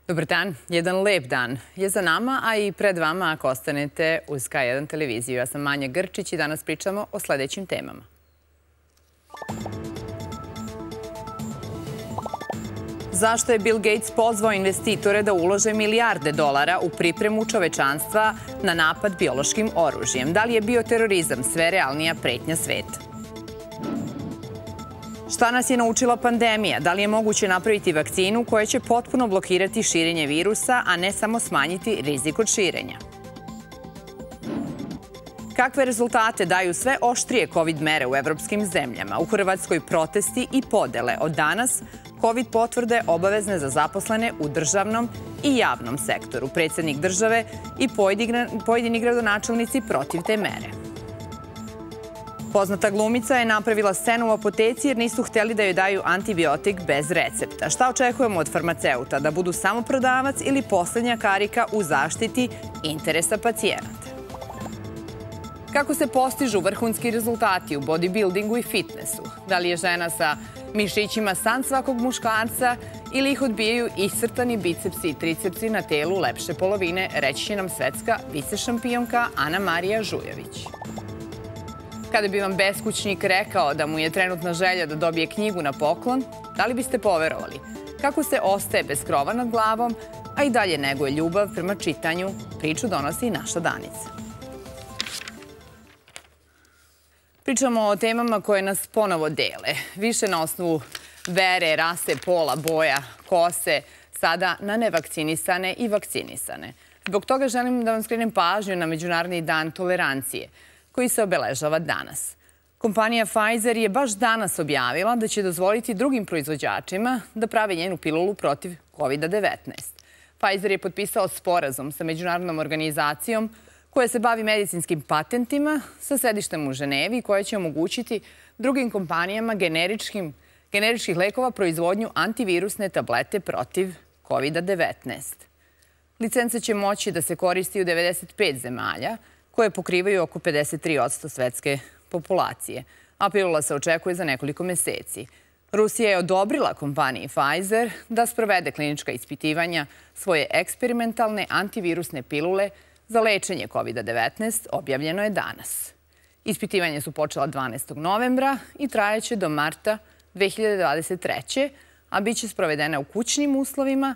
Dobar dan. Jedan lep dan je za nama, a i pred vama ako ostanete uz K1 televiziju. Ja sam Manja Grčić i danas pričamo o sledećim temama. Zašto je Bill Gates pozvao investitore da ulože milijarde dolara u pripremu čovečanstva na napad biološkim oružjem? Da li je bioterorizam sve realnija pretnja sveta? Šta nas je naučila pandemija? Da li je moguće napraviti vakcinu koja će potpuno blokirati širenje virusa, a ne samo smanjiti rizik od širenja? Kakve rezultate daju sve oštrije COVID mere u evropskim zemljama? U Hrvatskoj protesti i podele. Od danas COVID potvrde obavezne za zaposlene u državnom i javnom sektoru. Predsjednik države i pojedini gradonačelnici protiv te mere. Poznata glumica je napravila scenu u apoteci jer nisu htjeli da joj daju antibiotik bez recepta. Šta očekujemo od farmaceuta? Da budu samo prodavac ili posljednja karika u zaštiti interesa pacijenata? Kako se postižu vrhunski rezultati u bodybuildingu i fitnessu? Da li je žena sa mišićima san svakog muškarca ili ih odbijaju iscrtani bicepsi i tricepsi na telu lepše polovine, reći će nam svetska vicešampionka Ana Marija Žujović. Kada bi vam beskućnik rekao da mu je trenutna želja da dobije knjigu na poklon, da li biste poverovali? Kako se ostaje bez krova nad glavom, a i dalje neguje ljubav prema čitanju, priču donosi naša Danica. Pričamo o temama koje nas ponovo dele. Više na osnovu vere, rase, pola, boja, kose, sada na nevakcinisane i vakcinisane. Zbog toga želim da vam skrenem pažnju na Međunarodni dan tolerancije, koji se obeležava danas. Kompanija Pfizer je baš danas objavila da će dozvoliti drugim proizvođačima da prave njenu pilulu protiv COVID-19. Pfizer je potpisao sporazum sa međunarodnom organizacijom koja se bavi medicinskim patentima sa sedištem u Ženevi, koja će omogućiti drugim kompanijama generičkih lekova proizvodnju antivirusne tablete protiv COVID-19. Licence će moći da se koristi u 95 zemalja, koje pokrivaju oko 53% svetske populacije, a pilula se očekuje za nekoliko meseci. Rusija je odobrila kompaniji Pfizer da sprovede klinička ispitivanja svoje eksperimentalne antivirusne pilule za lečenje COVID-19, objavljeno je danas. Ispitivanje su počela 12. novembra i trajaće do marta 2023. a bit će sprovedena u kućnim uslovima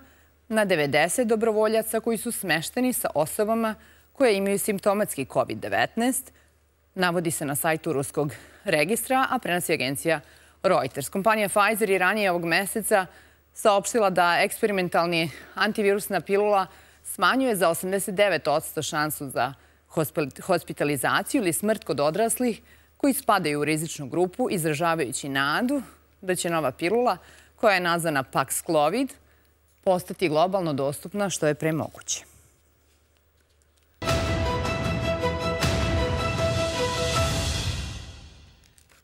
na 90 dobrovoljaca koji su smešteni sa osobama koje imaju simptomatski COVID-19, navodi se na sajtu ruskog registra, a prenosi agencija Reuters. Kompanija Pfizer je ranije ovog meseca saopštila da eksperimentalni antivirusna pilula smanjuje za 89% šansu za hospitalizaciju ili smrt kod odraslih koji spadaju u rizičnu grupu, izražavajući nadu da će nova pilula, koja je nazvana Paxlovid, postati globalno dostupna što je pre moguće.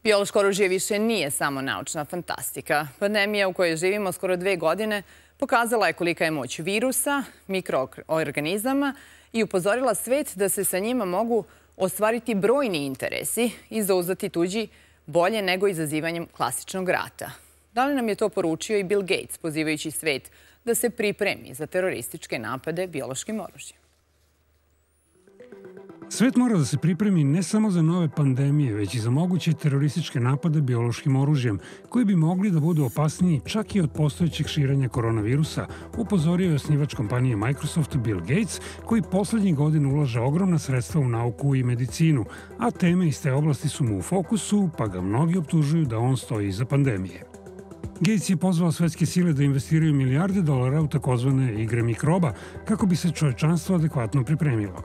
Biološko oružje više nije samo naučna fantastika. Pandemija u kojoj živimo skoro 2 godine pokazala je kolika je moć virusa, mikroorganizama i upozorila svet da se sa njima mogu ostvariti brojni interesi i zauzdati tuđi bolje nego izazivanjem klasičnog rata. Da li nam je to poručio i Bill Gates, pozivajući svet da se pripremi za terorističke napade biološkim oružjem? Svet mora da se pripremi ne samo za nove pandemije, već i za moguće terorističke napade biološkim oružjem, koji bi mogli da budu opasniji čak i od postojećeg širenja koronavirusa, upozorio je osnivač kompanije Microsoft Bill Gates, koji poslednjih godina ulaže ogromna sredstva u nauku i medicinu, a teme iz te oblasti su mu u fokusu, pa ga mnogi optužuju da on stoji iza pandemije. Gates je pozvao svetske sile da investiraju milijarde dolara u takozvane igre mikroba kako bi se čovečanstvo adekvatno pripremilo.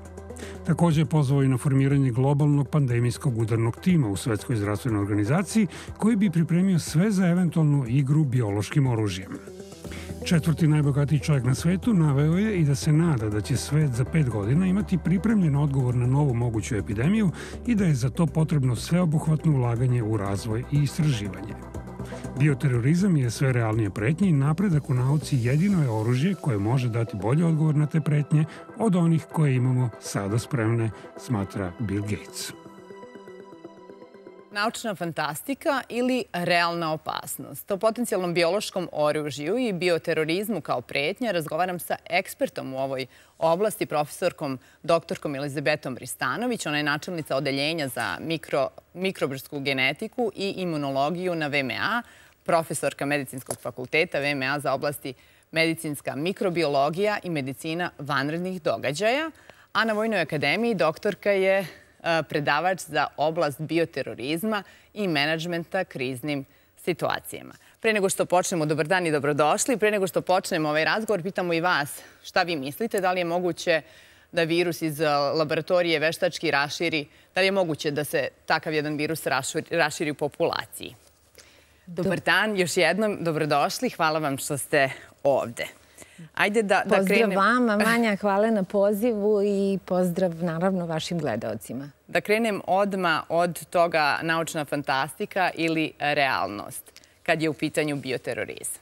Također je pozvao i na formiranje globalnog pandemijskog udarnog tima u Svetskoj zdravstvenoj organizaciji koji bi pripremio sve za eventualnu igru biološkim oružjem. Četvrti najbogatiji čovjek na svetu naveo je i da se nada da će svet za 5 godina imati pripremljen odgovor na novu moguću epidemiju i da je za to potrebno sveobuhvatno ulaganje u razvoj i istraživanje. Bioterorizam je sve realnije pretnje i napredak u nauci jedino je oružje koje može dati bolji odgovor na te pretnje od onih koje imamo sada spremne, smatra Bill Gates. Naučna fantastika ili realna opasnost. O potencijalnom biološkom oružju i bioterorizmu kao pretnja razgovaram sa ekspertom u ovoj oblasti, profesorkom doktorkom Elizabetom Ristanović. Ona je načelnica odeljenja za mikrobrsku genetiku i imunologiju na VMA, profesorka Medicinskog fakulteta VMA za oblasti medicinska mikrobiologija i medicina vanrednih događaja, a na Vojnoj akademiji doktorka je predavač za oblast bioterorizma i menadžmenta kriznim situacijama. Pre nego što počnemo, dobar dan i dobrodošli. Pre nego što počnemo ovaj razgovor, pitamo i vas šta vi mislite, da li je moguće da virus iz laboratorije veštački raširi, da li je moguće da se takav jedan virus raširi u populaciji. Dobar dan, još jednom dobrodošli, hvala vam što ste ovde. Pozdrav vama, Manja, hvala na pozivu i pozdrav naravno vašim gledaocima. Da krenem odmah od toga naučna fantastika ili realnost kad je u pitanju bioterorizam.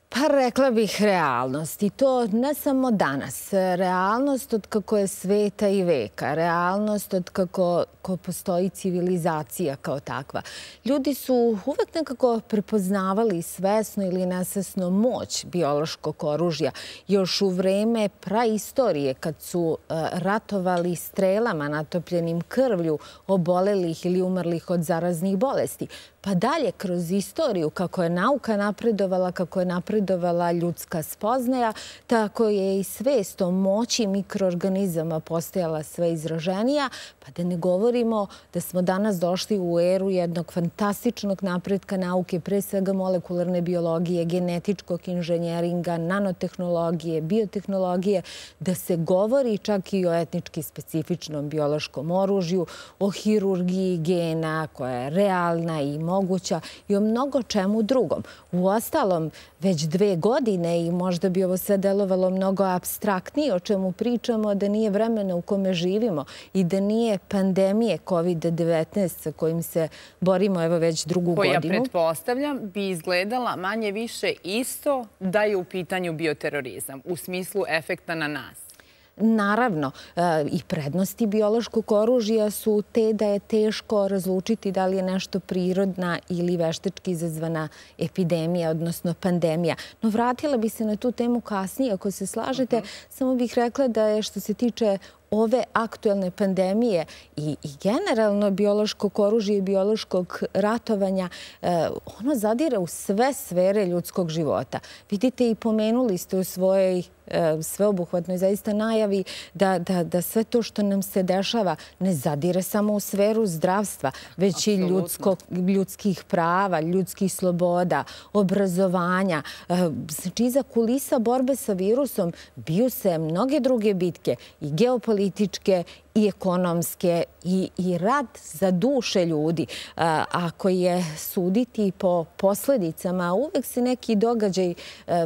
Pa rekla bih realnost i to ne samo danas. Realnost od kako je sveta i veka. Realnost od kako postoji civilizacija kao takva. Ljudi su uvek nekako prepoznavali svesno ili nesvesno moć biološkog oružja. Još u vreme praistorije kad su ratovali strelama natopljenim krvlju obolelih ili umrlih od zaraznih bolesti. Pa dalje kroz istoriju kako je nauka napredovala, kako je napredovala ljudska spoznaja, tako je i svest o moći mikroorganizama postajala sve izraženija. Pa da ne govorimo da smo danas došli u eru jednog fantastičnog napretka nauke, pre svega molekularne biologije, genetičkog inženjeringa, nanotehnologije, biotehnologije, da se govori čak i o etnički specifičnom biološkom oružju, o hirurgiji gena koja je realna i moguća i o mnogo čemu drugom. Uostalom, već 2 godine i možda bi ovo sve delovalo mnogo apstraktnije o čemu pričamo, da nije vremena u kome živimo i da nije pandemije COVID-19 sa kojim se borimo evo već 2. godinu. Koja, pretpostavljam, bi izgledala manje više isto da je u pitanju bioterorizam u smislu efekta na nas. Naravno, i prednosti biološkog oružja su te da je teško razlučiti da li je nešto prirodna ili veštački izazvana epidemija, odnosno pandemija. No vratila bi se na tu temu kasnije, ako se slažete. Samo bih rekla da je što se tiče ove aktuelne pandemije i generalno biološkog oružja i biološkog ratovanja, ono zadire u sve sfere ljudskog života. Vidite i pomenuli ste u svojoj sveobuhvatnoj zaista najavi da sve to što nam se dešava ne zadire samo u sferu zdravstva, već i ljudskih prava, ljudskih sloboda, obrazovanja. Znači, iza kulisa borbe sa virusom biju se mnoge druge bitke i geopolitičke i ekonomske i rad za duše ljudi. Ako je suditi po posledicama, uvek se neki događaj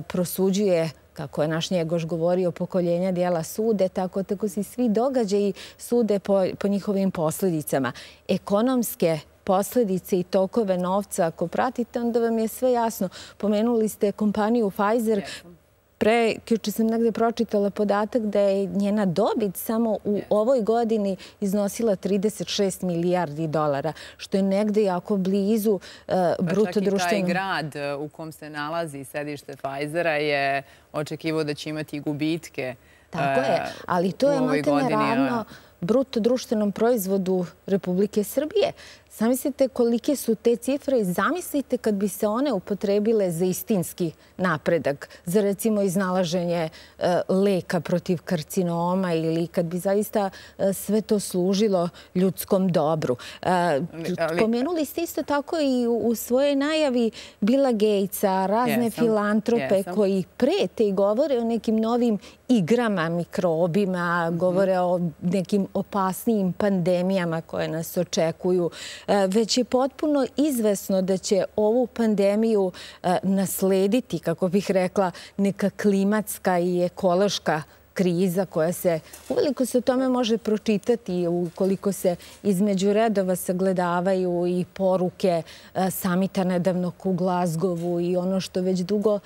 prosuđuje, kako je naš Njegoš govorio, pokoljenja dijela sude, tako se svi događaji sude po njihovim posledicama. Ekonomske posljedice i tokove novca, ako pratite, onda vam je sve jasno. Pomenuli ste kompaniju Pfizer. Juče sam negde pročitala podatak da je njena dobit samo u ovoj godini iznosila 36 milijardi dolara, što je negde jako blizu bruto društvenog. Pa čak i taj grad u kom se nalazi sedište Pfizera je očekivao da će imati gubitke. Tako je, ali to je maltene ravno bruto društvenom proizvodu Republike Srbije. Zamislite kolike su te cifre i zamislite kad bi se one upotrebile za istinski napredak, za recimo iznalaženje leka protiv karcinoma ili kad bi zaista sve to služilo ljudskom dobru. Pomenuli ste isto tako i u svojoj najavi Billa Gatesa, razne filantrope koji prete i govore o nekim novim igrama, mikrobima, govore o nekim opasnijim pandemijama koje nas očekuju. Već je potpuno izvesno da će ovu pandemiju naslediti, kako bih rekla, neka klimatska i ekološka kriza koja se, uveliko se o tome može pročitati ukoliko se između redova sagledavaju i poruke samita nedavnog u Glasgowu i ono što već dugo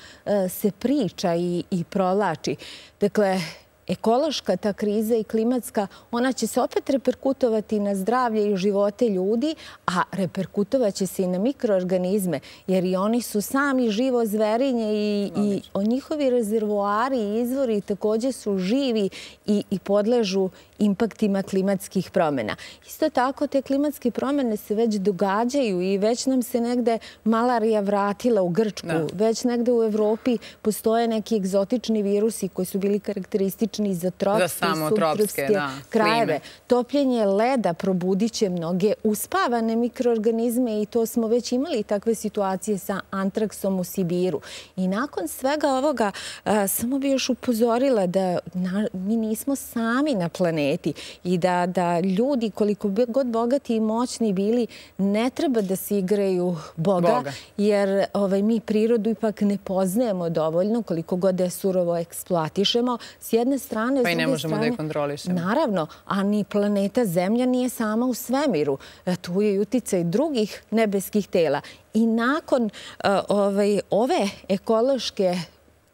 se priča i provlači. Dakle, ekološka ta kriza i klimatska, ona će se opet reperkutovati na zdravlje i živote ljudi, a reperkutovat će se i na mikroorganizme, jer i oni su sami živo zverinje i njihovi rezervoari i izvori također su živi i podležu impaktima klimatskih promjena. Isto tako, te klimatske promjene se već događaju i već nam se negde malarija vratila u Grčku. Već negde u Evropi postoje neki egzotični virusi koji su bili karakteristični za tropske i subtropske krajeve. Topljenje leda probudit će mnoge uspavane mikroorganizme i to smo već imali takve situacije sa antraksom u Sibiru. I nakon svega ovoga, samo bi još upozorila da mi nismo sami na planeti i da ljudi, koliko god bogati i moćni bili, ne treba da se igraju Boga, jer mi prirodu ipak ne poznajemo dovoljno, koliko god da je surovo eksploatišemo. S jedne strane, pa i ne možemo da je kontrolišemo. Naravno, a ni planeta Zemlja nije sama u svemiru. Tu je i uticaj drugih nebeskih tela. I nakon ove ekološke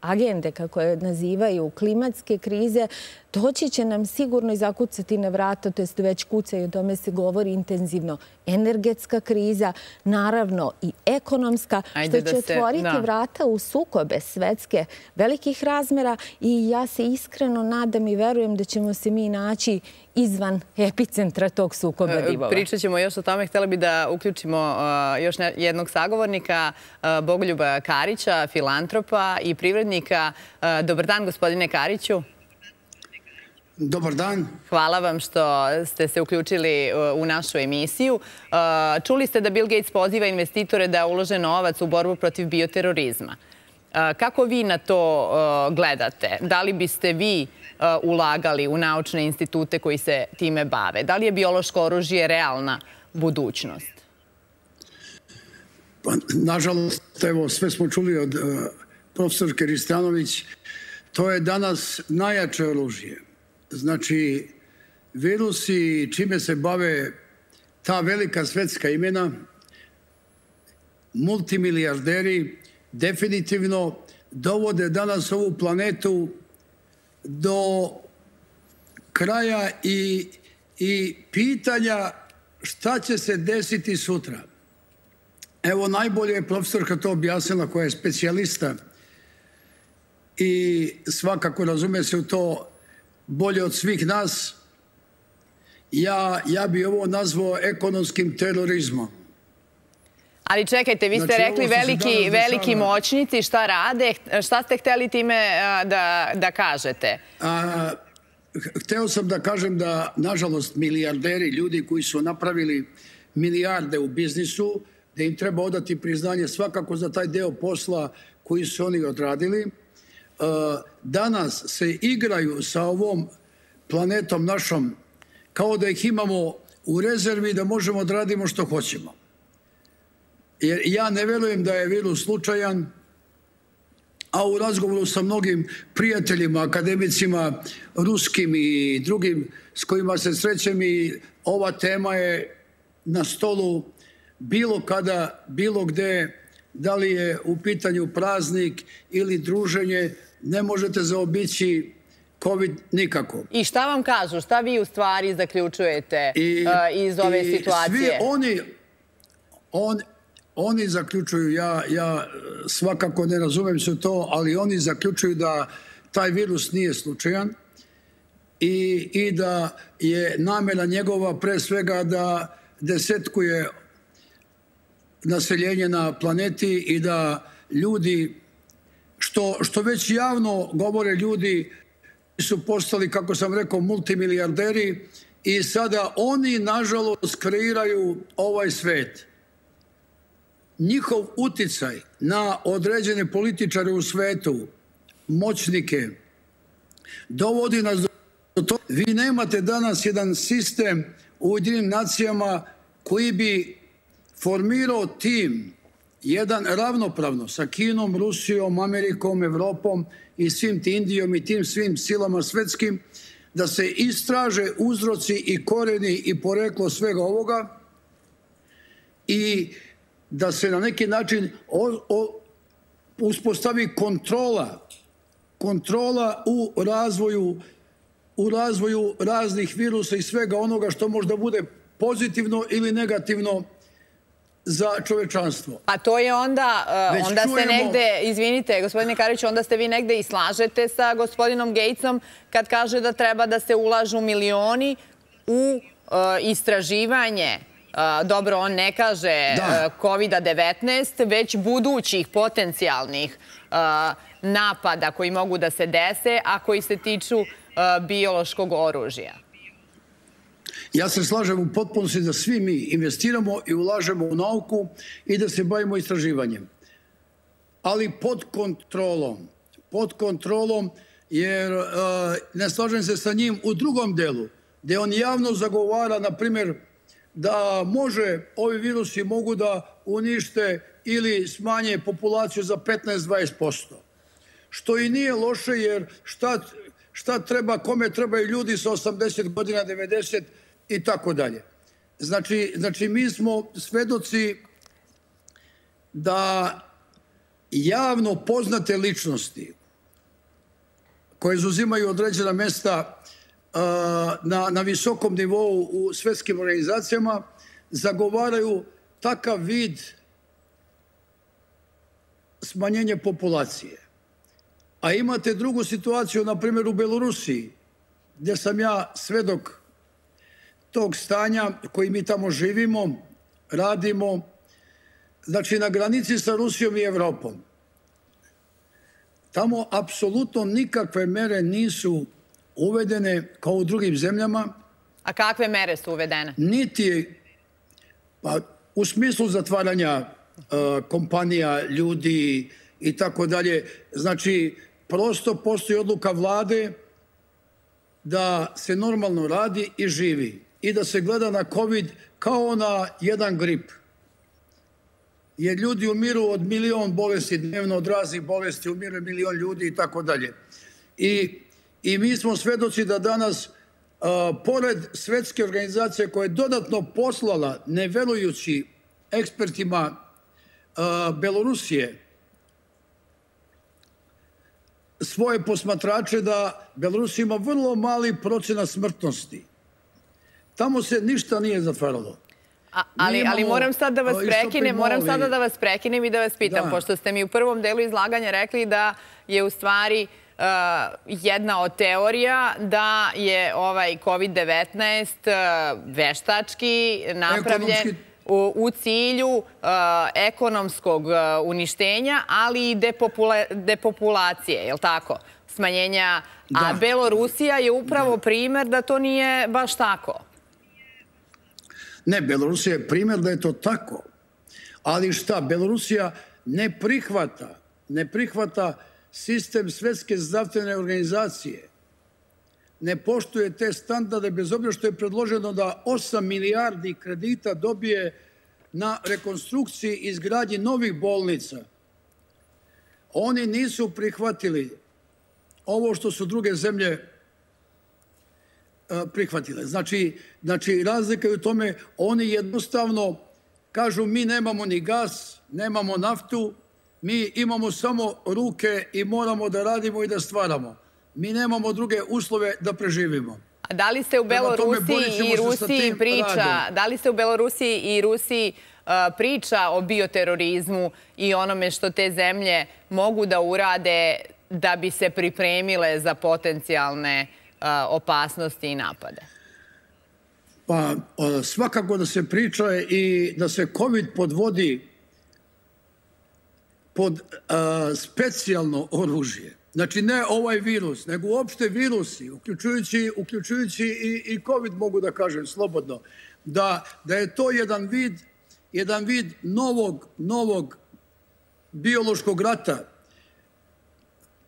agende, kako je nazivaju, klimatske krize, doći će nam sigurno i zakucati na vrata, to jest već kuca i o tome se govori intenzivno, energetska kriza, naravno i ekonomska, što će otvoriti vrata u sukobe svetske velikih razmera i ja se iskreno nadam i verujem da ćemo se mi naći izvan epicentra tog sukoba divova. Pričat ćemo još o tome. Htjela bi da uključimo još jednog sagovornika, Bogoljuba Karića, filantropa i privrednika. Dobar dan, gospodine Kariću. Dobar dan. Hvala vam što ste se uključili u našu emisiju. Čuli ste da Bill Gates poziva investitore da ulože novac u borbu protiv bioterorizma. Kako vi na to gledate? Da li biste vi ulagali u naučne institute koji se time bave? Da li je biološko oružje realna budućnost? Nažalost, evo, sve smo čuli od profesorke Ristanović. To je danas najjače oružje. Znači, virusi čime se bave ta velika svetska imena, multimilijarderi, definitivno dovode danas ovu planetu do kraja i pitanja šta će se desiti sutra. Evo, najbolje je profesorka to objasnila, koja je specijalista i svakako razume se u to bolje od svih nas. Ja bi ovo nazvao ekonomskim terorizmom. Ali čekajte, vi ste rekli veliki moćnici, šta rade? Šta ste htjeli time da kažete? Hteo sam da kažem da, nažalost, milijarderi, ljudi koji su napravili milijarde u biznisu, da im treba odati priznanje svakako za taj deo posla koji su oni odradili. Danas se igraju sa ovom planetom našom kao da ih imamo u rezervi da možemo da radimo što hoćemo. Jer ja ne verujem da je virus slučajan, a u razgovoru sa mnogim prijateljima, akademicima, ruskim i drugim s kojima se srećem, i ova tema je na stolu bilo kada, bilo gde, da li je u pitanju praznik ili druženje, ne možete zaobići COVID nikako. I šta vam kažu? Šta vi u stvari zaključujete iz ove situacije? Svi oni zaključuju, ja svakako ne razumem se to, ali oni zaključuju da taj virus nije slučajan i da je namera njegova pre svega da desetkuje naseljenje na planeti i da ljudi, što već javno govore ljudi, su postali, kako sam rekao, multimilijarderi i sada oni, nažalost, kreiraju ovaj svet. Njihov uticaj na određene političare u svetu, moćnike, dovodi nas do toga. Vi nemate danas jedan sistem u Ujedinjenim nacijama koji bi formirao tim, jedan ravnopravno sa Kinom, Rusijom, Amerikom, Evropom i svim tim Indijom i tim svim silama svetskim, da se istraže uzroci i koreni i poreklo svega ovoga i da se na neki način uspostavi kontrola u razvoju u razvoju raznih virusa i svega onoga što možda bude pozitivno ili negativno za čovečanstvo. A to je onda ste negde, izvinite, gospodine Kariću, onda ste vi negde i slažete sa gospodinom Gatesom kad kaže da treba da se ulažu milioni u istraživanje, dobro, on ne kaže COVID-19, već budućih potencijalnih napada koji mogu da se dese, a koji se tiču biološkog oružja. Ja se slažem u potpunosti da svi mi investiramo i ulažemo u nauku i da se bavimo istraživanjem. Ali pod kontrolom, jer ne slažem se sa njim u drugom delu, gde on javno zagovara, na primjer, da ovi virusi mogu da unište ili smanje populaciju za 15-20%. Što i nije loše, jer šta treba, kome trebaju ljudi sa 80 godina, 90 i tako dalje. Znači, mi smo svedoci da javno poznate ličnosti koje zauzimaju određena mesta na visokom nivou u svetskim organizacijama zagovaraju takav vid smanjenja populacije. A imate drugu situaciju, na primjer u Belorusiji, gdje sam ja svedok tog stanja koji mi tamo živimo, radimo, znači na granici sa Rusijom i Evropom. Tamo apsolutno nikakve mere nisu uvedene kao u drugim zemljama. A kakve mere su uvedene? Niti, pa u smislu zatvaranja kompanija, ljudi i tako dalje. Znači, prosto postoji odluka vlade da se normalno radi i živi i da se gleda na COVID kao na jedan grip. Jer ljudi umiru od 1.000.000 bolesti dnevno, od raznih bolesti umiru 1.000.000 ljudi i tako dalje. I mi smo svedoci da danas, pored svetske organizacije koja je dodatno poslala, ne verujući ekspertima Belorusije, svoje posmatrače da Belorusija ima vrlo mali procenat smrtnosti. Tamo se ništa nije zatvaralo. Ali moram sad da vas prekinem i da vas pitam, pošto ste mi u prvom delu izlaganja rekli da je u stvari jedna od teorija da je ovaj COVID-19 veštački napravljen u cilju ekonomskog uništenja, ali i depopulacije, je li tako? Smanjenja. A Belorusija je upravo primer da to nije baš tako. Ne, Belorusija je primjer da je to tako. Ali šta, Belorusija ne prihvata sistem Svetske zdravstvene organizacije. Ne poštuje te standarde, bez obzira što je predloženo da 8 milijardi kredita dobije na rekonstrukciji i izgradnji novih bolnica. Oni nisu prihvatili ovo što su druge zemlje prihvatile. Znači, razlika je u tome, oni jednostavno kažu mi nemamo ni gas, nemamo naftu, mi imamo samo ruke i moramo da radimo i da stvaramo. Mi nemamo druge uslove da preživimo. A da li se u Belorusiji i Rusiji priča o bioterorizmu i onome što te zemlje mogu da urade da bi se pripremile za potencijalne opasnosti i napade? Pa svakako da se priča i da se COVID podvodi pod specijalno oružje. Znači ne ovaj virus, nego uopšte virusi, uključujući i COVID, mogu da kažem slobodno, da je to jedan vid novog biološkog rata.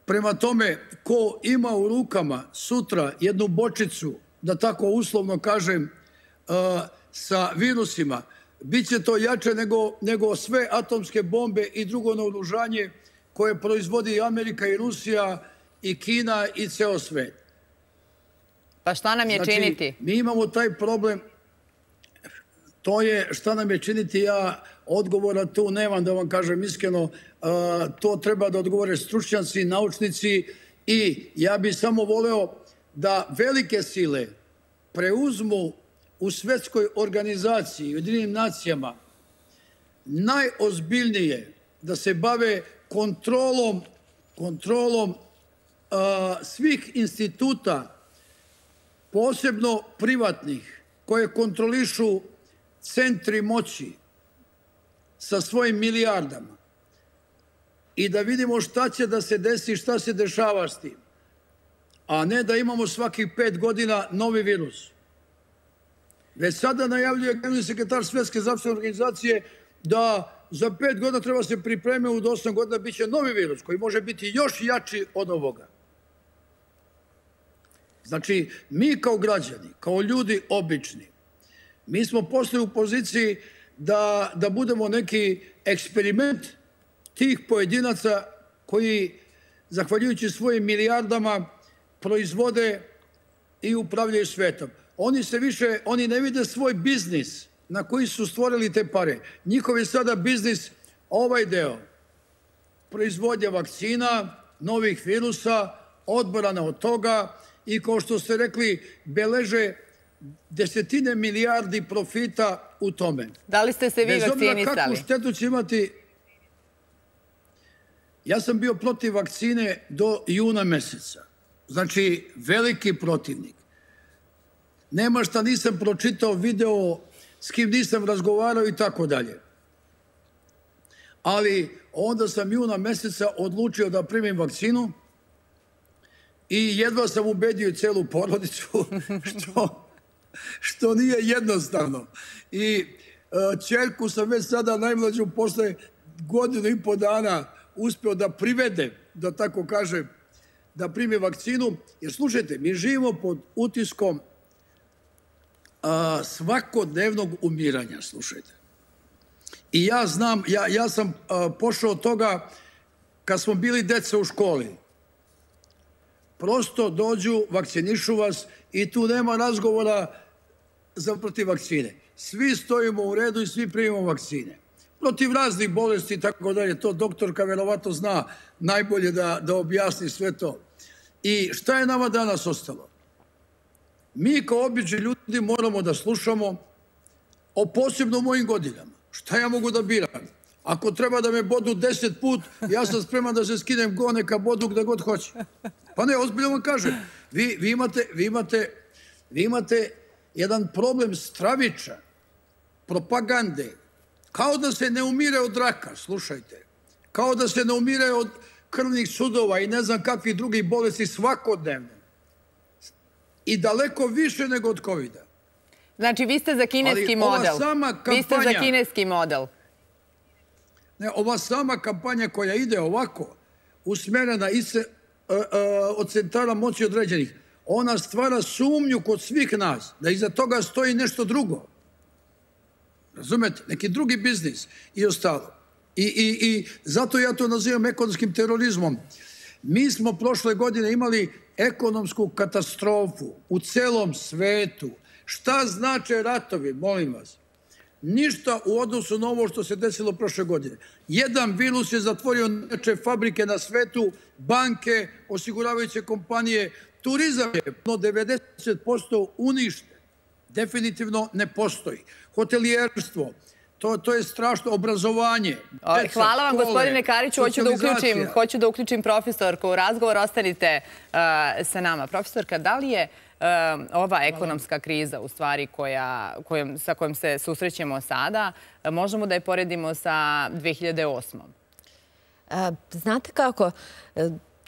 Prema tome, ko ima u rukama sutra jednu bočicu, da tako uslovno kažem, sa virusima, bit će to jače nego sve atomske bombe i drugo naoružanje koje proizvodi Amerika i Rusija i Kina i ceo svet. Pa šta nam je činiti? Znači, mi imamo taj problem. To je šta nam je činiti, ja odgovora tu nemam, da vam kažem iskreno. To treba da odgovore stručnjaci, naučnici i ja bih samo voleo da velike sile preuzmu u svetskoj organizaciji, Ujedinjenim nacijama, najozbiljnije da se bave kontrolom svih instituta, posebno privatnih, koje kontrolišu centri moći sa svojim milijardama i da vidimo šta će da se desi, šta se dešava s tim, a ne da imamo svakih 5 godina novi virus. Već sada najavljuje generalni sekretar Svetske zdravstvene organizacije da za 5 godina treba se pripremiti, u 8 godina bit će novi virus koji može biti još jači od ovoga. Znači, mi kao građani, kao ljudi obični, mi smo postali u poziciji da budemo neki eksperiment tih pojedinaca koji, zahvaljujući svojim milijardama, proizvode i upravljaju svetom. Oni ne vide svoj biznis na koji su stvorili te pare. Njihov je sada biznis ovaj deo. Proizvodnja vakcina, novih virusa, odbrana od toga i, kao što ste rekli, beleže desetine milijardi profita u tome. Da li ste se vi vakcinisali? Bez obzira kakvu štetu će imati... Ja sam bio protiv vakcine do juna meseca. Znači, veliki protivnik. Nema šta nisam pročitao, video, s kim nisam razgovarao i tako dalje. Ali onda sam juna meseca odlučio da primim vakcinu i jedva sam ubedio celu porodicu, što nije jednostavno. I ćerku sam već sada najmlađu posle 1,5 godina uspeo da privedem, da tako kažem, da primi vakcinu. Jer slušajte, mi živimo pod utiskom svakodnevnog umiranja, slušajte. I ja znam, ja sam pošao od toga kad smo bili deca u školi. Prosto dođu, vakcinišu vas i tu nema razgovora za protiv vakcine. Svi stojimo u redu i svi primimo vakcine. Protiv raznih bolesti i tako dalje. To doktorka verovatno zna najbolje da objasni sve to. I šta je nama danas ostalo? Mi kao obični ljudi moramo da slušamo o posebno mojim godinama. Šta ja mogu da biram? Ako treba da me bodu 10 put, ja sam spreman da se skinem go, neka bodu gde god hoće. Pa ne, ozbiljno vam kažem. Vi imate jedan problem straviča, propagande. Kao da se ne umire od raka, slušajte. Kao da se ne umire od krvnih sudova i ne znam kakvih drugih bolesti svakodnevno. I daleko više nego od COVID-a. Znači, vi ste za kineski model. Vi ste za kineski model. Ne, ova sama kampanja koja ide ovako, usmerena od centara moći određenih, ona stvara sumnju kod svih nas, da iza toga stoji nešto drugo. Razumete? Neki drugi biznis i ostalo. I zato ja to nazivam ekonomskim terorizmom. Mi smo prošle godine imali ekonomsku katastrofu u celom svetu. Šta znače ratovi, molim vas? Ništa u odnosu na ovo što se desilo prošle godine. Jedan virus je zatvorio neče fabrike na svetu, banke, osiguravajuće kompanije, turizam je 90% uništen. Definitivno ne postoji. Hotelijerstvo, to je strašno, obrazovanje. Hvala vam, gospodine Kariću. Hoću da uključim profesorku u razgovor. Ostanite sa nama. Profesorka, da li je ova ekonomska kriza, u stvari, sa kojom se susrećemo sada, možemo da je poredimo sa 2008. Znate kako,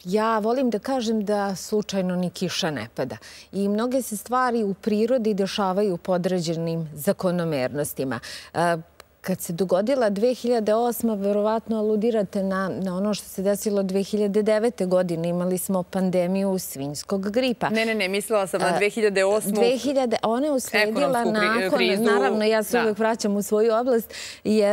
ja volim da kažem da slučajno ni kiša ne pada. I mnoge se stvari u prirodi dešavaju pod određenim zakonomernostima. Kad se dogodila 2008. verovatno aludirate na ono što se desilo 2009. godine. Imali smo pandemiju svinjskog gripa. Ne, mislila sam na 2008. Ona je usledila nakon, naravno ja se uvek vraćam u svoju oblast,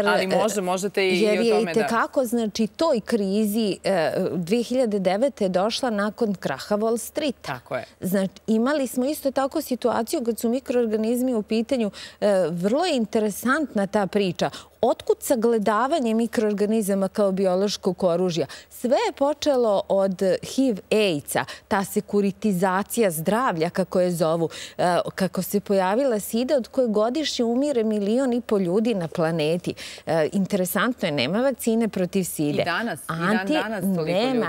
ali možete i o tome da... Jer je i tekako, znači, toj krizi 2009. je došla nakon kraha Wall Streeta. Tako je. Znači, imali smo isto tako situaciju kad su mikroorganizmi u pitanju. Vrlo je interesantna ta priča. otkud sagledavanje mikroorganizama kao biološkog oružja? Sve je počelo od HIV-AIDS-a, ta sekuritizacija zdravlja, kako je zovu, kako se pojavila sida od koje godišnje umire 1,5 miliona ljudi na planeti. Interesantno je, nema vakcine protiv side. I danas toliko ljudi.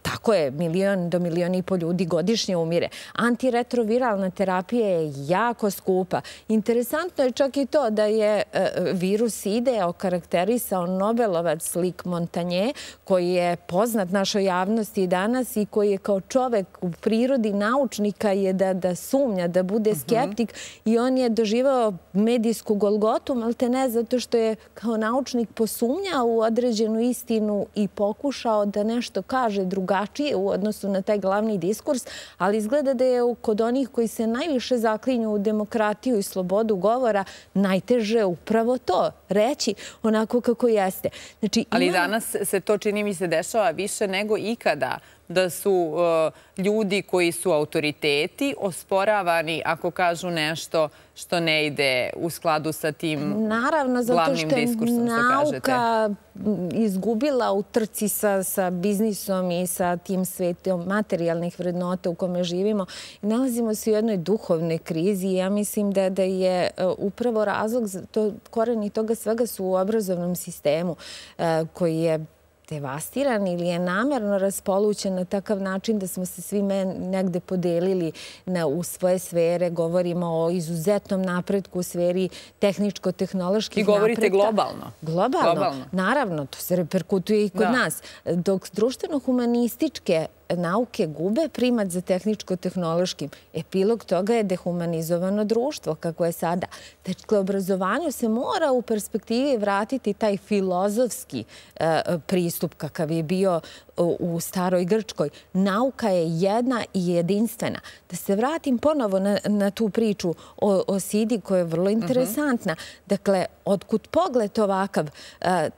Tako je, 1 milion do 1,5 miliona ljudi godišnje umire. Antiretroviralna terapija je jako skupa. Interesantno je čak i to da je virus side okarakterisao Nobelovac Luc Montagnier, koji je poznat našoj javnosti i danas i koji je kao čovek u prirodi naučnika je da sumnja, da bude skeptik i on je doživao medijsku golgotu, malte ne zato što je kao naučnik posumnjao u određenu istinu i pokušao da nešto kaže drugačije u odnosu na taj glavni diskurs, ali izgleda da je kod onih koji se najviše zaklinju u demokratiju i slobodu govora najteže upravo to, reći onako kako jeste. Ali danas se to, čini mi se, dešava više nego ikada, da su ljudi koji su autoriteti osporavani ako kažu nešto što ne ide u skladu sa tim glavnim diskursom, naravno, zato što je nauka izgubila u trci sa biznisom i sa tim svetom materijalnih vrednota u kome živimo. Nalazimo se u jednoj duhovnoj krizi i ja mislim da je upravo razlog, koreni toga svega su u obrazovnom sistemu koji je devastiran ili je namerno raspolućen na takav način da smo se svi negde podelili u svoje sfere. Govorimo o izuzetnom napretku u sferi tehničko-tehnoloških napretka. I govorite globalno. Globalno, naravno. To se reperkutuje i kod nas. Dok društveno-humanističke nauke gube primat za tehničko-tehnološkim. Epilog toga je dehumanizovano društvo, kako je sada. Dakle, obrazovanju se mora u perspektivi vratiti taj filozofski pristup kakav je bio u staroj Grčkoj. Nauka je jedna i jedinstvena. Da se vratim ponovo na tu priču o sidi koja je vrlo interesantna. Dakle, otkud pogled ovakav,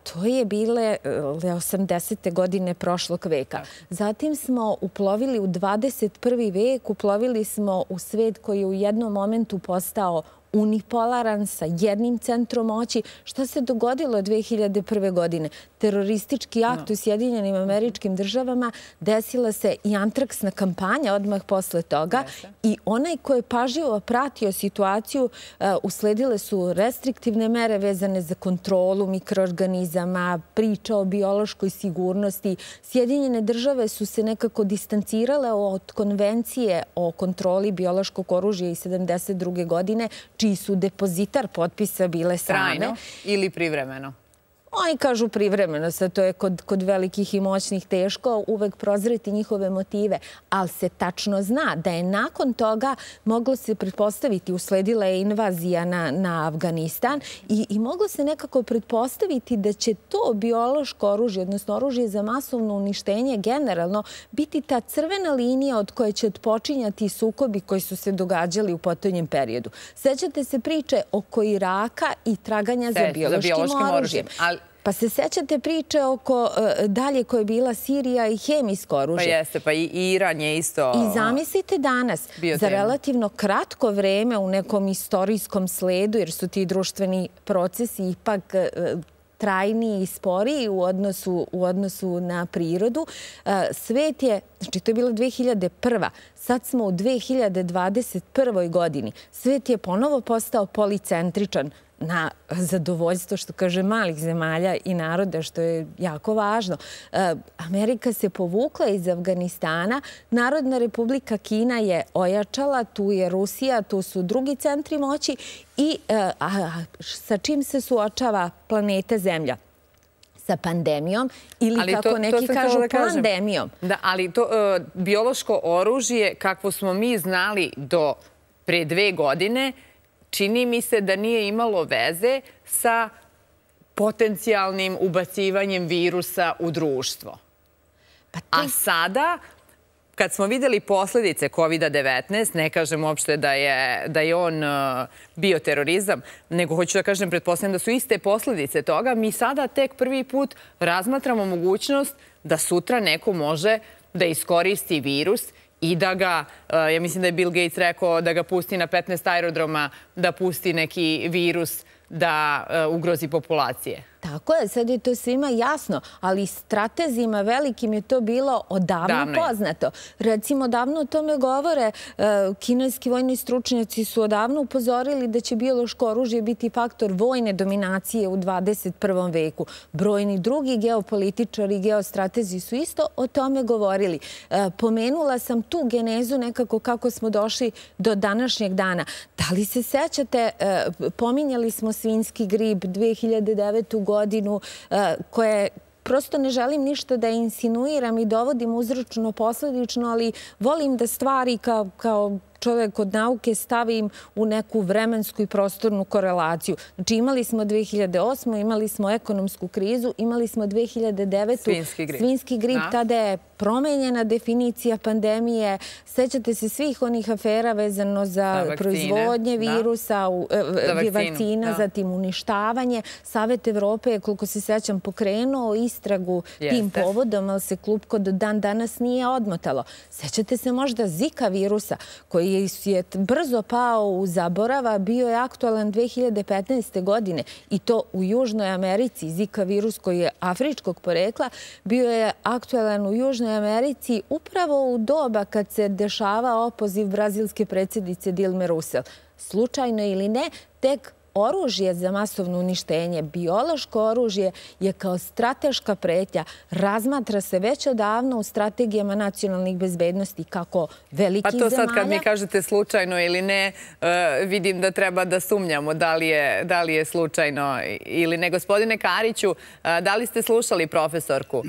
to je bile 80. godine prošlog veka. Zatim smo uplovili u 21. vek, uplovili smo u svet koji je u jednom momentu postao unipolaran sa jednim centrom moći. Šta se dogodilo 2001. godine? Teroristički akt u Sjedinjenim Američkim Državama, desila se i antraksna kampanja odmah posle toga i onaj ko je pažljivo pratio situaciju, usledile su restriktivne mere vezane za kontrolu mikroorganizama, priča o biološkoj sigurnosti. Sjedinjene Države su se nekako distancirale od konvencije o kontroli biološkog oružja iz 1972. godine, čiji su depozitar potpisa bile same. Trajno ili privremeno? Oni kažu privremeno, sad to je kod velikih i moćnih teško uvek prozreti njihove motive, ali se tačno zna da je nakon toga moglo se pretpostaviti, usledila je invazija na Afganistan i moglo se nekako pretpostaviti da će to biološko oružje, odnosno oružje za masovno uništenje generalno, biti ta crvena linija od koje će odpočinjati sukobi koji su se događali u potonjem periodu. Sećate se priče oko Iraka i traganja za biološkim oružjem. Pa se sećate priče oko dalje koja je bila Sirija i hemijsko oružje? Pa jeste, pa i Iran je isto... I zamislite danas, za relativno kratko vreme u nekom istorijskom sledu, jer su ti društveni procesi ipak trajniji i sporiji u odnosu na prirodu, svet je, znači to je bila 2001. Sad smo u 2021. godini. Svet je ponovo postao policentričan na zadovoljstvo, što kaže, malih zemalja i naroda, što je jako važno. Amerika se povukla iz Afganistana, Narodna republika Kina je ojačala, tu je Rusija, tu su drugi centri moći i sa čim se suočava planeta Zemlja? Sa pandemijom ili, kako neki kažu, pandemijom. Da, ali to biološko oružje, kakvo smo mi znali do pre 2 godine, čini mi se da nije imalo veze sa potencijalnim ubacivanjem virusa u društvo. A sada, kad smo videli posledice COVID-19, ne kažem uopšte da je on bioterorizam, nego hoću da kažem, pretpostavljam da su iste posledice toga, mi sada tek prvi put razmatramo mogućnost da sutra neko može da iskoristi virus i da ga, ja mislim da je Bill Gates rekao da ga pusti na 15 aerodroma, da pusti neki virus da ugrozi populacije. Tako je, sad je to svima jasno, ali stratezima velikim je to bilo odavno poznato. Recimo, davno o tome govore, kineski vojni stručnjaci su odavno upozorili da će biološko oružje biti faktor vojne dominacije u 21. veku. Brojni drugi geopolitičari i geostratezi su isto o tome govorili. Pomenula sam tu genezu nekako kako smo došli do današnjeg dana. Da li se sećate, pominjali smo svinjski grip 2009. godinu, koje prosto ne želim ništa da insinuiram i dovodim uzročno-posledično, ali volim da stvari kao čovjek od nauke stavim u neku vremensku i prostornu korelaciju. Znači imali smo 2008. imali smo ekonomsku krizu, imali smo 2009. svinjski grip, tada je promenjena definicija pandemije. Sećate se svih onih afera vezano za proizvodnje virusa, vakcina, zatim uništavanje. Savet Evrope je, koliko se sećam, pokrenuo istragu tim povodom, ali se klupko do dan danas nije odmotalo. Sećate se možda Zika virusa, koji je brzo pao u zaborava, bio je aktualan 2015. godine i to u Južnoj Americi. Zika virus koji je afričkog porekla bio je aktualan u Južnoj Americi upravo u doba kad se dešava opoziv brazilske predsjednice Dilme Rousseff. Slučajno ili ne, tek oružje za masovno uništenje, biološko oružje je kao strateška pretnja. Razmatra se već odavno u strategijama nacionalnih bezbednosti kako velikih zemalja. Pa to sad kad mi kažete slučajno ili ne, vidim da treba da sumnjamo da li je slučajno ili ne. Gospodine Kariću, da li ste slušali profesorku?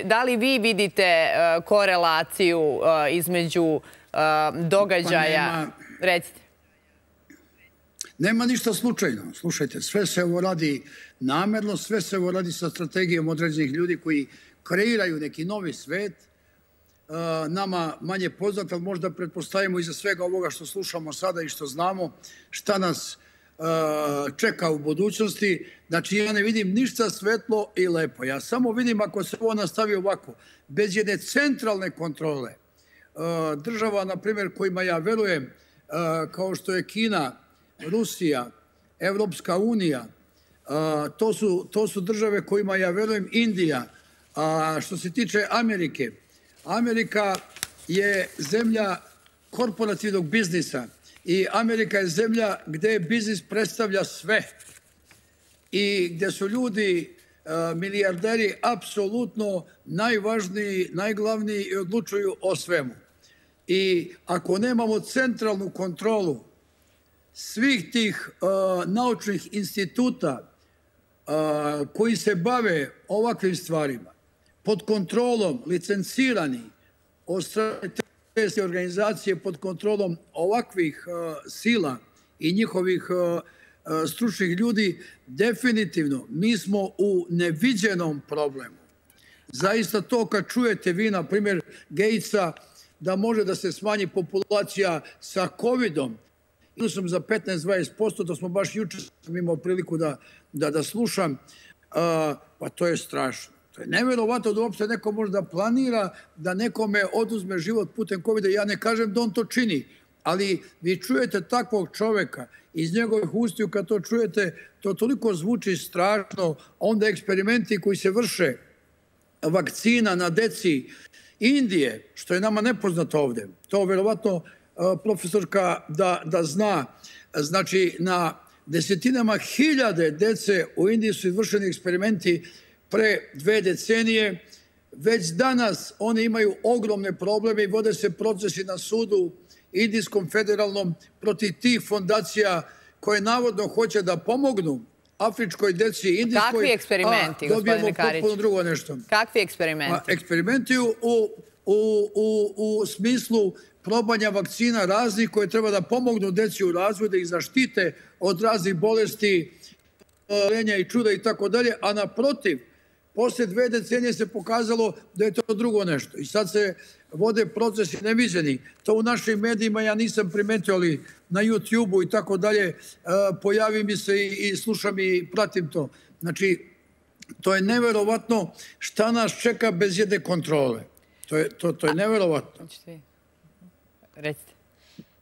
Da li vi vidite korelaciju između događaja? Recite. Nema ništa slučajno. Slušajte, sve se ovo radi namerno, sve se ovo radi sa strategijom određenih ljudi koji kreiraju neki novi svet. Nama manje poznat, ali možda pretpostavimo iza svega ovoga što slušamo sada i što znamo, šta nas čeka u budućnosti. Znači, ja ne vidim ništa svetlo i lepo. Ja samo vidim ako se ovo nastavi ovako, bez jedne centralne kontrole. Država, na primjer, kojima ja verujem, kao što je Kina, Rusija, Evropska unija, to su države kojima ja verujem, Indija. A što se tiče Amerike, Amerika je zemlja korporativnog biznisa i Amerika je zemlja gde biznis predstavlja sve i gde su ljudi, milijarderi, apsolutno najvažniji, najglavniji i odlučuju o svemu. I ako nemamo centralnu kontrolu svih tih naučnih instituta koji se bave ovakvim stvarima, pod kontrolom licencirani od strane te organizacije, pod kontrolom ovakvih sila i njihovih stručnih ljudi, definitivno mi smo u neviđenom problemu. Zaista to kad čujete vi, na primjer, Gatesa, da može da se smanji populacija sa COVID-om, virusom za 15-20%, to smo baš jučer imao priliku da slušam, pa to je strašno. To je nevjerovatno da uopšte neko može da planira da nekome oduzme život putem COVID-a. Ja ne kažem da on to čini, ali vi čujete takvog čoveka iz njegovih ustiju, kad to čujete, to toliko zvuči strašno. Onda eksperimenti koji se vrše, vakcina na deci Indije, što je nama nepoznato ovde, to vjerovatno profesorka da zna, znači na desetinama hiljade dece u Indiji su izvršeni eksperimenti pre 2 decenije. Već danas oni imaju ogromne probleme i vode se procesi na sudu Indijskom federalnom protiv tih fondacija koje navodno hoće da pomognu afričkoj deci indijskoj. Kakvi eksperimenti, gospodine Karić? Dobijemo potpuno drugo nešto. Kakvi eksperimenti? Eksperimenti u smislu probanja vakcina raznih koje treba da pomognu deci u razvoju, da ih zaštite od raznih bolesti, lenja i čuda i tako dalje, a naprotiv, posle 2 decenije se pokazalo da je to drugo nešto. I sad se vode procesi neviđeni. To u našim medijima ja nisam primetio, ali na YouTube-u i tako dalje pojavi mi se i slušam i pratim to. Znači, to je neverovatno šta nas čeka bez jedne kontrole. To je neverovatno. Recite.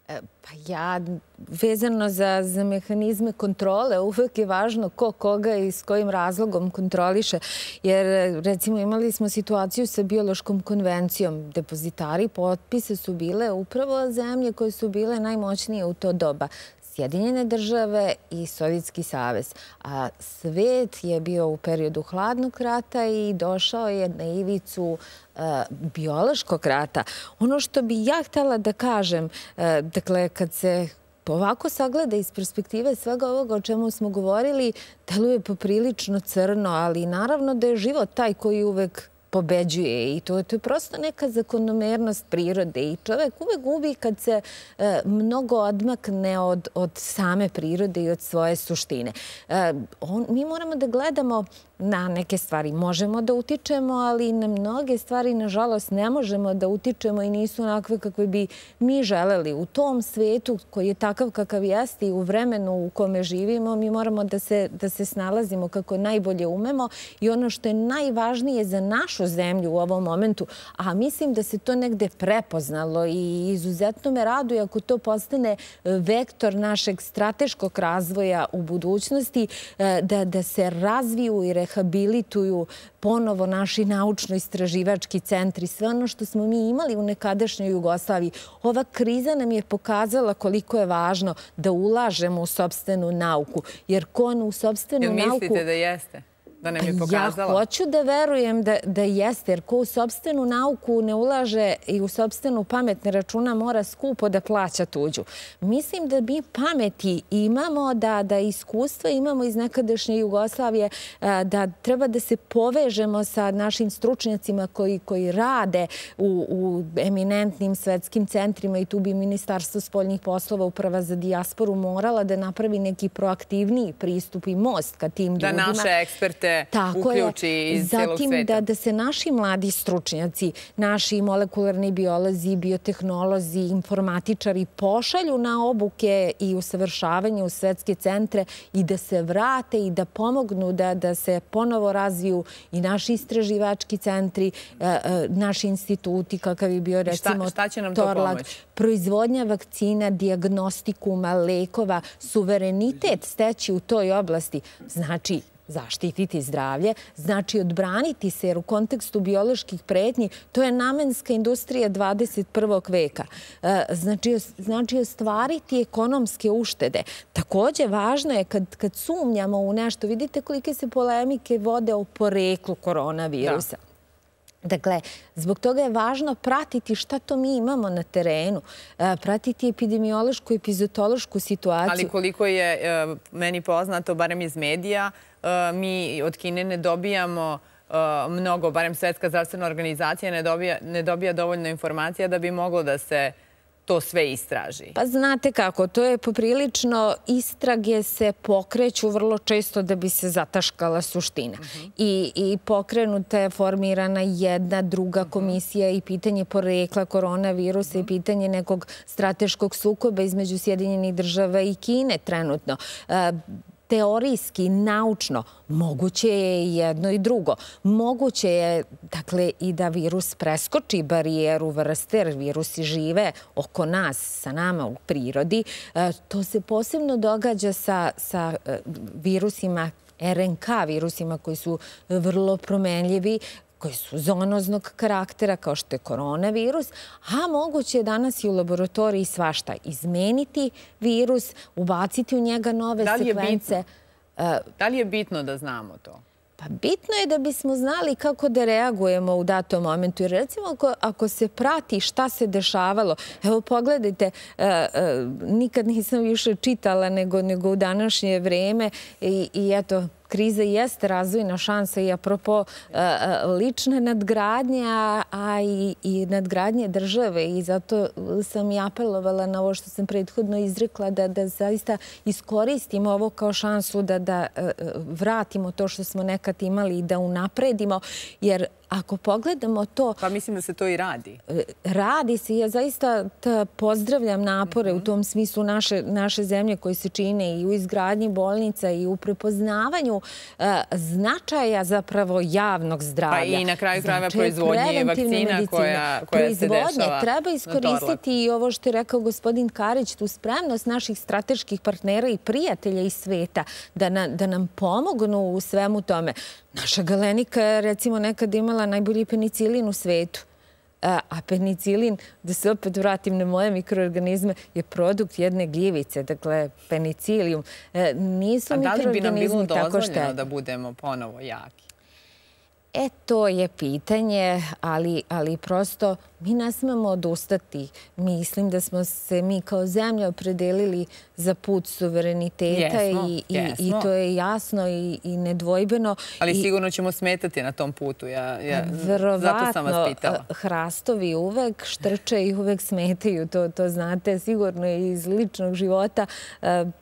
Pa vezano za mehanizme kontrole, uvek je važno ko koga i s kojim razlogom kontroliše. Jer, recimo, imali smo situaciju sa biološkom konvencijom. Depozitari potpisa su bile upravo zemlje koje su bile najmoćnije u to doba. Sjedinjene države i Sovjetski savez. A svet je bio u periodu hladnog rata i došao je na ivicu biološkog rata. Ono što bi ja htjela da kažem, dakle, kad se ovako sagleda iz perspektive svega ovoga o čemu smo govorili, deluje poprilično crno, ali naravno da je život taj koji uvek pobeđuje i to je prosto neka zakonomernost prirode i čovek uvek gubi kad se mnogo odmakne od same prirode i od svoje suštine. Mi moramo da gledamo na neke stvari. Možemo da utičemo, ali na mnoge stvari, nažalost, ne možemo da utičemo i nisu onakve kakve bi mi želeli. U tom svetu koji je takav kakav jeste i u vremenu u kome živimo, mi moramo da se snalazimo kako najbolje umemo i ono što je najvažnije za našu zemlju u ovom momentu, a mislim da se to negde prepoznalo i izuzetno me raduje ako to postane vektor našeg strateškog razvoja u budućnosti, da se razviju i rehabilituju ponovo naši naučno-istraživački centri, sve ono što smo mi imali u nekadašnjoj Jugoslaviji. Ova kriza nam je pokazala koliko je važno da ulažemo u sopstvenu nauku, jer ko u sopstvenu nauku... Jel mislite da jeste? Da nam je pokazala? Ja hoću da verujem da jeste, jer ko u sopstvenu nauku ne ulaže i u sopstvenu pamet ne računa, mora skupo da plaća tuđu. Mislim da mi pameti imamo, da iskustva imamo iz nekadašnje Jugoslavije, da treba da se povežemo sa našim stručnjacima koji rade u eminentnim svetskim centrima i tu bi Ministarstvo spoljnih poslova, Uprava za dijasporu morala da napravi neki proaktivniji pristup i most ka tim ljudima. Da naše eksperte uključi iz celog sveta. Zatim da se naši mladi stručnjaci, naši molekularni biolozi, biotehnolozi, informatičari pošalju na obuke i usavršavanje u svetske centre i da se vrate i da pomognu da se ponovo razviju i naši istraživački centri, naši instituti, kakav je bio recimo šta će nam to pomoći? Proizvodnja vakcina, dijagnostikuma, lekova, suverenitet steći u toj oblasti. Znači, zaštititi zdravlje, znači odbraniti se, jer u kontekstu bioloških pretnji to je namenska industrija 21. veka. Znači ostvariti ekonomske uštede. Također važno je kad sumnjamo u nešto, vidite kolike se polemike vode o poreklu koronavirusa. Dakle, zbog toga je važno pratiti šta to mi imamo na terenu, pratiti epidemiološku i epizotološku situaciju. Ali koliko je meni poznato, barem iz medija, mi od Kine ne dobijamo mnogo, barem Svetska zdravstvena organizacija ne dobija dovoljno informacija da bi moglo da se to sve istraži. Pa znate kako, to je poprilično, istrage se pokreću vrlo često da bi se zataškala suština. I pokrenuta je formirana jedna, druga komisija i pitanje porekla koronavirusa i pitanje nekog strateškog sukoba između Sjedinjenih država i Kine trenutno. Teorijski, naučno, moguće je jedno i drugo. Moguće je, dakle, i da virus preskoči barijeru vrste, jer virusi žive oko nas, sa nama u prirodi. To se posebno događa sa virusima RNK, virusima koji su vrlo promenljivi, koji su zoonoznog karaktera, kao što je koronavirus, a moguće je danas i u laboratoriji svašta izmeniti virus, ubaciti u njega nove sekvence. Da li je bitno da znamo to? Pa bitno je da bismo znali kako da reagujemo u datom momentu. Jer recimo ako se prati šta se dešavalo, evo pogledajte, nikad nisam više čitala nego u današnje vreme i eto, kriza jeste razvojna šansa i apropo lične nadgradnje, a i nadgradnje države. I zato sam i apelovala na ovo što sam prethodno izrekla, da zaista iskoristimo ovo kao šansu da vratimo to što smo nekad imali i da unapredimo. Jer ako pogledamo to... Pa mislim da se to i radi. Radi se. Ja zaista pozdravljam napore u tom smislu naše zemlje koje se čine i u izgradnji bolnica i u prepoznavanju planu značaja zapravo javnog zdravlja. Pa i na kraju krajeva proizvodnje vakcina koja se dešava. Treba iskoristiti i ovo što je rekao gospodin Karić, tu spremnost naših strateških partnera i prijatelja iz sveta da nam pomognu u svemu tome. Naša Galenika je recimo nekad imala najbolji penicilin u svetu. A penicilin, da se opet vratim na moje mikroorganizme, je produkt jedne gljivice. Dakle, penicilium. Nisu mikroorganizmi tako štetni. A da li bi nam bilo dozvoljeno da budemo ponovo jaki? To je pitanje, ali prosto mi ne smemo odustati. Mislim da smo se mi kao zemlja opredelili za put suvereniteta i to je jasno i nedvojbeno. Ali sigurno ćemo smetati na tom putu. Zato sam vas pitala. Verovatno, hrastovi uvek štrče i uvek smetaju. To znate sigurno iz ličnog života.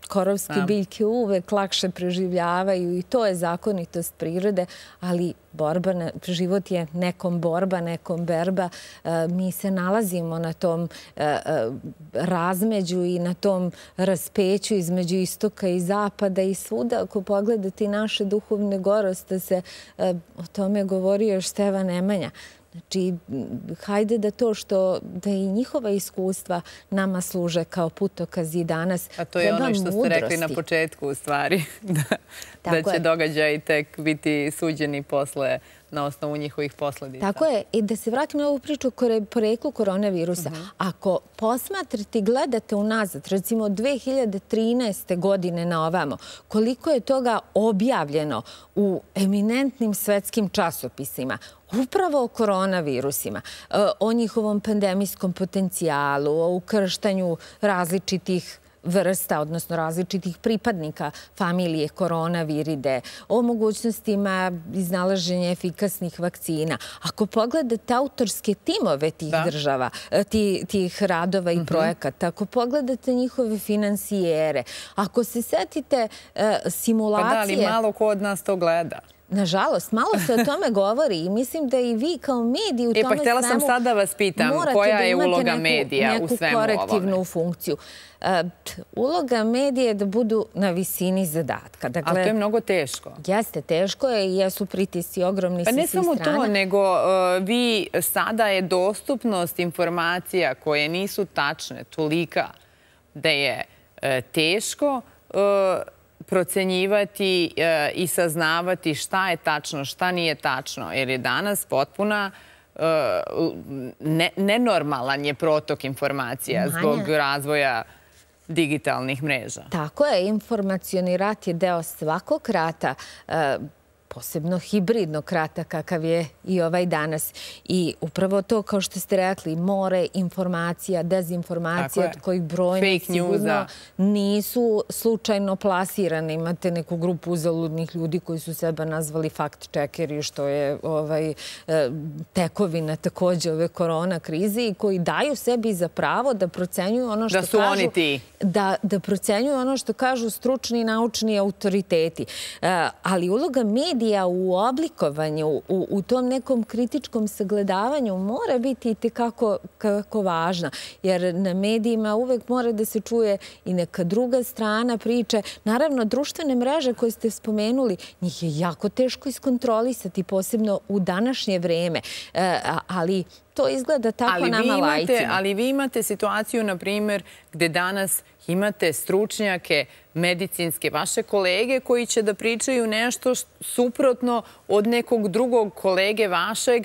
Korovske biljke uvek lakše preživljavaju i to je zakonitost prirode, ali život je nekom borba, nekom berba. Mi se nalazimo na tom razmeđu i na tom raspeću između istoka i zapada i svuda. Ako pogledate naše duhovne goroste, o tome govorio još Stevan Nemanja. Znači, hajde da i njihova iskustva nama služe kao putokaz i danas. A to je ono što ste rekli na početku, u stvari, da će događaji tek biti suđeni posle na osnovu njihovih posledica. Tako je. I da se vratim na ovu priču o poreklu koronavirusa. Ako posmatrate i gledate unazad, recimo od 2013. godine na ovamo, koliko je toga objavljeno u eminentnim svetskim časopisima, upravo o koronavirusima, o njihovom pandemijskom potencijalu, o ukrštanju različitih vrsta, odnosno različitih pripadnika familije koronaviride, o mogućnostima iznalaženja efikasnih vakcina. Ako pogledate autorske timove tih država, tih radova i projekata, ako pogledate njihove finansijere, ako se setite simulacije... Pa da, ali malo ko od nas to gleda. Nažalost, malo se o tome govori i mislim da i vi kao mediji u tome svemu... Pa htjela sam sad da vas pitam, koja je uloga medija u svemu ovome? Neku korektivnu funkciju. Uloga medija je da budu na visini zadatka. Ali to je mnogo teško. Jeste, teško je i jesu pritisci ogromni sa svih strana. Pa ne samo to, nego vi sada je dostupnost informacija koje nisu tačne tolika da je teško procenjivati i saznavati šta je tačno, šta nije tačno, jer je danas potpuna nenormalan je protok informacija zbog razvoja digitalnih mreža. Tako je, informacioni rat je deo svakog rata, posebno hibridnog rata kakav je i ovaj danas. I upravo to, kao što ste rekli, more informacija, dezinformacija, od kojih brojne sigurno nisu slučajno plasirane. Imate neku grupu uzaludnih ljudi koji su sebe nazvali fact-checkeri, što je tekovina takođe ove korona krize i koji daju sebi za pravo da procenjuju ono što kažu... Da su oni ti. Da procenjuju ono što kažu stručni i naučni autoriteti. Ali uloga medija u oblikovanju, u tom nekom kritičkom sagledavanju mora biti i tekako važna. Jer na medijima uvek mora da se čuje i neka druga strana priče. Naravno, društvene mreže koje ste spomenuli, njih je jako teško iskontrolisati, posebno u današnje vreme. Ali to izgleda tako nama lajcima. Ali vi imate situaciju, na primjer, gde danas imate stručnjake medicinske, vaše kolege koji će da pričaju nešto suprotno od nekog drugog kolege vašeg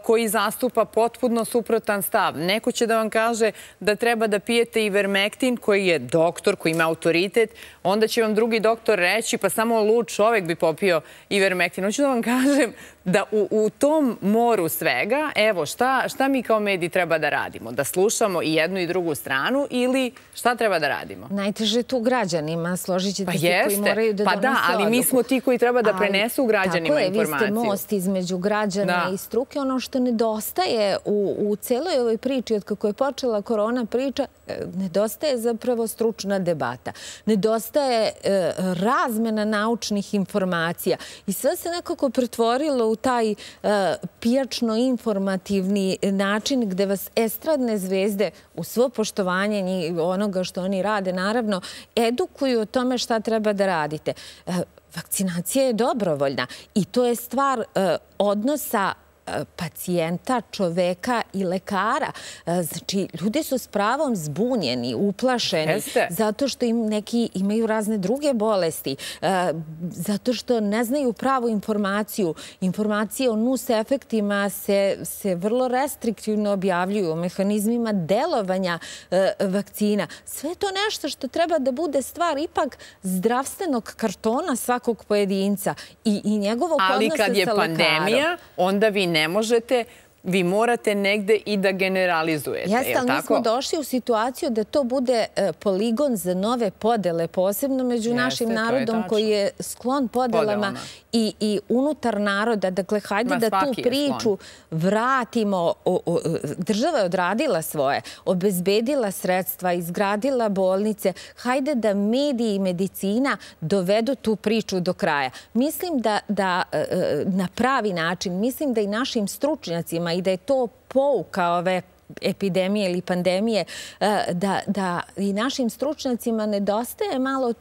koji zastupa potpuno suprotan stav. Neko će da vam kaže da treba da pijete ivermektin koji je doktor, koji ima autoritet, onda će vam drugi doktor reći pa samo lud čovek bi popio ivermektin. Hoću da vam kažem da u tom moru svega, evo, šta mi kao mediji treba da radimo? Da slušamo i jednu i drugu stranu ili šta treba da radimo? Najteže tu građanima, složit ćete se, koji moraju da donose odluku. Pa da, ali mi smo ti koji treba da prenesu građanima informaciju. Tako je, vi ste most između građana i struke. Ono što nedostaje u celoj ovoj priči, od kako je počela korona priča, nedostaje zapravo stručna debata. Nedostaje razmena naučnih informacija. I sve se nekako pretvorilo u taj pijačno-informativni način gde vas estradne zvezde, u svo poštovanje onoga što oni rade, naravno, edukuju o tome šta treba da radite. vakcinacija je dobrovoljna i to je stvar odnosa pacijenta, čoveka i lekara. Znači, ljudi su s pravom zbunjeni, uplašeni, zato što im neki imaju razne druge bolesti, zato što ne znaju pravu informaciju. Informacije o nus efektima se vrlo restriktivno objavljuju, o mehanizmima delovanja vakcina. Sve to nešto što treba da bude stvar ipak zdravstvenog kartona svakog pojedinca i njegovog odnosa sa lekarom. Ali kad je pandemija, onda vi ne možete, vi morate negde i da generalizujete, je li tako? Jeste, ali mi smo došli u situaciju da to bude poligon za nove podele, posebno među našim narodom koji je sklon podelama i unutar naroda. Dakle, hajde da tu priču vratimo. Država je odradila svoje, obezbedila sredstva, izgradila bolnice. Hajde da mediji i medicina dovedu tu priču do kraja. Mislim da na pravi način, mislim da i našim stručnjacima i da je to pouka ove epidemije ili pandemije, da i našim stručnjacima nedostaje malo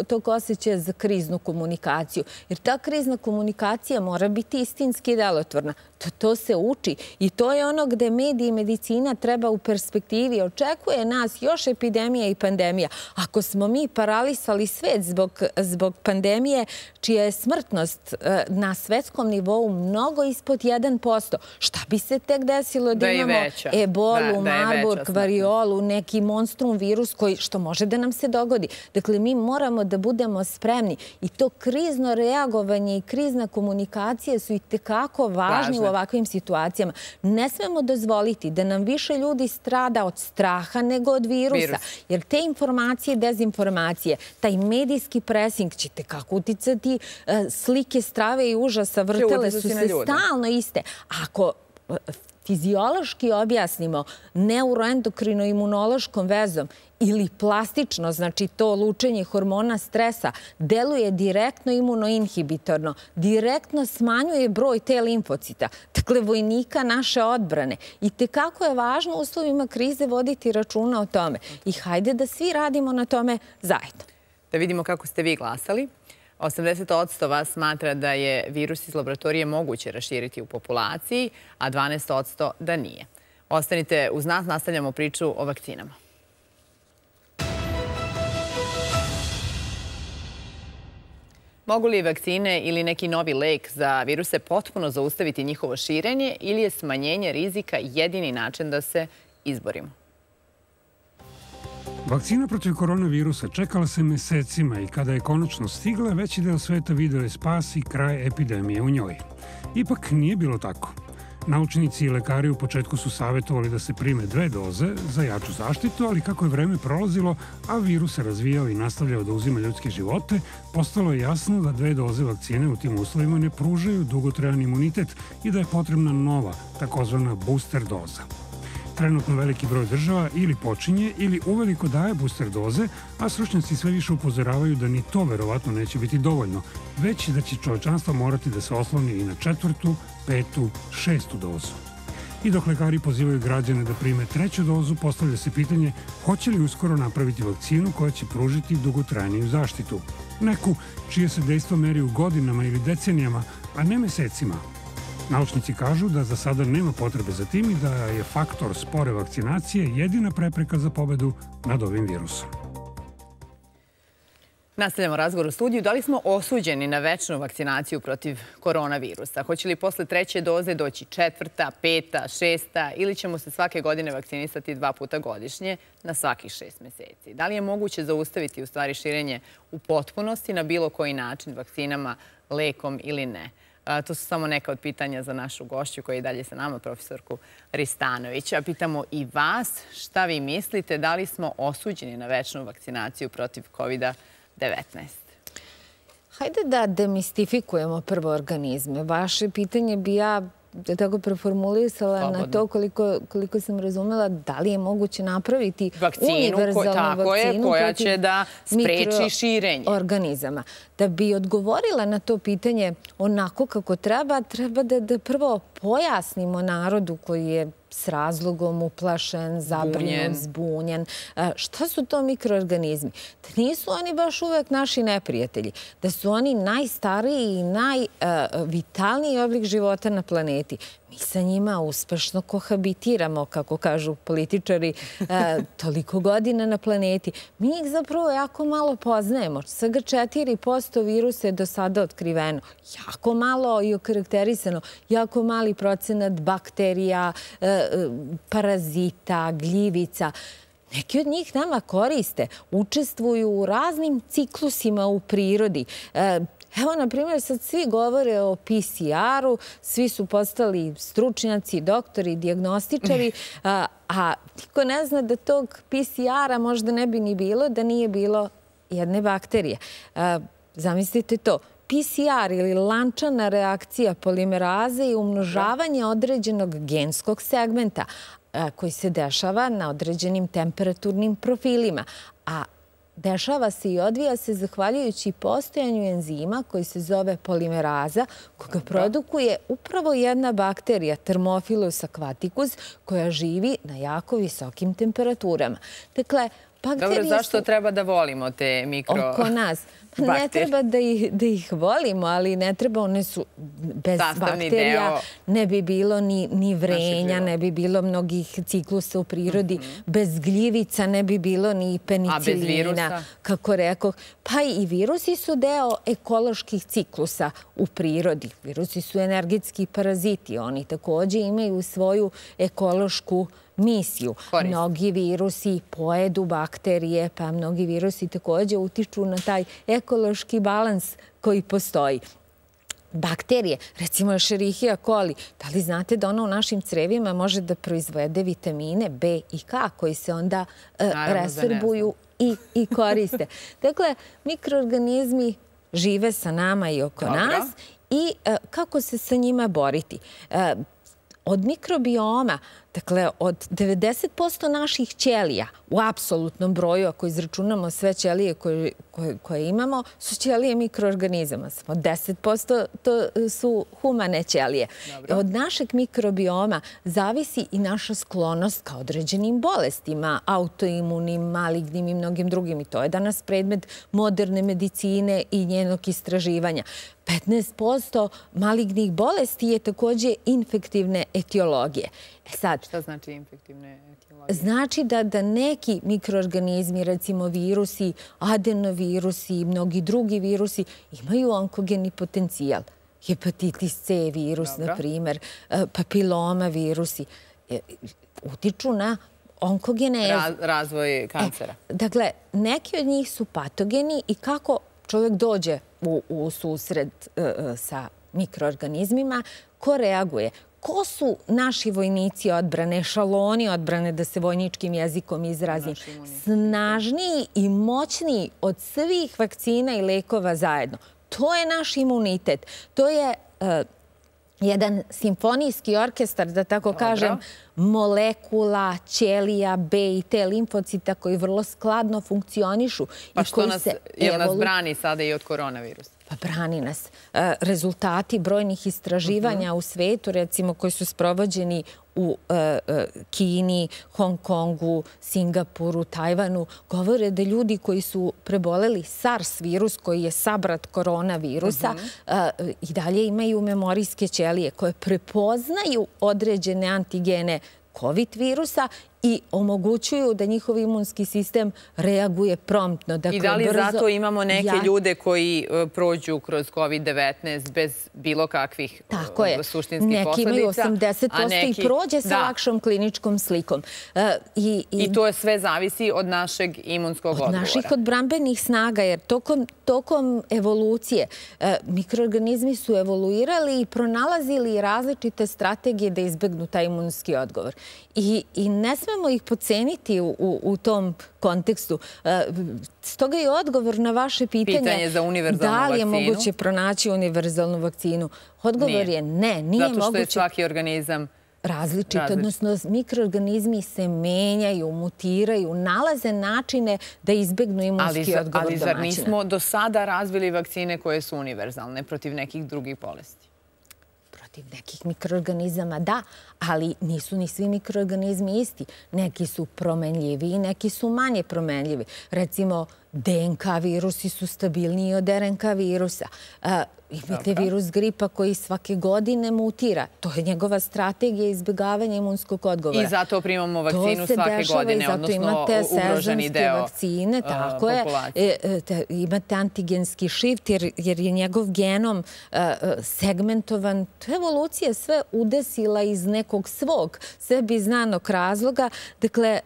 tog osjećaja za kriznu komunikaciju. Jer ta krizna komunikacija mora biti istinski delotvorna. To se uči i to je ono gde mediji i medicina treba u perspektivi. Očekuje nas još epidemija i pandemija. Ako smo mi paralisali svet zbog pandemije, čija je smrtnost na svetskom nivou mnogo ispod 1%, šta bi se tek desilo da imamo ebolu, Marburg, variolu, neki monstrum virus što može da nam se dogodi. Dakle, mi moramo da budemo spremni i to krizno reagovanje i krizna komunikacija su i tekako važni u ovakvim situacijama. Ne smemo dozvoliti da nam više ljudi strada od straha nego od virusa. Jer te informacije i dezinformacije, taj medijski presing će tekako uticati, slike strave i užasa vrtele su se stalno iste. Ako fiziološki objasnimo neuroendokrino-imunološkom vezom ili plastično, znači to lučenje hormona stresa, deluje direktno imunoinhibitorno, direktno smanjuje broj te limfocita, dakle vojnika naše odbrane. I tekako je važno u uslovima krize voditi računa o tome. I hajde da svi radimo na tome zajedno. Da vidimo kako ste vi glasali. 80% vas smatra da je virus iz laboratorije moguće raširiti u populaciji, a 12% da nije. Ostanite uz nas, nastavljamo priču o vakcinama. Mogu li vakcine ili neki novi lek za viruse potpuno zaustaviti njihovo širenje ili je smanjenje rizika jedini način da se izborimo? Vakcina protiv koronavirusa čekala se mesecima i kada je konačno stigla, veći deo sveta video je spas i kraj epidemije u njoj. Ipak nije bilo tako. Naučnici i lekari u početku su savjetovali da se prime 2 doze za jaču zaštitu, ali kako je vreme prolazilo, a virus se razvijao i nastavljao da uzima ljudske živote, postalo je jasno da 2 doze vakcine u tim uslovima ne pružaju dugotrajan imunitet i da je potrebna nova, takozvana booster doza. Trenutno veliki broj država ili počinje ili uveliko daje booster doze, a stručnjaci sve više upozoravaju da ni to verovatno neće biti dovoljno, već da će čovečanstvo morati da se osloni i na 4., 5., 6. dozu. I dok lekari pozivaju građane da prime 3. dozu, postavlja se pitanje hoće li uskoro napraviti vakcinu koja će pružiti dugotrajniju zaštitu. Neku čije se dejstvo meri u godinama ili decenijama, a ne mesecima. Naučnici kažu da za sada nema potrebe za tim i da je faktor spore vakcinacije jedina prepreka za pobedu nad ovim virusom. Nastavljamo razgovor u studiju. Da li smo osuđeni na večnu vakcinaciju protiv koronavirusa? Hoće li posle 3. doze doći 4., 5., 6. ili ćemo se svake godine vakcinisati 2 puta godišnje na svakih 6 meseci? Da li je moguće zaustaviti u stvari širenje u potpunosti na bilo koji način vakcinama, lekom ili ne? To su samo neka od pitanja za našu gošću koja je i dalje sa nama, profesorku Ristanović. A pitamo i vas šta vi mislite, da li smo osuđeni na večnu vakcinaciju protiv COVID-19? Hajde da demistifikujemo prvo organizme. Vaše pitanje bi ja tako preformulisala na to koliko sam razumela da li je moguće napraviti univerzalnu vakcinu koja će da spreči širenje organizama. Da bi odgovorila na to pitanje onako kako treba da prvo pojasnimo narodu koji je s razlogom uplašen, zabrinut, zbunjen. Šta su to mikroorganizmi? Da nisu oni baš uvek naši neprijatelji. Da su oni najstariji i najvitalniji oblik života na planeti. Mi sa njima uspešno kohabitiramo, kako kažu političari, toliko godina na planeti. Mi ih zapravo jako malo poznajemo. Svega 4% virusa je do sada otkriveno. Jako malo i okarakterisano. Jako mali procenat bakterija, parazita, gljivica. Neki od njih nama koriste, učestvuju u raznim ciklusima u prirodi. Evo, na primjer, sad svi govore o PCR-u, svi su postali stručnjaci, doktori, dijagnostičari, a niko ne zna da tog PCR-a možda ne bi ni bilo da nije bilo jedne bakterije. Zamislite to. PCR ili lančana reakcija polimeraze je umnožavanje određenog genskog segmenta koji se dešava na određenim temperaturnim profilima, a dešava se i odvija se zahvaljujući postojanju enzima koji se zove polimeraza, koga produkuje upravo jedna bakterija, Thermophilus aquaticus, koja živi na jako visokim temperaturama. Dakle, dobro, zašto treba da volimo te mikro... Oko nas. Ne treba da ih volimo, ali ne treba, one su bez bakterija, ne bi bilo ni vrenja, ne bi bilo mnogih ciklusa u prirodi, bez gljivica ne bi bilo ni penicilina, kako rekoh. Pa i virusi su deo ekoloških ciklusa u prirodi. Virusi su energetski paraziti, oni takođe imaju svoju ekološku misiju. Mnogi virusi pojedu bakterije, pa mnogi virusi takođe utiču na taj ekološki balans koji postoji. Bakterije, recimo Escherichia coli, da li znate da ona u našim crevima može da proizvede vitamine B i K koji se onda resorbuju i koriste? Dakle, mikroorganizmi žive sa nama i oko nas i kako se sa njima boriti? Od mikrobioma, dakle, od 90% naših ćelija u apsolutnom broju, ako izračunamo sve ćelije koje imamo, su ćelije mikroorganizama. Samo 10% to su humane ćelije. Od našeg mikrobioma zavisi i naša sklonost ka određenim bolestima, autoimunim, malignim i mnogim drugim. I to je danas predmet moderne medicine i njenog istraživanja. 15% malignih bolesti je takođe infektivne etiologije. Šta znači infektivne etiologije? Znači da neki mikroorganizmi, recimo virusi, adenovirusi i mnogi drugi virusi, imaju onkogeni potencijal. Hepatitis C virus, na primer, papiloma virusi, utiču na onkogenezu. Razvoj kancera. Dakle, neki od njih su patogeni i kako čovjek dođe u susret sa mikroorganizmima, ko reaguje? Ko su naši vojnici odbrane, šaloni odbrane, da se vojničkim jezikom izrazim? Snažniji i moćniji od svih vakcina i lekova zajedno. To je naš imunitet. To je jedan simfonijski orkestar, da tako kažem, molekula, ćelija, B i T limfocita koji vrlo skladno funkcionišu. Pa što nas brani sada i od koronavirusa? Pa brani nas. Rezultati brojnih istraživanja u svetu, recimo koji su sprovođeni u Kini, Hong Kongu, Singapuru, Tajvanu, govore da ljudi koji su preboleli SARS virus, koji je sabrat koronavirusa, i dalje imaju memorijske ćelije koje prepoznaju određene antigene COVID virusa i omogućuju da njihov imunski sistem reaguje promptno. I da li zato imamo neke ljude koji prođu kroz COVID-19 bez bilo kakvih suštinskih posledica? Neki imaju 80% i prođe sa lakšom kliničkom slikom. I to sve zavisi od našeg imunskog odgovora. Od naših odbrambenih snaga, jer tokom evolucije mikroorganizmi su evoluirali i pronalazili različite strategije da izbegnu taj imunski odgovor. I ne smemo ih podceniti u tom kontekstu. Stoga je odgovor na vaše pitanje za univerzalnu vakcinu. Da li je moguće pronaći univerzalnu vakcinu? Odgovor je ne, nije moguće. Zato što je svaki organizam različit. Odnosno, mikroorganizmi se menjaju, mutiraju, nalaze načine da izbegnu imunski odgovor domaćina. Ali zar nismo do sada razvili vakcine koje su univerzalne protiv nekih drugih bolesti? protiv nekih mikroorganizama, da, ali nisu ni svi mikroorganizmi isti. Neki su promenljivi, neki su manje promenljivi. Recimo, DNK virusi su stabilniji od RNK virusa. Imate virus gripa koji svake godine mutira. To je njegova strategija izbjegavanja imunskog odgovora. I zato primamo vakcinu svake godine, odnosno ugroženi deo vakcine, tako populacije. Imate antigenski shift jer je njegov genom segmentovan. To je evolucija sve udesila iz nekog svog sebi znanog razloga. Dakle,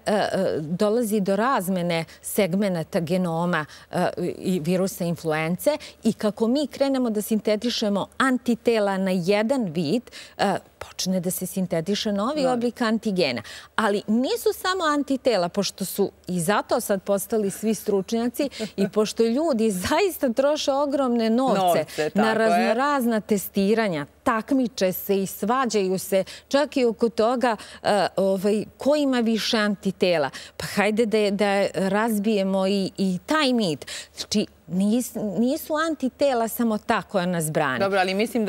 dolazi do razmene segmenata genoma i virusa influence i kako mi krenemo da sintetišemo antitela na jedan vid, počne da se sintetiše novi oblik antigena. Ali nisu samo antitela, pošto su i zato sad postali svi stručnjaci i pošto ljudi zaista troše ogromne novce na raznorazna testiranja, takmiče se i svađaju se čak i oko toga ko ima više antitela. Pa hajde da razbijemo i taj mit. Znači, nisu antitela samo ta koja nas brani. Dobro, ali mislim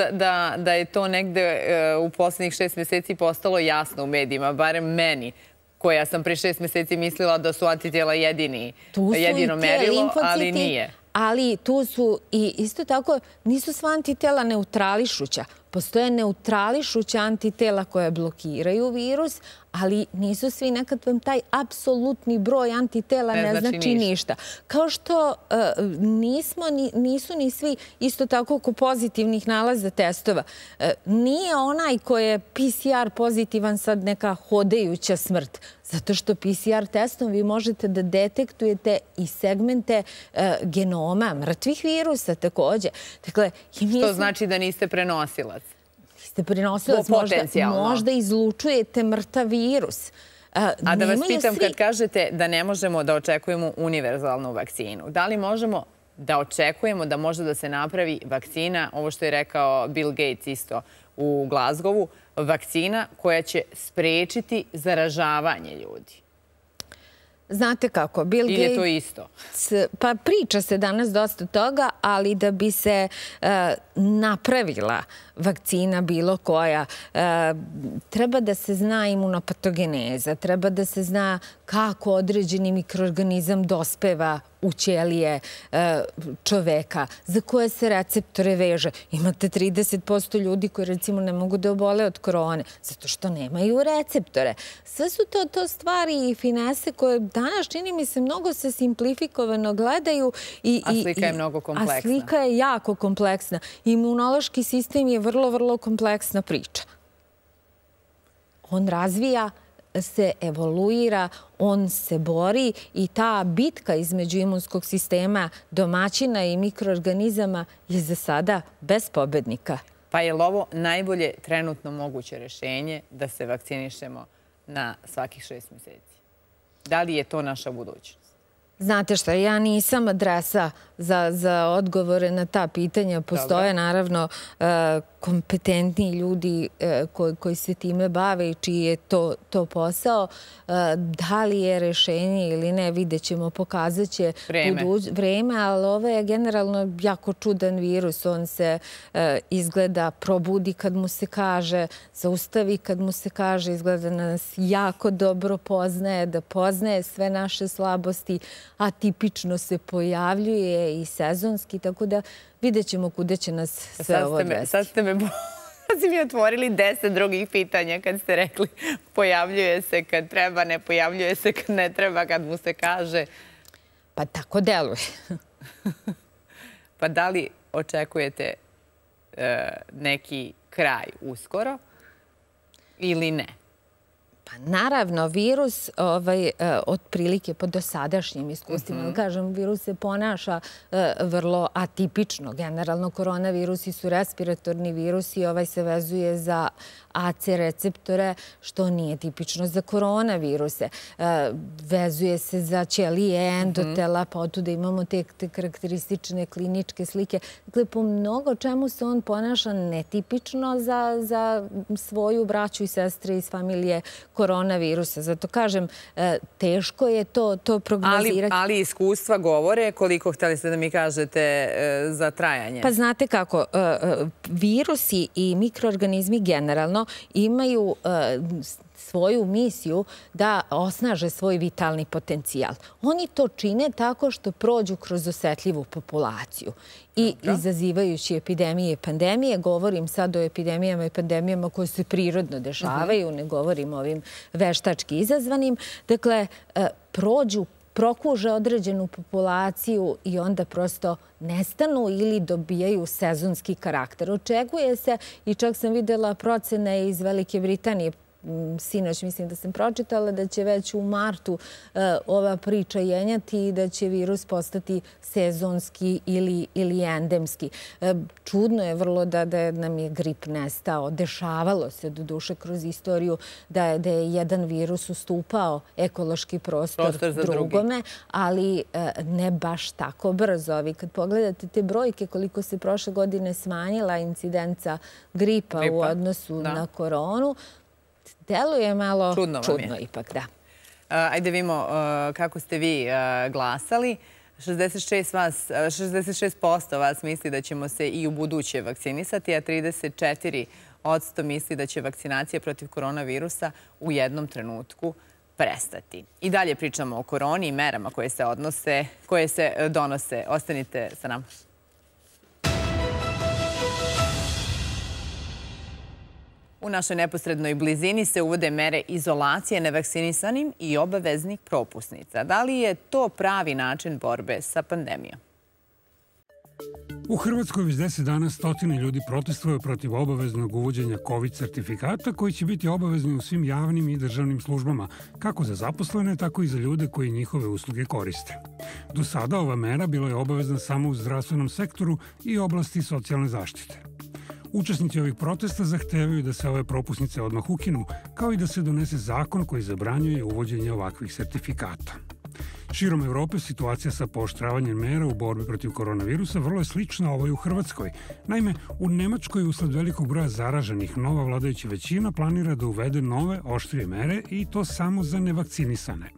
da je to negde u poslednjih 6 meseci postalo jasno u medijima, barem meni, koja sam pre 6 meseci mislila da su antitela jedino merilo, ali nije. Ali tu su i isto tako nisu sva antitela neutrališuća. Postoje neutrališuća antitela koja blokiraju virus, ali nisu svi. Nekad vam taj apsolutni broj antitela ne znači ništa. Kao što nisu ni svi isto tako oko pozitivnih nalaza testova. Nije onaj koji je PCR pozitivan sad neka hodajuća smrt. Zato što PCR testom vi možete da detektujete i segmente genoma mrtvih virusa takođe. Što znači da niste prenosilac? Niste prenosilac, možda izlučujete mrtav virus. A da vas pitam, kad kažete da ne možemo da očekujemo univerzalnu vakcinu, da li možemo da očekujemo da može da se napravi vakcina, ovo što je rekao Bill Gates isto u Glazgovu, vakcina koja će sprečiti zaražavanje ljudi? Znate kako, Bill Gates... Ili je to isto? Pa priča se danas dosta toga, ali da bi se napravila vakcina bilo koja, treba da se zna imunopatogeneza, treba da se zna kako određeni mikroorganizam dospeva u ćelije čoveka, za koje se receptore veže. Imate 30% ljudi koji recimo ne mogu da obole od korone, zato što nemaju receptore. Sve su to stvari i finese koje danas, čini mi se, mnogo se simplifikovano gledaju. A slika je mnogo kompleksna. A slika je jako kompleksna. Imunološki sistem je vrlo, vrlo kompleksna priča. On razvija se, evoluira, on se bori i ta bitka između imunskog sistema domaćina i mikroorganizama je za sada bez pobednika. Pa je li ovo najbolje trenutno moguće rešenje da se vakcinišemo na svakih 6 meseci? Da li je to naša budućnost? Znate šta, ja nisam adresa za odgovore na ta pitanja. Postoje naravno kompetentni ljudi koji se time bave i čiji je to posao. Da li je rešenje ili ne, vidjet ćemo, pokazat će vreme, ali ovo je generalno jako čudan virus. On se izgleda probudi kad mu se kaže, zaustavi kad mu se kaže, izgleda nas jako dobro poznaje, da poznaje sve naše slabosti, atipično se pojavljuje i sezonski, tako da vidjet ćemo kuda će nas sve ovo odvesti. Sad ste mi otvorili 10 drugih pitanja kad ste rekli pojavljuje se kad treba, ne pojavljuje se kad ne treba, kad mu se kaže. Pa tako deluje. Pa da li očekujete neki kraj uskoro ili ne? Pa naravno, virus otprilike po dosadašnjim iskustvima, kažem, virus se ponaša vrlo atipično. Generalno, koronavirusi su respiratorni virusi, ovaj se vezuje za AC receptore, što nije tipično za koronaviruse. Vezuje se za ćelije endotela, pa od tuda imamo te karakteristične kliničke slike. Dakle, po mnogo čemu se on ponaša netipično za svoju braću i sestre iz familije koronavirusa. Zato kažem, teško je to prognozirati. Ali iskustva govore, koliko htjeli ste da mi kažete za trajanje? Pa znate kako, virusi i mikroorganizmi generalno imaju svoju misiju da osnaže svoj vitalni potencijal. Oni to čine tako što prođu kroz osetljivu populaciju i izazivajući epidemije i pandemije. Govorim sad o epidemijama i pandemijama koje se prirodno dešavaju, ne govorim o ovim veštački izazvanim. Dakle, prokuže određenu populaciju i onda prosto nestanu ili dobijaju sezonski karakter. Očekuje se, i čak sam vidjela procene iz Velike Britanije, sinoć mislim da sam pročitala, da će već u martu ova priča jenjati i da će virus postati sezonski ili endemski. Čudno je vrlo da nam je grip nestao. Dešavalo se do duše kroz istoriju da je jedan virus ustupao ekološki prostor drugome, ali ne baš tako brzo. Vi kad pogledate te brojke koliko se prošle godine smanjila incidenca gripa u odnosu na koronu, deluje malo čudno ipak, da. Ajde vidimo kako ste vi glasali. 66% vas misli da ćemo se i u buduće vakcinisati, a 34% misli da će vakcinacija protiv koronavirusa u jednom trenutku prestati. I dalje pričamo o koroni i merama koje se donose. Ostanite sa nama. U našoj neposrednoj blizini se uvode mere izolacije nevakcinisanim i obaveznih propusnica. Da li je to pravi način borbe sa pandemijom? U Hrvatskoj već 10 dana stotine ljudi protestuju protiv obaveznog uvođenja COVID sertifikata koji će biti obavezni u svim javnim i državnim službama, kako za zaposlene, tako i za ljude koji njihove usluge koriste. Do sada ova mera bila je obavezna samo u zdravstvenom sektoru i oblasti socijalne zaštite. Učesnici ovih protesta zahtevaju da se ove propusnice odmah ukinu, kao i da se donese zakon koji zabranjuje uvođenje ovakvih sertifikata. Širom Evrope situacija sa pooštravanjem mera u borbi protiv koronavirusa vrlo je slična ovoj u Hrvatskoj. Naime, u Nemačkoj usled velikog broja zaraženih nova vladajuća većina planira da uvede nove oštrije mere i to samo za nevakcinisane.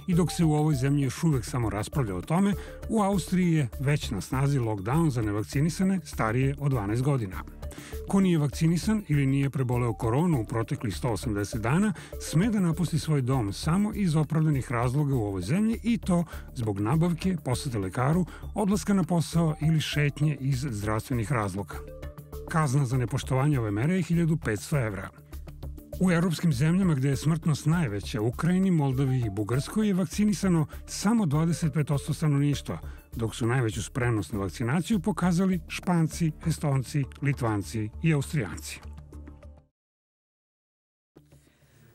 I dok se u ovoj zemlji još uvek samo raspravlja o tome, u Austriji je već na snazi lockdown za nevakcinisane starije od 12 godina. Ko nije vakcinisan ili nije preboleo koronu u proteklih 180 dana, sme da napusti svoj dom samo iz opravdanih razloga u ovoj zemlji i to zbog nabavke, posete lekaru, odlaska na posao ili šetnje iz zdravstvenih razloga. Kazna za nepoštovanje ove mere je 1500 evra. U evropskim zemljama gde je smrtnost najveća, Ukrajini, Moldaviji i Bugarskoj, je vakcinisano samo 25% stanovništva, dok su najveću spremnost na vakcinaciju pokazali Španci, Estonci, Litvanci i Austrijanci.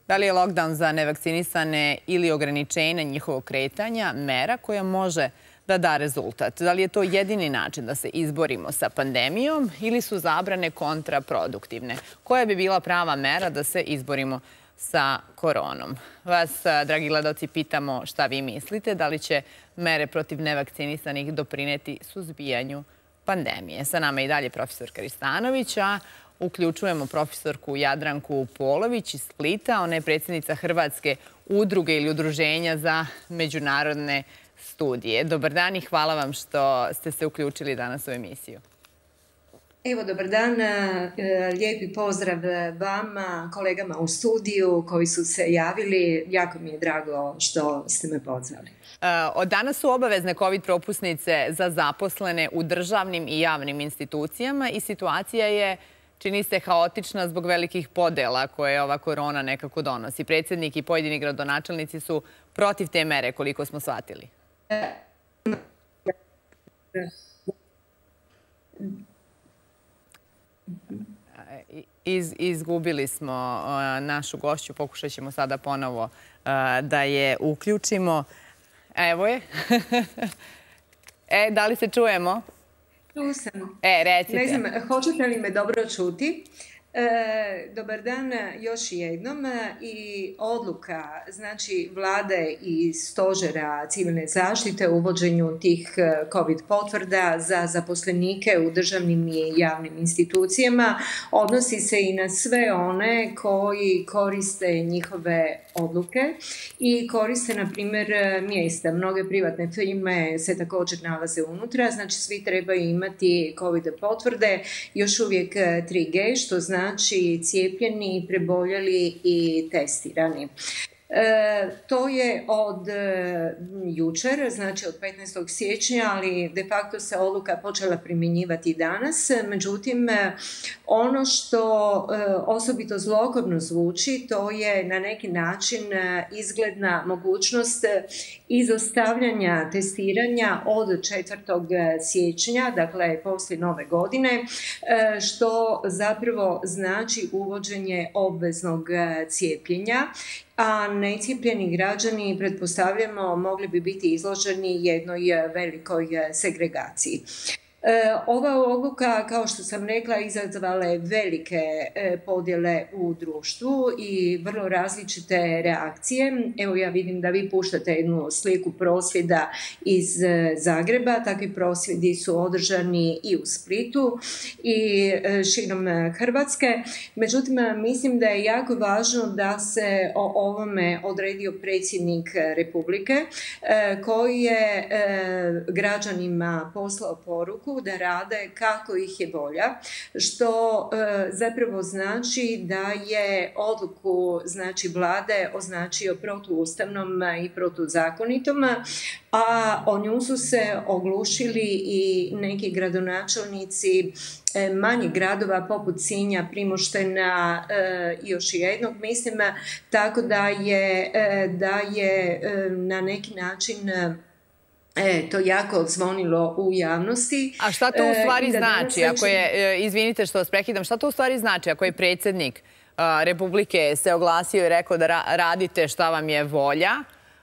Da li je lockdown za nevakcinisane ili ograničenje njihovog kretanja mera koja može da da rezultat? Da li je to jedini način da se izborimo sa pandemijom ili su zabrane kontraproduktivne? Koja bi bila prava mera da se izborimo sa koronom? Vas, dragi gledalci, pitamo šta vi mislite. Da li će mere protiv nevakcinisanih doprineti suzbijanju pandemije? Sa nama je i dalje profesor Kristanović, a uključujemo profesorku Jadranku Polović iz Splita. Ona je predsjednica Hrvatske udruge ili udruženja za međunarodne studije. Dobar dan i hvala vam što ste se uključili danas u emisiju. Evo, dobar dan. Lijepi pozdrav vama, kolegama u studiju koji su se javili. Jako mi je drago što ste me pozvali. Od danas su obavezne COVID propusnice za zaposlene u državnim i javnim institucijama i situacija je, čini se, haotična zbog velikih podela koje ova korona nekako donosi. Predsjednik i pojedini gradonačelnici su protiv te mere, koliko smo shvatili. Izgubili smo našu gošću, pokušat ćemo sada ponovo da je uključimo. Evo je. Da li se čujemo? Tu sam. Recite. Ne znam, hoćete li me dobro čuti? Dobar dan još jednom. I odluka znači vlade i stožera civilne zaštite u uvođenju tih COVID potvrda za zaposlenike u državnim i javnim institucijama odnosi se i na sve one koji koriste njihove odluke i koriste, na primjer, mjesta. Mnoge privatne firme se također nalaze unutra, znači svi trebaju imati COVID potvrde, još uvijek 3G, što znači cijepljeni, preboljeli i testirani. To je od jučer, znači od 15. siječnja, ali de facto se odluka počela primjenjivati danas. Međutim, ono što osobito zlokobno zvuči, to je na neki način izgledna mogućnost izostavljanja testiranja od 4. siječnja, dakle poslije nove godine, što zapravo znači uvođenje obveznog cijepljenja, a necijepljeni građani, pretpostavljamo, mogli bi biti izloženi jednoj velikoj segregaciji. Ova odluka, kao što sam rekla, izazvala je velike podjele u društvu i vrlo različite reakcije. Evo, ja vidim da vi puštate jednu sliku prosvjeda iz Zagreba. Takvi prosvjedi su održani i u Splitu i širom Hrvatske. Međutim, mislim da je jako važno da se o ovome odredio predsjednik Republike, koji je građanima poslao poruku da rade kako ih je volja, što zapravo znači da je odluku vlade označio protuustavnom i protuzakonitom, a o nju su se oglušili i neki gradonačelnici manjih gradova poput Sinja, Primoštena i još jednog, mislim, tako da je na neki način to jako odzvonilo u javnosti. A šta to u stvari znači, ako je, izvinite što vas prekidam, šta to u stvari znači ako je predsjednik Republike se oglasio i rekao da radite šta vam je volja,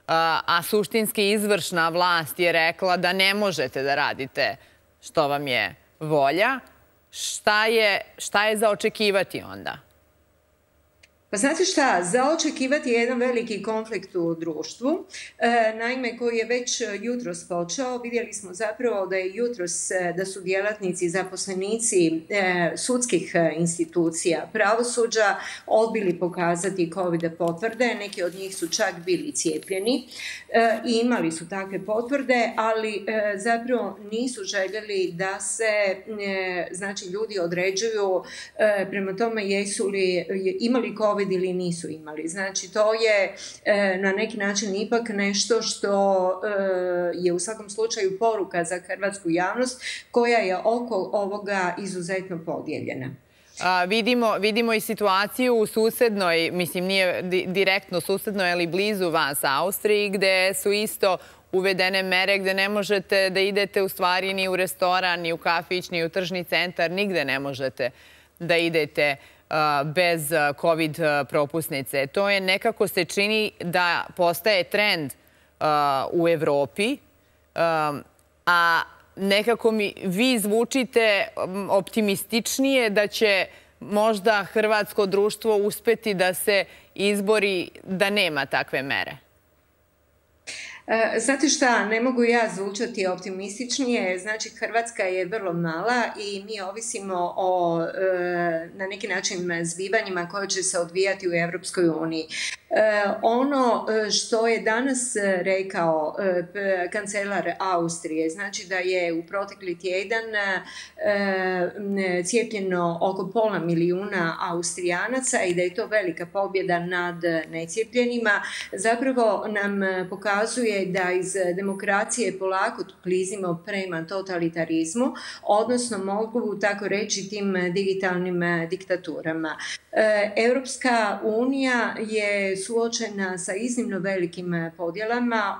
a suštinski izvršna vlast je rekla da ne možete da radite što vam je volja, šta je za očekivati onda? Pa znate šta, za očekivati je jedan veliki konflikt u društvu, naime koji je već jutros počeo. Vidjeli smo zapravo da je jutros, da su djelatnici, zaposlenici sudskih institucija, pravosuđa odbili pokazati COVID potvrde, neki od njih su čak bili cijepljeni i imali su takve potvrde, ali zapravo nisu željeli da se ljudi određuju prema tome jesu li imali COVID ili nisu imali. Znači, to je na neki način ipak nešto što je u svakom slučaju poruka za hrvatsku javnost koja je oko ovoga izuzetno podijeljena. Vidimo i situaciju u susednoj, mislim nije direktno susednoj, ali blizu vas, Austriji, gde su isto uvedene mere gde ne možete da idete u stvari ni u restoran, ni u kafić, ni u tržni centar, nigde ne možete da idete bez COVID propusnice. To je nekako se čini da postaje trend u Evropi, a nekako vi zvučite optimističnije da će možda hrvatsko društvo uspeti da se izbori da nema takve mere. Znate šta, ne mogu ja zvučati optimističnije, znači Hrvatska je vrlo mala i mi ovisimo o na neki način zbivanjima koje će se odvijati u Europskoj uniji. Ono što je danas rekao kancelar Austrije, znači da je u protekli tjedan cijepljeno oko 500 milijuna Austrijanaca i da je to velika pobjeda nad necijepljenima, zapravo nam pokazuje da iz demokracije polako klizimo prema totalitarizmu, odnosno mogu tako reći tim digitalnim diktaturama. Europska unija je suočena sa iznimno velikim podjelama.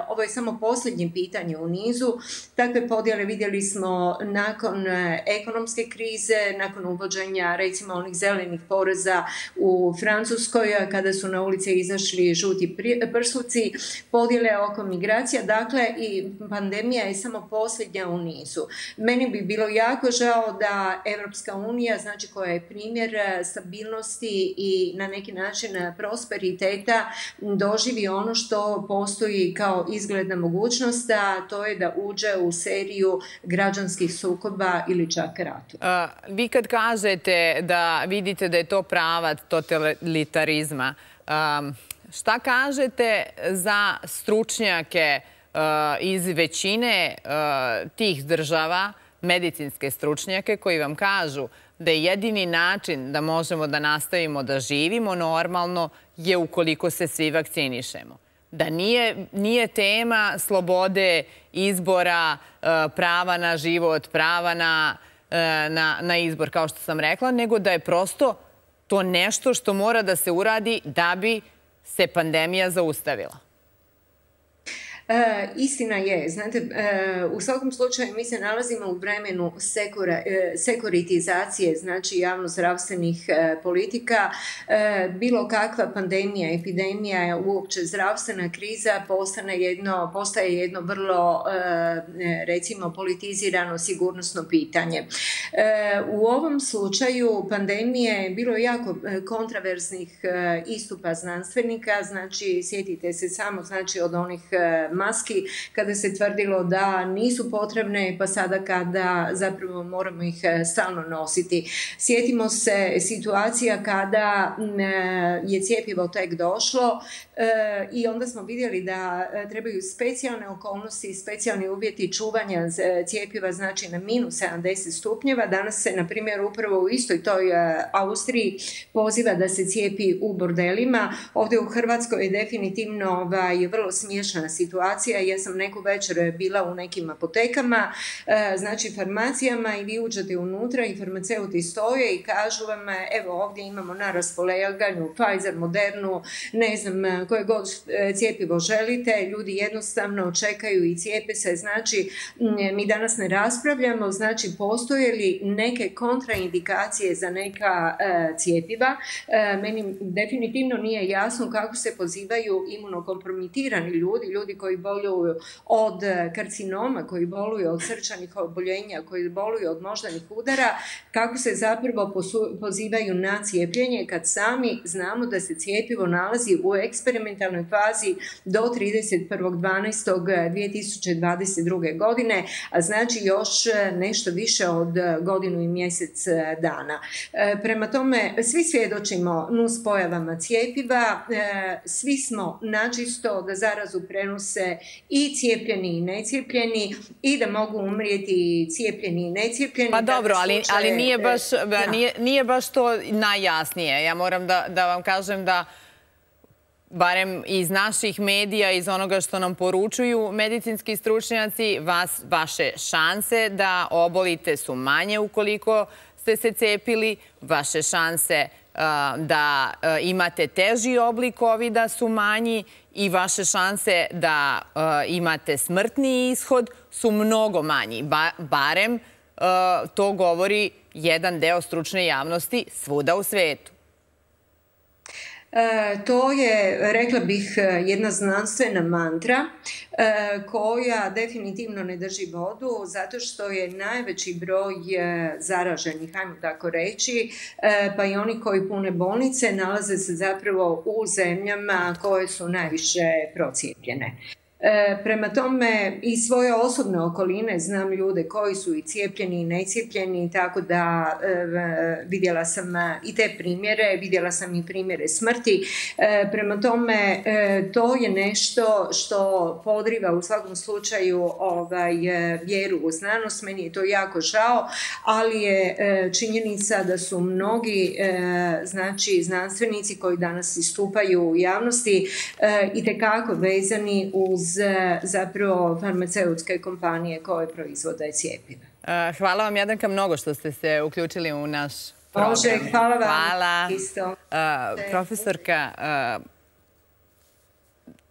Ovo je samo posljednje pitanje u nizu. Takve podjele vidjeli smo nakon ekonomske krize, nakon uvođenja recimo onih zelenih poreza u Francuskoj, kada su na ulice izašli žuti prsluci. uzroci, podjele oko migracija, dakle i pandemija je samo posljednja u nizu. Meni bi bilo jako žao da Evropska unija, znači koja je primjer stabilnosti i na neki način prosperiteta, doživi ono što postoji kao izgledna mogućnost, a to je da uđe u seriju građanskih sukoba ili čak ratu. Vi kad kažete da vidite da je to pravac totalitarizma, šta kažete za stručnjake iz većine tih država, medicinske stručnjake, koji vam kažu da je jedini način da možemo da nastavimo da živimo normalno je ukoliko se svi vakcinišemo? Da nije tema slobode izbora, prava na život, prava na izbor, kao što sam rekla, nego da je prosto to nešto što mora da se uradi da bi se pandemija zaustavila. Istina je. Znate, u svakom slučaju mi se nalazimo u vremenu sekuritizacije, znači javno-zdravstvenih politika. Bilo kakva pandemija, epidemija, uopće zdravstvena kriza postaje jedno vrlo, recimo, politizirano sigurnosno pitanje. U ovom slučaju pandemije je bilo jako kontraverznih istupa znanstvenika, znači sjetite se samo od onih maski kada se tvrdilo da nisu potrebne, pa sada kada zapravo moramo ih stalno nositi. Sjetimo se situacija kada je cjepivo tek došlo i onda smo vidjeli da trebaju specijalne okolnosti, specijalni uvjeti čuvanja cjepiva, znači na -70 stupnjeva. Danas se, na primjer, upravo u istoj toj Austriji poziva da se cijepi u bordelima. Ovdje u Hrvatskoj je definitivno vrlo smiješna situacija. Ja sam neku večer bila u nekim apotekama, znači farmacijama, i vi uđete unutra i farmaceuti stoje i kažu vam, evo ovdje imamo na raspolaganju Pfizer, Modernu, ne znam koje god cjepivo želite, ljudi jednostavno čekaju i cijepe se. Znači, mi danas ne raspravljamo, znači postoje li neke kontraindikacije za neka cjepiva. Meni definitivno nije jasno kako se pozivaju imunokompromitirani ljudi koji boluju od karcinoma, koji boluju od srčanih oboljenja, koji boluju od moždanih udara, kako se zapravo pozivaju na cijepljenje kad sami znamo da se cijepivo nalazi u eksperimentalnoj fazi do 31.12.2022. godine, a znači još nešto više od godinu i mjesec dana. Prema tome, svi svjedočimo nuspojavama cijepiva, svi smo načisto da zarazu prenose i cijepljeni i necijepljeni i da mogu umrijeti cijepljeni i necijepljeni. Pa dobro, ali nije baš to najjasnije. Ja moram da vam kažem da barem iz naših medija, iz onoga što nam poručuju medicinski stručnjaci, vaše šanse da obolite su manje ukoliko ste se cepili, vaše šanse da imate teži oblik COVID-a su manji i vaše šanse da imate smrtni ishod su mnogo manji. Barem to govori jedan deo stručne javnosti svuda u svetu. To je, rekla bih, jedna znanstvena mantra koja definitivno ne drži vodu zato što je najveći broj zaraženih, hajmo tako reći, pa i oni koji pune bolnice nalaze se zapravo u zemljama koje su najviše procijepljene. Prema tome, iz svoje osobne okoline znam ljude koji su i cijepljeni i necijepljeni, tako da vidjela sam i te primjere, vidjela sam i primjere smrti. Prema tome, to je nešto što podriva u svakom slučaju vjeru u znanost. Meni je to jako žao, ali je činjenica da su mnogi znanstvenici koji danas istupaju u javnosti itekako vezani uz zapravo farmaceutske kompanije koje proizvode cjepiva. Hvala vam, Jadranka, mnogo što ste se uključili u naš program. Može, hvala vam. Hvala. Profesorka,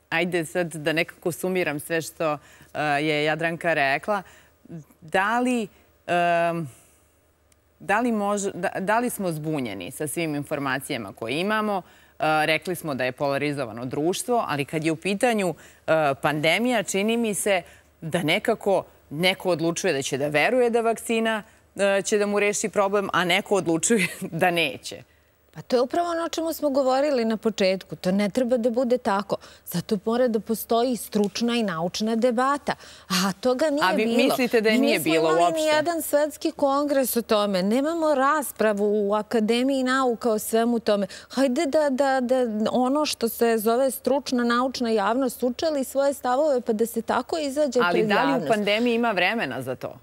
ajde sad da nekako sumiram sve što je Jadranka rekla. Da li smo zbunjeni sa svim informacijama koje imamo? rekli smo da je polarizovano društvo, ali kad je u pitanju pandemija, čini mi se da nekako neko odlučuje da će da veruje da vakcina će da mu reši problem, a neko odlučuje da neće. Pa to je upravo ono o čemu smo govorili na početku. To ne treba da bude tako. Zato mora da postoji stručna i naučna debata. A toga nije bilo. A vi mislite da je nije bilo uopšte? Mi nismo imali nijedan svetski kongres o tome. Nemamo raspravu u Akademiji nauka o svemu tome. Hajde da ono što se zove stručna naučna javnost učeli svoje stavove pa da se tako izađe pred javnost. Ali da li u pandemiji ima vremena za to?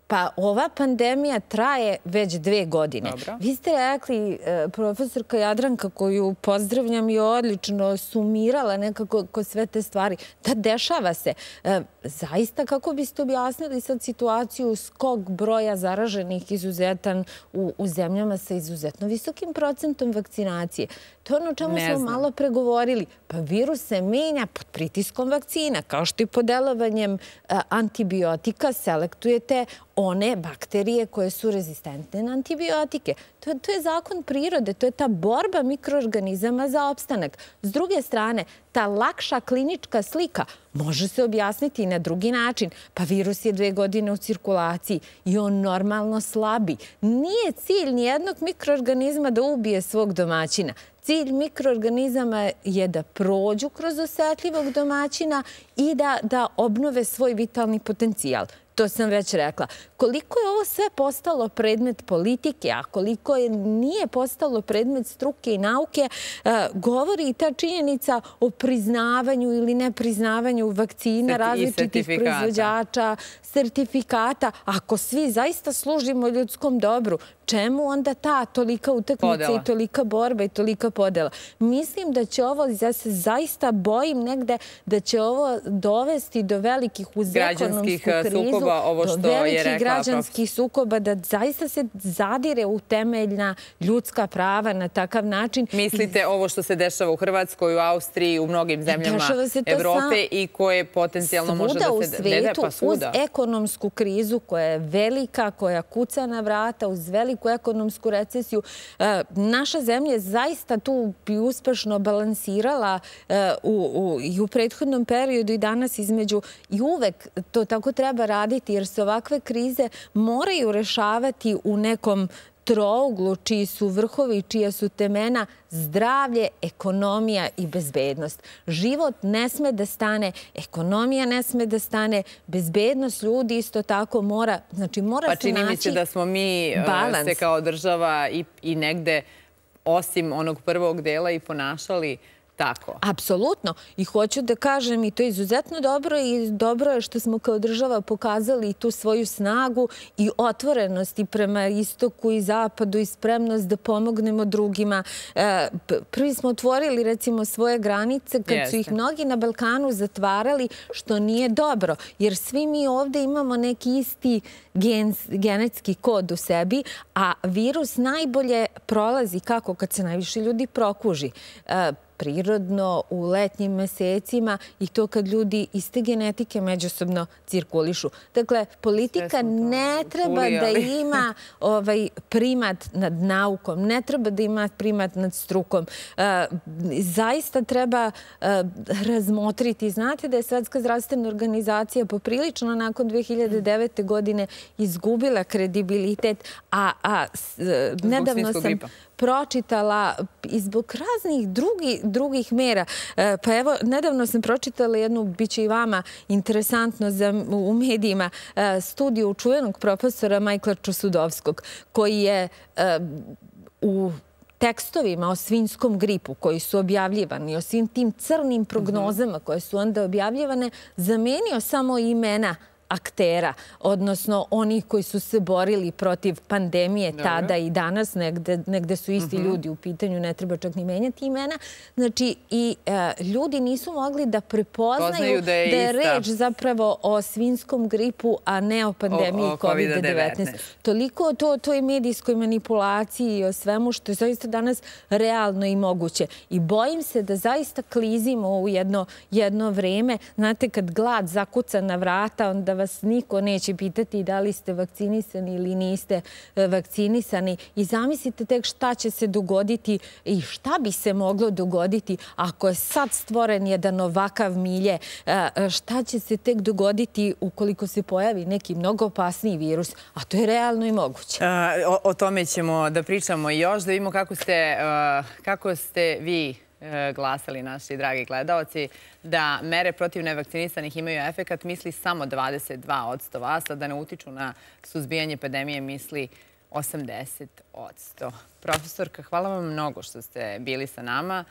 Pa ova pandemija traje već 2 godine. Dobro. Vi ste rekli, profesorka Jadranka, koju pozdravljam i odlično sumirala nekako sve te stvari, da dešava se. Zaista, kako biste objasnili sad situaciju skok broja zaraženih izuzetan u zemljama sa izuzetno visokim procentom vakcinacije? To je ono o čemu smo malo pregovorili. Pa virus se menja pod pritiskom vakcina, kao što i pod delovanjem antibiotika selektujete one bakterije koje su rezistentne na antibiotike. To je zakon prirode, to je ta borba mikroorganizama za opstanak. S druge strane, ta lakša klinička slika može se objasniti i na drugi način. Pa virus je 2 godine u cirkulaciji i on normalno slabi. Nije cilj nijednog mikroorganizma da ubije svog domaćina. Cilj mikroorganizama je da prođu kroz osetljivog domaćina i da obnove svoj vitalni potencijal. To sam već rekla. Koliko je ovo sve postalo predmet politike, a koliko nije postalo predmet struke i nauke, govori i ta činjenica o priznavanju ili nepriznavanju vakcina, različitih proizvođača, sertifikata. Ako svi zaista služimo ljudskom dobru, čemu onda ta tolika utakmica i tolika borba i tolika podela? Mislim da će ovo, ja se zaista bojim negde, da će ovo dovesti do velikih uz ekonomsku krizu, do velikih građanskih sukoba, da zaista se zadire u temeljna ljudska prava na takav način. Mislite ovo što se dešava u Hrvatskoj, u Austriji, u mnogim zemljama Evrope i koje potencijalno može da se... Svuda u svetu, uz ekonomsku krizu koja je velika, koja kuca na vrata, uz veliku ekonomsku recesiju. Naša zemlja je zaista tu bi uspešno balansirala i u prethodnom periodu i danas između, i uvek to tako treba raditi jer se ovakve krize moraju rešavati u nekom trouglu čiji su vrhovi, čija su temena zdravlje, ekonomija i bezbednost. Život ne sme da stane, ekonomija ne sme da stane, bezbednost ljudi isto tako mora, znači mora se naći balans. Pa čini mi se da smo mi se kao država i negde, osim onog prvog dela, i ponašali tako. Apsolutno. I hoću da kažem, i to je izuzetno dobro i dobro je što smo kao država pokazali tu svoju snagu i otvorenost i prema istoku i zapadu i spremnost da pomognemo drugima. Prvi smo otvorili, recimo, svoje granice kad su ih mnogi na Balkanu zatvarali, što nije dobro. Jer svi mi ovde imamo neki isti genetski kod u sebi, a virus najbolje prolazi kako? Kad se najviše ljudi prokuži. Prirodno u letnjim mesecima i to kad ljudi iste genetike međusobno cirkulišu. Dakle, politika ne treba da ima primat nad naukom, ne treba da ima primat nad strukom. Zaista treba razmotriti. Znate da je Svetska zdravstvena organizacija poprilično nakon 2009. godine izgubila kredibilitet, a nedavno sam pročitala i zbog raznih drugih mera. Pa evo, nedavno sam pročitala jednu, bit će i vama interesantno u medijima, studiju čuvenog profesora Majkla Čosudovskog, koji je u tekstovima o svinjskom gripu koji su objavljivani, o svim tim crnim prognozama koje su onda objavljivane, zamenio samo imena aktera, odnosno onih koji su se borili protiv pandemije tada i danas, negde su isti ljudi u pitanju, ne treba čak ni menjati imena. Znači, i ljudi nisu mogli da prepoznaju da je reč zapravo o svinjskom gripu, a ne o pandemiji COVID-19. Toliko o toj medijskoj manipulaciji i o svemu što je zaista danas realno i moguće. I bojim se da zaista klizimo u jedno vreme. Znate, kad glad zakuca na vrata, onda da vas niko neće pitati da li ste vakcinisani ili niste vakcinisani. I zamislite tek šta će se dogoditi i šta bi se moglo dogoditi ako je sad stvoren jedan ovakav milje. Šta će se tek dogoditi ukoliko se pojavi neki mnogo opasniji virus, a to je realno i moguće. O tome ćemo da pričamo još, da vidimo kako ste vi glasali, naši dragi gledaoci, da mere protiv nevakcinisanih imaju efekat, misli samo 22% vas, a da ne utiču na suzbijanje pandemije misli 80%. Profesorka, hvala vam mnogo što ste bili sa nama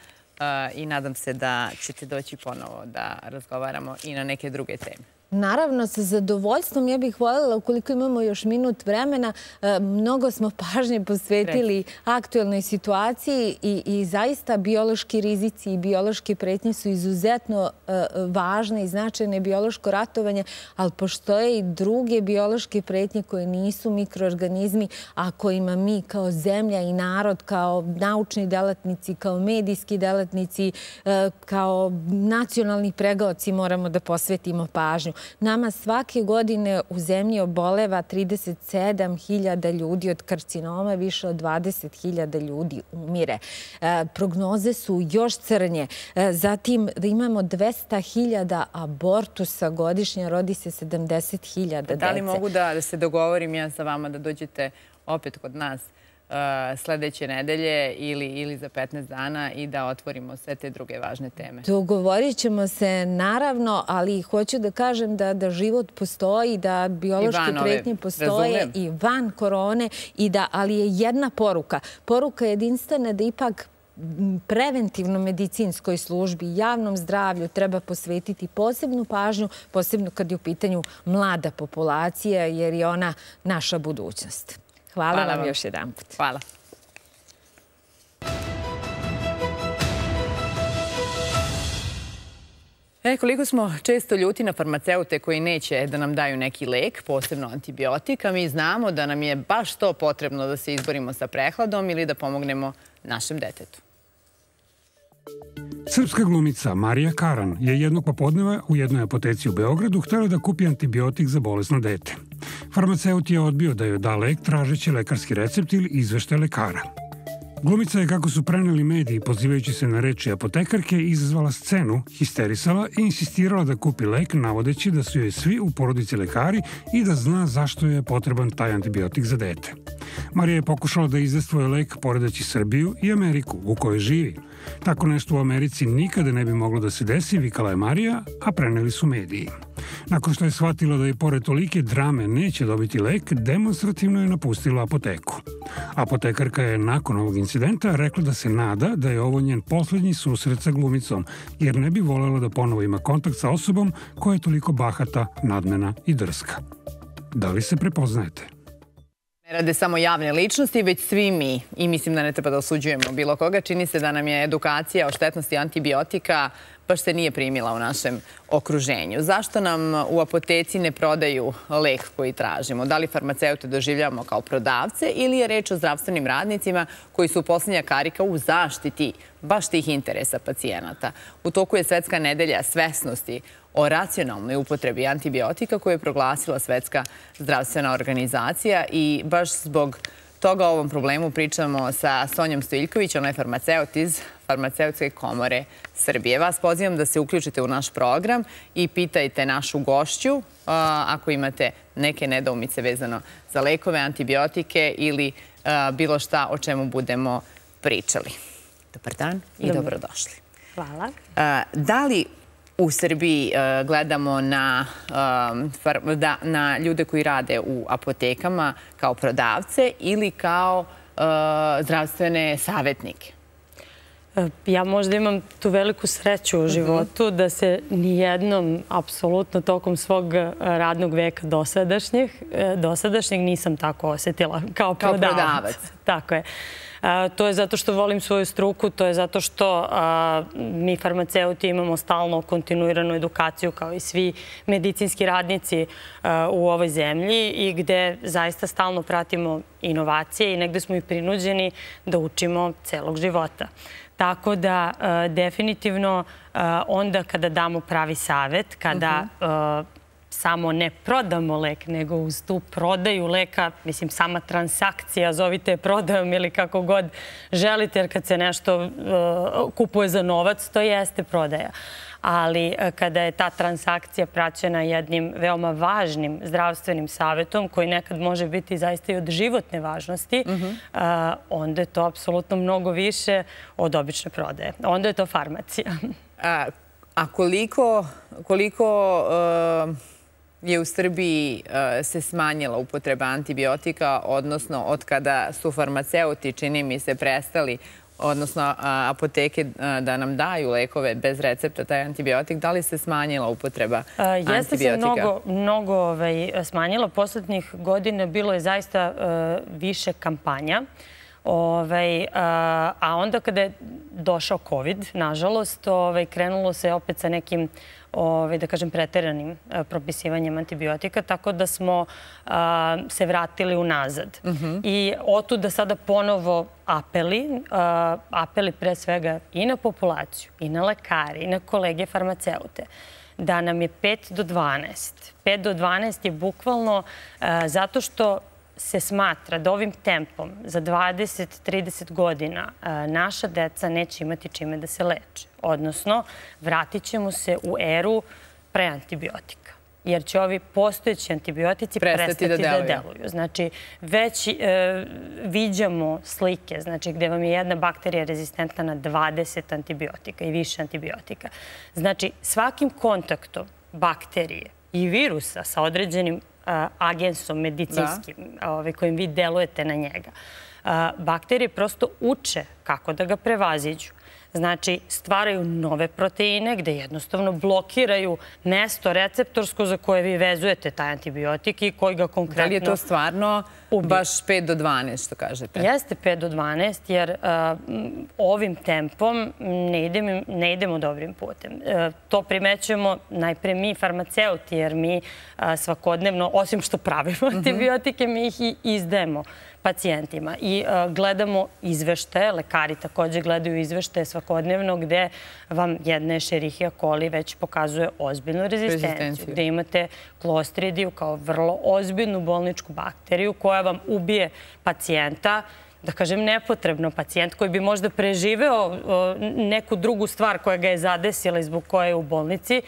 i nadam se da ćete doći ponovo da razgovaramo i na neke druge teme. Naravno, sa zadovoljstvom. Ja bih voljela, ukoliko imamo još minut vremena, mnogo smo pažnje posvetili aktuelnoj situaciji i zaista biološki rizici i biološke pretnje su izuzetno važne i značajne biološko ratovanje, ali postoje i druge biološke pretnje koje nisu mikroorganizmi, a kojima mi kao zemlja i narod, kao naučni delatnici, kao medijski delatnici, kao nacionalni pregaoci moramo da posvetimo pažnju. Nama svake godine u zemlji oboleva 37.000 ljudi od karcinoma, više od 20.000 ljudi umire. Prognoze su još crnje. Zatim imamo 200.000 abortusa godišnje, rodi se 70.000 dece. Da li mogu da se dogovorim ja sa vama da dođete opet kod nas sledeće nedelje ili za 15 dana i da otvorimo sve te druge važne teme? Dogovorit ćemo se, naravno, ali hoću da kažem da život postoji, da biološke pretnje postoje i van korone, ali je jedna poruka. Poruka jedinstvena da ipak preventivno medicinskoj službi, javnom zdravlju treba posvetiti posebnu pažnju, posebno kad je u pitanju mlada populacija, jer je ona naša budućnost. Hvala vam još jedan put. Hvala. Koliko smo često ljuti na farmaceute koji neće da nam daju neki lek, posebno antibiotika, mi znamo da nam je baš to potrebno da se izborimo sa prehladom ili da pomognemo našem detetu. Srpska glumica Marija Karan je jednog popodneva u jednoj apoteci u Beogradu htela da kupi antibiotik za bolesno dete. Farmaceut je odbio da joj da lek tražeći lekarski recept ili izveštaj lekara. Glumica je, kako su preneli mediji, pozivajući se na reči apotekarke, izazvala scenu, histerisala i insistirala da kupi lek, navodeći da su joj svi u porodici lekari i da zna zašto je potreban taj antibiotik za dete. Marija je pokušala da izde svoj lek poredeći Srbiju i Ameriku, u kojoj živi. Tako nešto u Americi nikada ne bi moglo da se desi, vikala je Marija, a preneli su mediji. Nakon što je shvatila da i pored tolike drame neće dobiti lek, demonstrativno je napustila apoteku. Apotekarka je nakon ovog incidenta rekla da se nada da je ovo njen poslednji susret sa glumicom, jer ne bi voljela da ponovo ima kontakt sa osobom koja je toliko bahata, nadmena i drska. Da li se prepoznajete? Ne rade samo javne ličnosti, već svi mi, i mislim da ne treba da osuđujemo bilo koga, čini se da nam je edukacija o štetnosti antibiotika baš se nije primila u našem okruženju. Zašto nam u apoteci ne prodaju lek koji tražimo? Da li farmaceute doživljavamo kao prodavce ili je reč o zdravstvenim radnicima koji su poslednja karika u zaštiti baš tih interesa pacijenata? U toku je Svetska nedelja svesnosti o racionalnoj upotrebi antibiotika koju je proglasila Svetska zdravstvena organizacija i baš zbog toga o ovom problemu pričamo sa Sonjom Stojiljković, ona je farmaceut iz Farmaceutske komore Srbije. Vas pozivam da se uključite u naš program i pitajte našu gošću ako imate neke nedoumice vezano za lekove, antibiotike ili bilo šta o čemu budemo pričali. Dobar dan i dobrodošli. Hvala. Da li u Srbiji gledamo na ljude koji rade u apotekama kao prodavce ili kao zdravstvene savjetnike? Ja možda imam tu veliku sreću u životu da se nijednom, apsolutno tokom svog radnog veka dosadašnjeg nisam tako osetila kao prodavac. Tako je. To je zato što volim svoju struku, to je zato što mi farmaceuti imamo stalno kontinuiranu edukaciju kao i svi medicinski radnici u ovoj zemlji i gde zaista stalno pratimo inovacije i negde smo i prinuđeni da učimo celog života. Tako da definitivno onda kada damo pravi savet, kada samo ne prodamo lek, nego uz tu prodaju leka, mislim, sama transakcija, zovite je prodajom ili kako god želite, jer kad se nešto kupuje za novac, to jeste prodaja. Ali kada je ta transakcija praćena jednim veoma važnim zdravstvenim savjetom, koji nekad može biti zaista i od životne važnosti, onda je to apsolutno mnogo više od obične prodaje. Onda je to farmacija. A koliko je u Srbiji se smanjila upotreba antibiotika, odnosno od kada su farmaceuti, čini mi se, prestali, odnosno apoteke da nam daju lekove bez recepta, taj antibiotik, da li se smanjila upotreba antibiotika? Jeste se mnogo smanjila. Poslednjih godina bilo je zaista više kampanja. A onda kada je došao COVID, nažalost, krenulo se opet sa nekim, da kažem, preteranim propisivanjem antibiotika, tako da smo se vratili unazad. I otuda sada ponovo apeli pre svega i na populaciju, i na lekare, i na kolege farmaceute, da nam je 5 do 12. 5 do 12 je bukvalno zato što se smatra da ovim tempom za 20-30 godina naša deca neće imati čime da se leče. Odnosno, vratit ćemo se u eru preantibiotika. Jer će ovi postojeći antibiotici prestati da deluju. Znači, već viđamo slike, znači, gde vam je jedna bakterija rezistentna na 20 antibiotika i više antibiotika. Znači, svakim kontaktom bakterije i virusa sa određenim agensom medicinskim kojim vi delujete na njega, bakterije prosto uče kako da ga prevaziđu. Znači, stvaraju nove proteine gde jednostavno blokiraju mesto receptorsko za koje vi vezujete taj antibiotik i koji ga konkretno... Da li je to stvarno baš 5 do 12, što kažete? Jeste 5 do 12, jer ovim tempom ne idemo dobrim putem. To primećujemo najpre mi farmaceuti, jer mi svakodnevno, osim što pravimo antibiotike, mi ih i izdajemo pacijentima. I gledamo izveštaje, lekari takođe gledaju izveštaje svakodnevno gde vam jedna Escherichia coli već pokazuje ozbiljnu rezistenciju, gde imate Clostridiju kao vrlo ozbiljnu bolničku bakteriju koja vam ubije pacijenta, da kažem nepotrebno, pacijent koji bi možda preživeo neku drugu stvar koja ga je zadesila i zbog koje je u bolnici,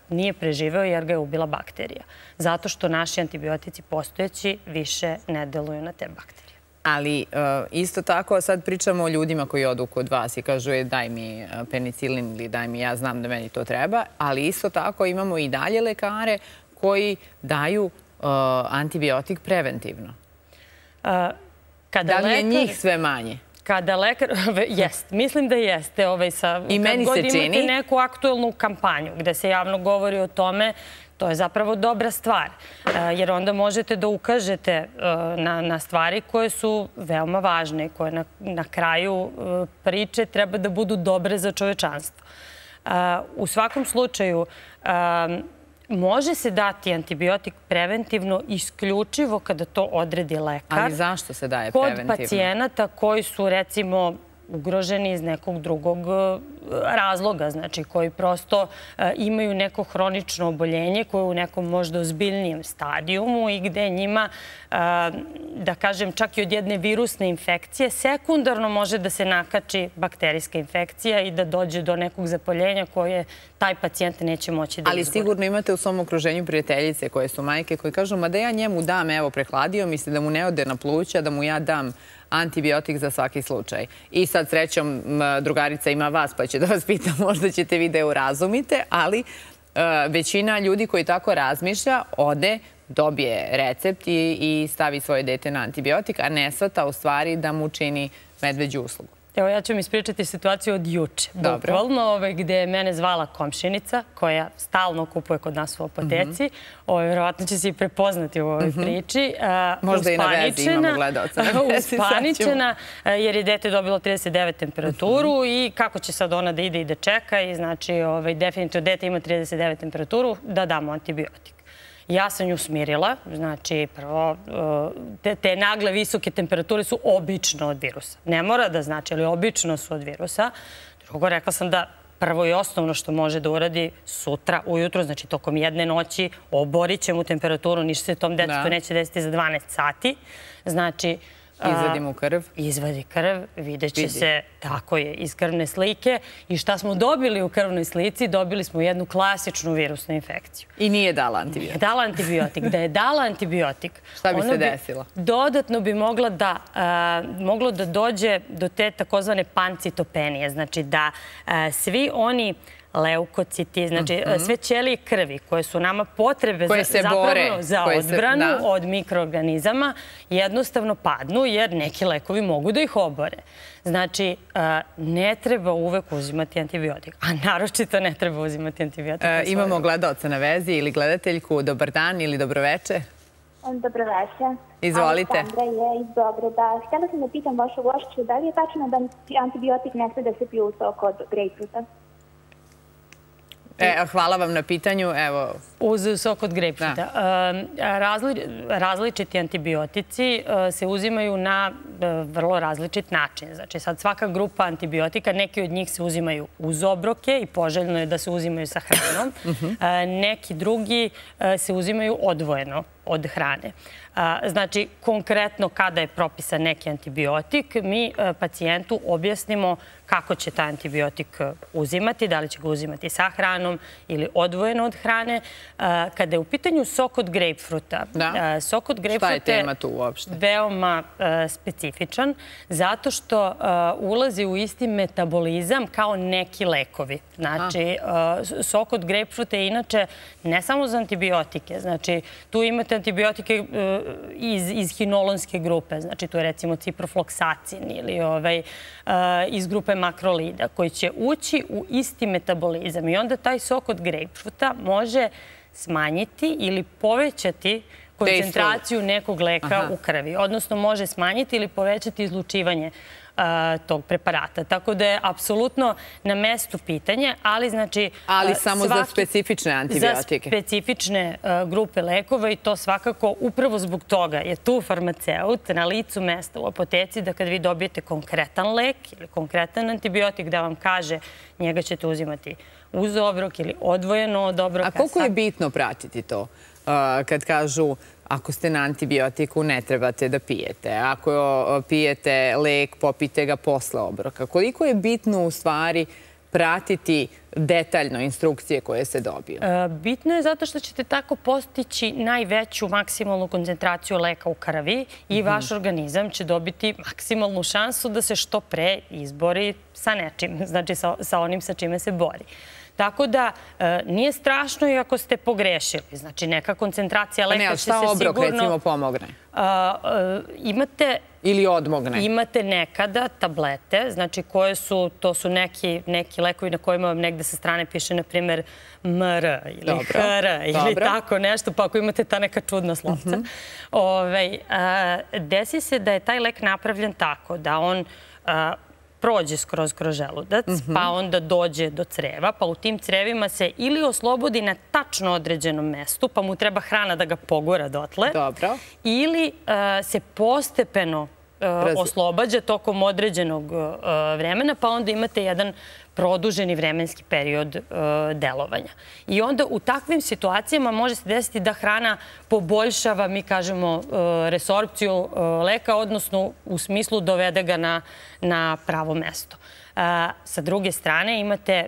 nije preživeo jer ga je ubila bakterija. Zato što naši antibiotici postojeći više ne deluju na te bakterije. Ali isto tako sad pričamo o ljudima koji odu kod vas i kažu daj mi penicilin ili daj mi, ja znam da meni to treba, ali isto tako imamo i dalje lekare koji daju antibiotik preventivno. Da li je njih sve manje? Kada lekar... Jest, mislim da jeste. I meni se čini... Kad god imate neku aktuelnu kampanju gde se javno govori o tome, to je zapravo dobra stvar. Jer onda možete da ukažete na stvari koje su veoma važne i koje na kraju priče treba da budu dobre za čovečanstvo. U svakom slučaju, može se dati antibiotik preventivno isključivo kada to odredi lekar. Ali zašto se daje preventivno? Kod pacijenata koji su, recimo, ugroženi iz nekog drugog razloga, znači koji prosto imaju neko hronično oboljenje koje je u nekom možda ozbiljnijem stadijumu i gde njima, da kažem, čak i od jedne virusne infekcije, sekundarno može da se nakači bakterijska infekcija i da dođe do nekog zapoljenja koje taj pacijent neće moći da izbori. Ali sigurno imate u svom okruženju prijateljice koje su majke koji kažu, ma da ja njemu dam, evo, prehladio mi se, da mu ne ode na pluća, da mu ja dam antibiotik za svaki slučaj. I sad srećom drugarica ima vas pa će da vas pita, možda ćete vi da je urazumite, ali većina ljudi koji tako razmišlja ode, dobije recept i stavi svoje dete na antibiotik, a ne shvata u stvari da mu čini medveđu uslugu. Evo, ja ću vam ispričati situaciju od juče. Bukvalno, gde je mene zvala komšinica koja stalno kupuje kod nas u apoteci. Vjerovatno će se i prepoznati u ovoj priči. Možda i na vezi imamo gledalca. Uspaničena, jer je dete dobilo 39 temperaturu i kako će sad ona da ide i da čeka. I znači, definitivno dete ima 39 temperaturu, da damo antibiotik. Ja sam nju smirila, znači prvo, te nagle visoke temperature su obično od virusa. Ne mora da znači, ali obično su od virusa. Drugo, rekla sam da prvo i osnovno što može da uradi sutra ujutro, znači tokom jedne noći, oborit će mu temperaturu, ništa se tom detetu neće desiti za 12 sati. Znači, izvadi mu krv. Izvadi krv, vidjet će se, tako je, iz krvne slike. I šta smo dobili u krvnoj slici? Dobili smo jednu klasičnu virusnu infekciju. I nije dala antibiotik. Nije dala antibiotik. Da je dala antibiotik, šta bi se desilo? Dodatno bi moglo da dođe do te takozvane pancitopenije. Znači da svi oni leukociti, znači sve ćelije krvi koje su nama potrebe za odbranu od mikroorganizama jednostavno padnu jer neki lekovi mogu da ih obore. Znači, ne treba uvek uzimati antibiotik, a naročito ne treba uzimati antibiotik. Imamo gledaoca na vezi ili gledateljku. Dobar dan ili dobroveče. Dobroveče. Izvolite. Aleksandra je iz Beograda. Htjela sam da pitam vašu gošću, da li je tačno da antibiotik ne sme da se pije u sok od grejpfruta? Hvala vam na pitanju. Uz sok od grejpfruta. Različiti antibiotici se uzimaju na vrlo različit način. Znači, sad svaka grupa antibiotika, neki od njih se uzimaju uz obroke i poželjno je da se uzimaju sa hranom. Neki drugi se uzimaju odvojeno od hrane. Znači, konkretno kada je propisan neki antibiotik, mi pacijentu objasnimo kako će taj antibiotik uzimati, da li će ga uzimati sa hranom ili odvojeno od hrane. Kada je u pitanju sok od grejpfruta, sok od grejpfruta je veoma specifičan zato što ulazi u isti metabolizam kao neki lekovi. Znači, sok od grejpfruta je inače ne samo za antibiotike. Znači, tu imate antibiotike iz hinolonske grupe. Znači, tu je recimo ciprofloksacin ili iz grupe makrolida koji će ući u isti metabolizam i onda taj sok od grejpfruta može smanjiti ili povećati koncentraciju nekog leka u krvi. Odnosno, može smanjiti ili povećati izlučivanje tog preparata. Tako da je apsolutno na mestu pitanje, ali znači... Ali samo za specifične antibiotike. Za specifične grupe lekova i to svakako upravo zbog toga je tu farmaceut na licu mesta u apoteci da kad vi dobijete konkretan lek ili konkretan antibiotik da vam kaže njega ćete uzimati uz obrok ili odvojeno od obroka. A koliko je bitno pratiti to kad kažu ako ste na antibiotiku, ne trebate da pijete. Ako pijete lek, popijte ga posle obroka. Koliko je bitno u stvari pratiti detaljno instrukcije koje se dobiju? Bitno je zato što ćete tako postići najveću maksimalnu koncentraciju leka u krvi i vaš organizam će dobiti maksimalnu šansu da se što pre izbori sa nečim, znači sa onim sa čime se bori. Tako da nije strašno i ako ste pogrešili. Znači, neka koncentracija leka će se sigurno... Šta obrok, recimo, pomogne? Imate... Ili odmogne? Imate nekada tablete, znači koje su, to su neki lekovi na kojima vam negde sa strane piše, na primjer, MR ili HR ili tako nešto, pa ako imate ta neka čudna slovca. Desi se da je taj lek napravljen tako da on prođe kroz želudac, pa onda dođe do creva, pa u tim crevima se ili oslobodi na tačno određenom mestu, pa mu treba hrana da ga pogura dotle, ili se postepeno oslobađa tokom određenog vremena, pa onda imate jedan produženi vremenski period delovanja. I onda u takvim situacijama može se desiti da hrana poboljšava, mi kažemo, resorpciju leka, odnosno u smislu dovede ga na pravo mesto. Sa druge strane imate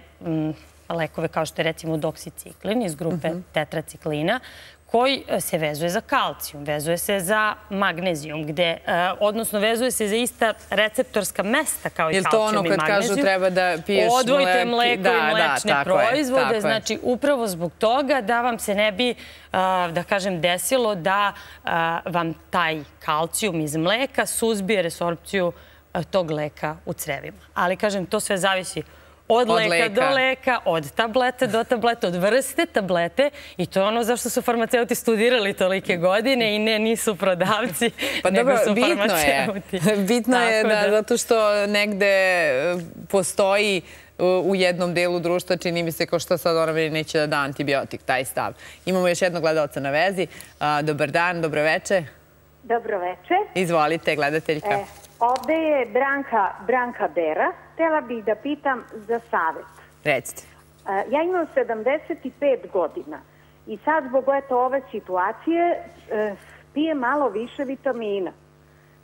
lekove kao što je recimo doksiciklin iz grupe tetraciklina, koji se vezuje za kalcijum, vezuje se za magnezijum, odnosno vezuje se za ista receptorska mesta kao i kalcijum i magnezijum. Je li to ono kad kažu treba da piješ mleko? Odvojite mleko i mlečne proizvode, znači upravo zbog toga da vam se ne bi, da kažem, desilo da vam taj kalcijum iz mleka suzbije resorpciju tog leka u crevima. Ali, kažem, to sve zavisi od leka do leka, od tablete do tablete, od vrste tablete i to je ono zašto su farmaceuti studirali tolike godine i nisu prodavci, nego su farmaceuti. Bitno je da zato što negde postoji u jednom delu društva, čini mi se kao što sad ona meni neće da da antibiotik, taj stav. Imamo još jednog gledaoca na vezi. Dobar dan, dobroveče. Dobroveče. Izvolite, gledateljka. Ovde je Branka Bera. Htela bih da pitam za savjet. Recite. Ja imam 75 godina i sad zbog ove situacije pijem malo više vitamina.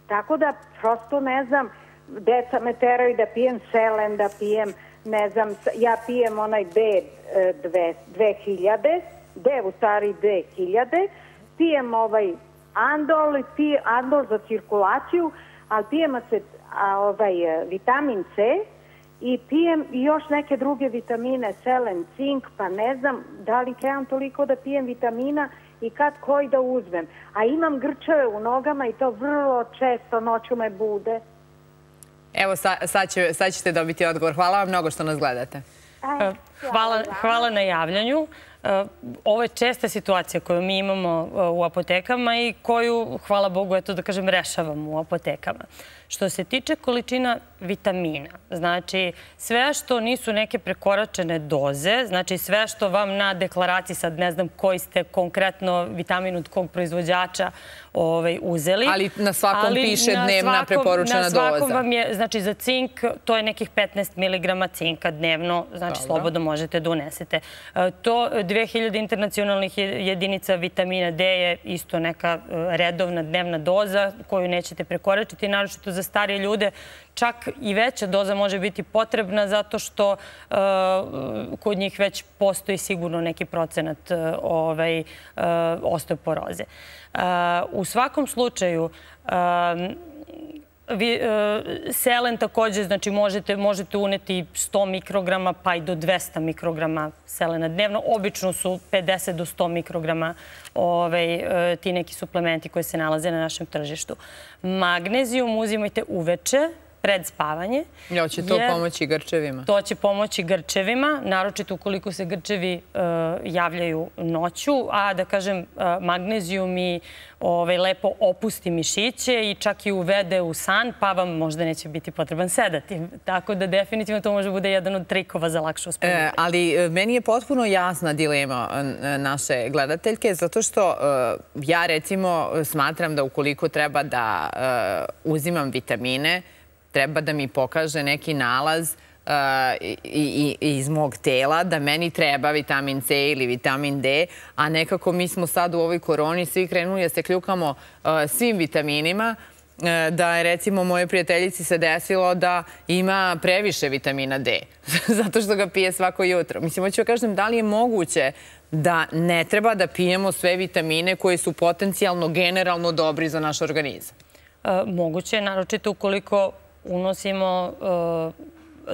Tako da prosto ne znam, deca me teraju da pijem selen, da pijem, ne znam, ja pijem onaj B2000, D u stari 2000, pijem Andol za cirkulaciju, ali pijem vitamin C i pijem još neke druge vitamine, selen, cink, pa ne znam da li trebam toliko da pijem vitamina i kad koji da uzmem. A imam grčeve u nogama i to vrlo često noću me bude. Evo, sad ćete dobiti odgovor. Hvala vam mnogo što nas gledate. Hvala na javljanju. Ovo je česta situacija koju mi imamo u apotekama i koju, hvala Bogu, eto da kažem, rešavamo u apotekama. Što se tiče količina vitamina, znači sve što nisu neke prekoračene doze, znači sve što vam na deklaraciji, sad ne znam koji ste konkretno vitamin od kog proizvođača uzeli. Ali na svakom piše dnevna preporučena doza. Na svakom vam je, znači za cink, to je nekih 15 mg cinka dnevno, znači slobodno možete da unesete. To 2000 internacionalnih jedinica vitamina D je isto neka redovna dnevna doza koju nećete prekoračiti, naročito za starije ljude. Čak i veća doza može biti potrebna zato što kod njih već postoji sigurno neki procenat osteoporoze. U svakom slučaju, selen također, znači možete uneti 100 mikrograma pa i do 200 mikrograma selena dnevno. Obično su 50 do 100 mikrograma ti neki suplementi koji se nalaze na našem tržištu. Magnezijum uzimajte uveče, pred spavanje. Će to pomoći grčevima? To će pomoći grčevima, naročito ukoliko se grčevi javljaju noću, a da kažem magnezijum i lepo opusti mišiće i čak i uvede u san, pa vam možda neće biti potreban sedati. Tako da definitivno to može bude jedan od trikova za lakše uspavanje. Ali meni je potpuno jasna dilema naše gledateljke, zato što ja recimo smatram da ukoliko treba da uzimam vitamine, treba da mi pokaže neki nalaz iz mog tela da meni treba vitamin C ili vitamin D, a nekako mi smo sad u ovoj koroni svi krenuli da se kljukamo svim vitaminima, da je recimo moje prijateljici se desilo da ima previše vitamina D, zato što ga pije svako jutro. Mislim, hoću da kažem, da li je moguće da ne treba da pijemo sve vitamine koji su potencijalno, generalno dobri za naš organizam? Moguće je, naročito ukoliko unosimo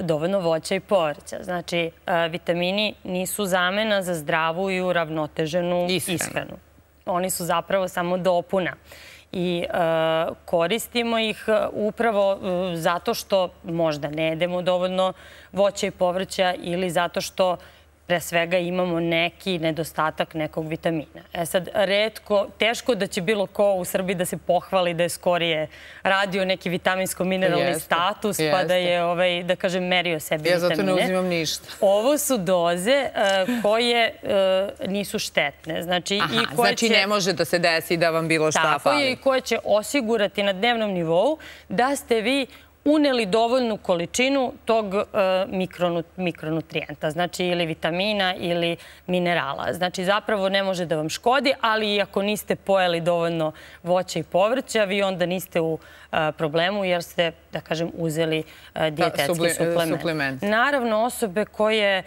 dovoljno voća i povrća. Znači, vitamini nisu zamena za zdravu i uravnoteženu ishranu. Oni su zapravo samo dopuna. I koristimo ih upravo zato što možda ne jedemo dovoljno voća i povrća ili zato što pre svega imamo neki nedostatak nekog vitamina. Sad, teško da će bilo ko u Srbiji da se pohvali da je skorije radio neki vitaminsko-mineralni status, pa da je, da kažem, merio sebi vitamine. Ja zato ne uzimam ništa. Ovo su doze koje nisu štetne. Znači, ne može da se desi da vam bilo šta fali. Tako je, i koje će osigurati na dnevnom nivou da ste vi uneli dovoljnu količinu tog mikronutrijenta, znači ili vitamina ili minerala. Znači zapravo ne može da vam škodi, ali i ako niste pojeli dovoljno voća i povrća, vi onda niste u problemu jer ste, da kažem, uzeli dijetetski suplement. Naravno, osobe koje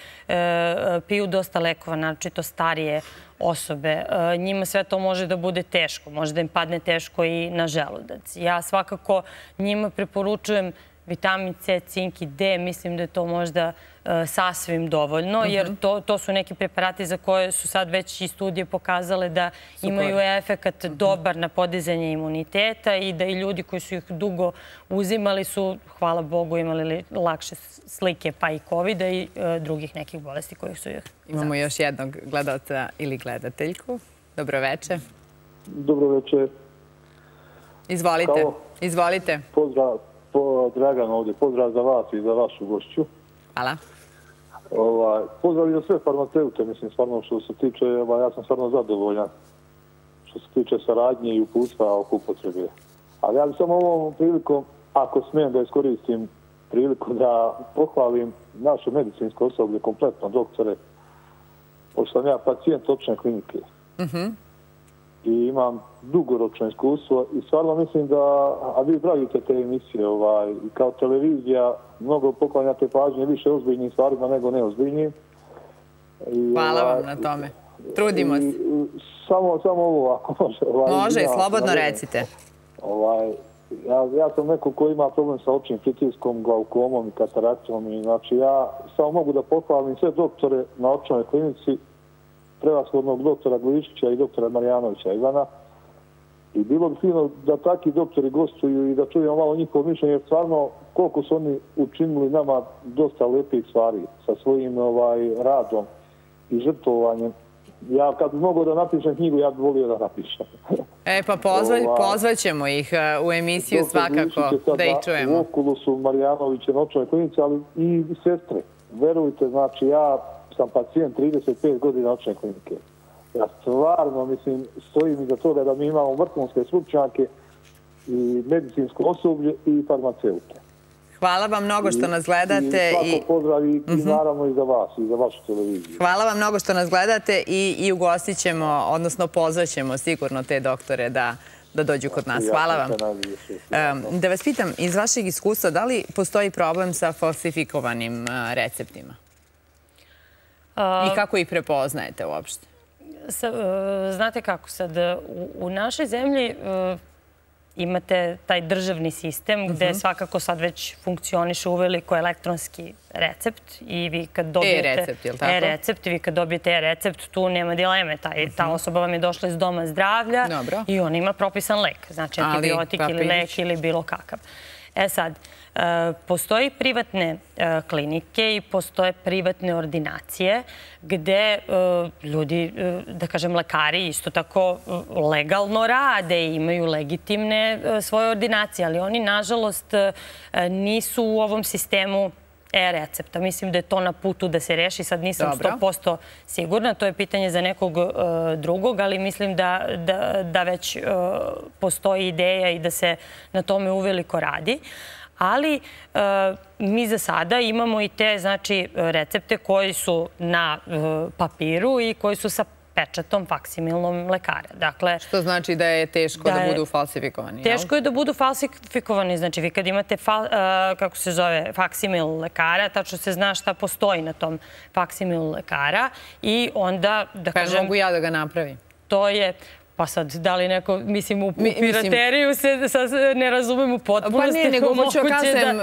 piju dosta lekova, naročito starije osobe, njima sve to može da bude teško. Može da im padne teško i na želudac. Ja svakako njima preporučujem vitamin C, cink i D. Mislim da je to možda sasvim dovoljno, jer to su neki preparati za koje su sad već i studije pokazale da imaju efekat dobar na podizanje imuniteta i da i ljudi koji su ih dugo uzimali su, hvala Bogu, imali lakše slike pa i COVID-a i drugih nekih bolesti kojih su ih zapasili. Imamo još jednog gledalca ili gledateljku. Dobro večer. Dobro večer. Izvolite. Pozdrav, Dragan ovdje. Pozdrav za vas i za vašu gošću. Hvala. Pozdrav i za sve farmaceute, mislim, stvarno što se tiče, ja sam stvarno zadovoljan što se tiče saradnje i uputstva oko upotrebe. Ali ja bi samo ovom prilikom, ako smijem da iskoristim priliku da pohvalim naše medicinsko osoblje, kompletno doktore, pošto sam ja pacijent očne klinike. I imam dugoročno iskustvo i stvarno mislim da, a vi pravite te emisije i kao televizija, mnogo poklanjate pažnje više ozbiljnim stvarima nego neozbiljnim. Hvala vam na tome. Trudimo se. Samo ovo ako može. Može i slobodno recite. Ja sam neko ko ima problem sa očnim pritiskom, glaukomom i kataraktom i znači ja samo mogu da pohvalim sve doktore na očnoj klinici, prevashodnog doktora Glišića i doktora Marjanovića Ivana. I bilo bi fino da takvi doktori gostuju i da čujemo malo njihovo mišljenje, jer stvarno koliko su oni učinili nama dosta lepih stvari sa svojim radom i žrtvovanjem. Ja kad bi mogao da napišem knjigu, ja bih volio da napišem. Pa pozvaćemo ih u emisiju svakako da ih čujemo. U okulu su Marjanoviće na očnoj klinici, ali i sestre. Verujte, znači ja sam pacijent 35 godina očne klinike. Ja stvarno, mislim, stojim iza toga da mi imamo vrhunske stručnjake i medicinsko osoblje i farmaceute. Hvala vam mnogo što nas gledate. I svako pozdrav i naravno i za vas, i za vašu televiziju. Hvala vam mnogo što nas gledate i ugostit ćemo, odnosno pozvaćemo sigurno te doktore da dođu kod nas. Hvala vam. Da vas pitam, iz vašeg iskustva, da li postoji problem sa falsifikovanim receptima? I kako ih prepoznajete uopšte? Znate kako sad, u našoj zemlji imate taj državni sistem gde svakako sad već funkcioniše uveliko elektronski recept i vi kad dobijete e-recept, vi kad dobijete e-recept, tu nema dileme. Ta osoba vam je došla iz doma zdravlja i ona ima propisan lek, znači antibiotik ili lek ili bilo kakav. E sad, postoji privatne klinike i postoje privatne ordinacije gde ljudi, da kažem lekari, isto tako legalno rade i imaju legitimne svoje ordinacije, ali oni nažalost nisu u ovom sistemu e-recepta. Mislim da je to na putu da se reši. Sad nisam 100% sigurna. To je pitanje za nekog drugog, ali mislim da već postoji ideja i da se na tome uveliko radi. Ali mi za sada imamo i te recepte koji su na papiru i koji su sa pečatom faksimilnom lekara. Što znači da je teško da budu falsifikovani? Teško je da budu falsifikovani. Znači, vi kad imate, kako se zove, faksimil lekara, tačno se zna šta postoji na tom faksimilu lekara i onda, da kažem... Pa mogu ja da ga napravim? To je... Pa sad, da li neko, mislim, u pirateriju se ne razumem u potpunosti. Pa ne, nego hoću kažem,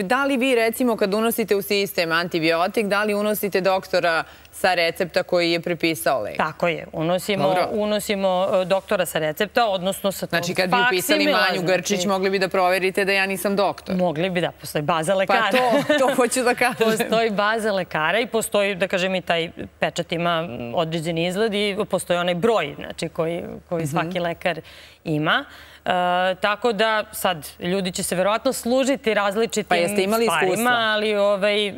da li vi, recimo, kad unosite u sistem antibiotik, da li unosite doktora sa recepta koji je prepisao lek? Tako je. Unosimo doktora sa recepta, odnosno sa tog faksimila. Znači, kad bi upisali Manju Grčić, mogli bi da proverite da ja nisam doktor? Mogli bi, da. Postoji baza lekara. Pa to hoću da kažem. Postoji baza lekara i postoji, da kažem, i taj pečat ima određeni izgled i postoji onaj broj, znači, koji svaki lekar ima. Tako da sad ljudi će se verovatno služiti različitim stvarima, ali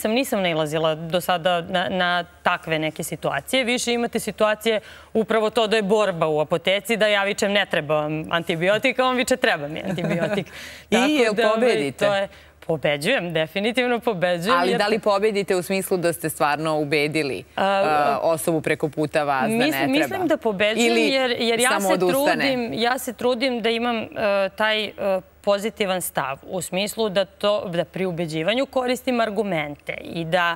nisam nailazila do sada na takve neke situacije. Više imate situacije upravo to da je borba u apoteci, da ja vičem ne treba vam antibiotik, a on viče treba mi antibiotik. I jel pobedite? Pobeđujem, definitivno pobeđujem. Ali da li pobedite u smislu da ste stvarno ubedili osobu preko puta vas da ne treba? Mislim da pobeđujem jer ja se trudim da imam taj pozitivan stav u smislu da pri ubeđivanju koristim argumente i da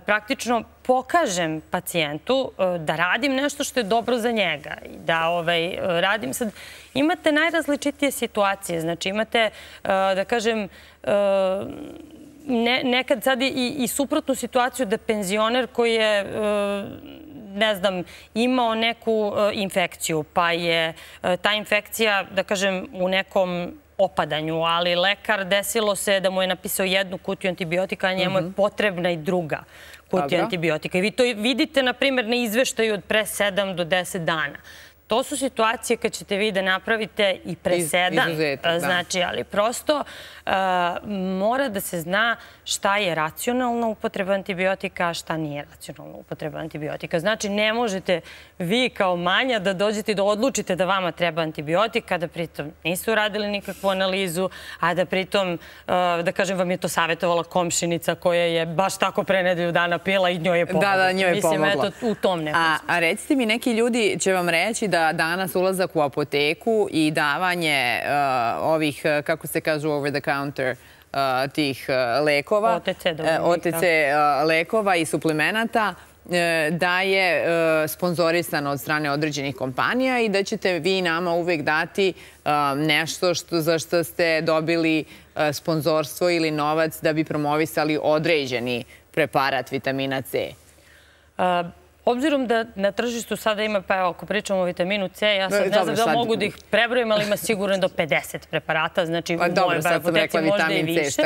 praktično pokažem pacijentu da radim nešto što je dobro za njega i da radim sad. Imate najrazličitije situacije, znači imate, da kažem, nekad sad i suprotnu situaciju da penzioner koji je, ne znam, imao neku infekciju, pa je ta infekcija, da kažem, u nekom opadanju, ali lekar desilo se da mu je napisao jednu kutiju antibiotika, a njemu je potrebna i druga kutija antibiotika. I vi to vidite, na primjer, na izveštaju od pre 7 do 10 dana. To su situacije kad ćete vi da napravite i presedan. Znači, ali prosto mora da se zna šta je racionalna upotreba antibiotika, a šta nije racionalna upotreba antibiotika. Znači, ne možete vi kao manja da dođete i da odlučite da vama treba antibiotik, a da pritom nisu radili nikakvu analizu, a da pritom, da kažem, vam je to savjetovala komšinica koja je baš tako pre nedelju dana pila i njoj je pomogla. Da, njoj je pomogla. Mislim, eto, u tom nekom smislu. A recite mi, neki ljudi će vam reći da danas ulazak u apoteku i davanje ovih, kako se kažu, over the counter tih lekova, OTC lekova i suplemenata, da je sponzorisano od strane određenih kompanija i da ćete vi nama uvek dati nešto za što ste dobili sponzorstvo ili novac da bi promovisali određeni preparat vitamina C. Obzirom da na tržištu sada ima, pa evo, ako pričamo o vitaminu C, ja sad ne znam da mogu da ih prebrojim, ali ima sigurno do 50 preparata, znači u mojoj apoteci možda i više.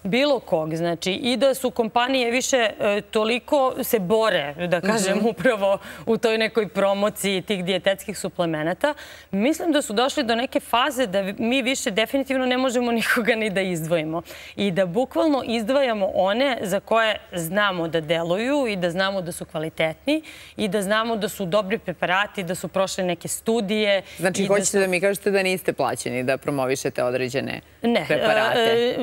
Bilo kog, znači i da su kompanije više toliko se bore, da kažem, upravo u toj nekoj promociji tih dijetetskih suplemenata. Mislim da su došli do neke faze da mi više definitivno ne možemo nikoga ni da izdvojimo i da bukvalno izdvajamo one za koje znamo da deluju i da znamo da su kvalitetni i da znamo da su dobri preparati, da su prošle neke studije. Znači, hoćete da mi kažete da niste plaćeni da promovišete određene preparate?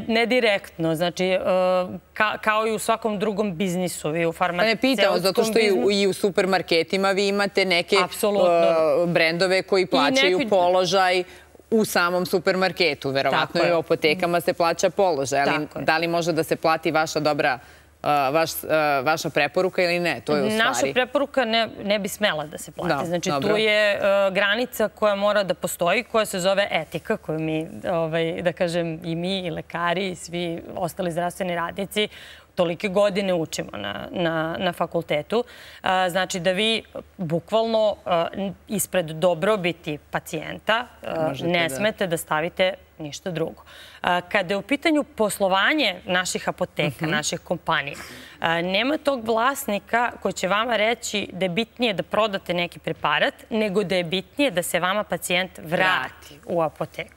Ne direktno. Znači, kao i u svakom drugom biznisu. I u farmaceutskom biznisu. Ne pitamo, zato što i u supermarketima vi imate neke brendove koji plaćaju položaj u samom supermarketu. Verovatno i u apotekama se plaća položaj. Ali da li može da se plati vaša dobra vaša preporuka ili ne? To je u stvari... Naša preporuka ne bi smela da se plati. Znači, tu je granica koja mora da postoji, koja se zove etika, koju mi, da kažem, i mi, i lekari, i svi ostali zdravstveni radnici tolike godine učimo na fakultetu. Znači da vi bukvalno ispred dobrobiti pacijenta ne smete da stavite ništa drugo. Kada je u pitanju poslovanje naših apoteka, naših kompanija, nema tog vlasnika koji će vama reći da je bitnije da prodate neki preparat, nego da je bitnije da se vama pacijent vrati u apoteku.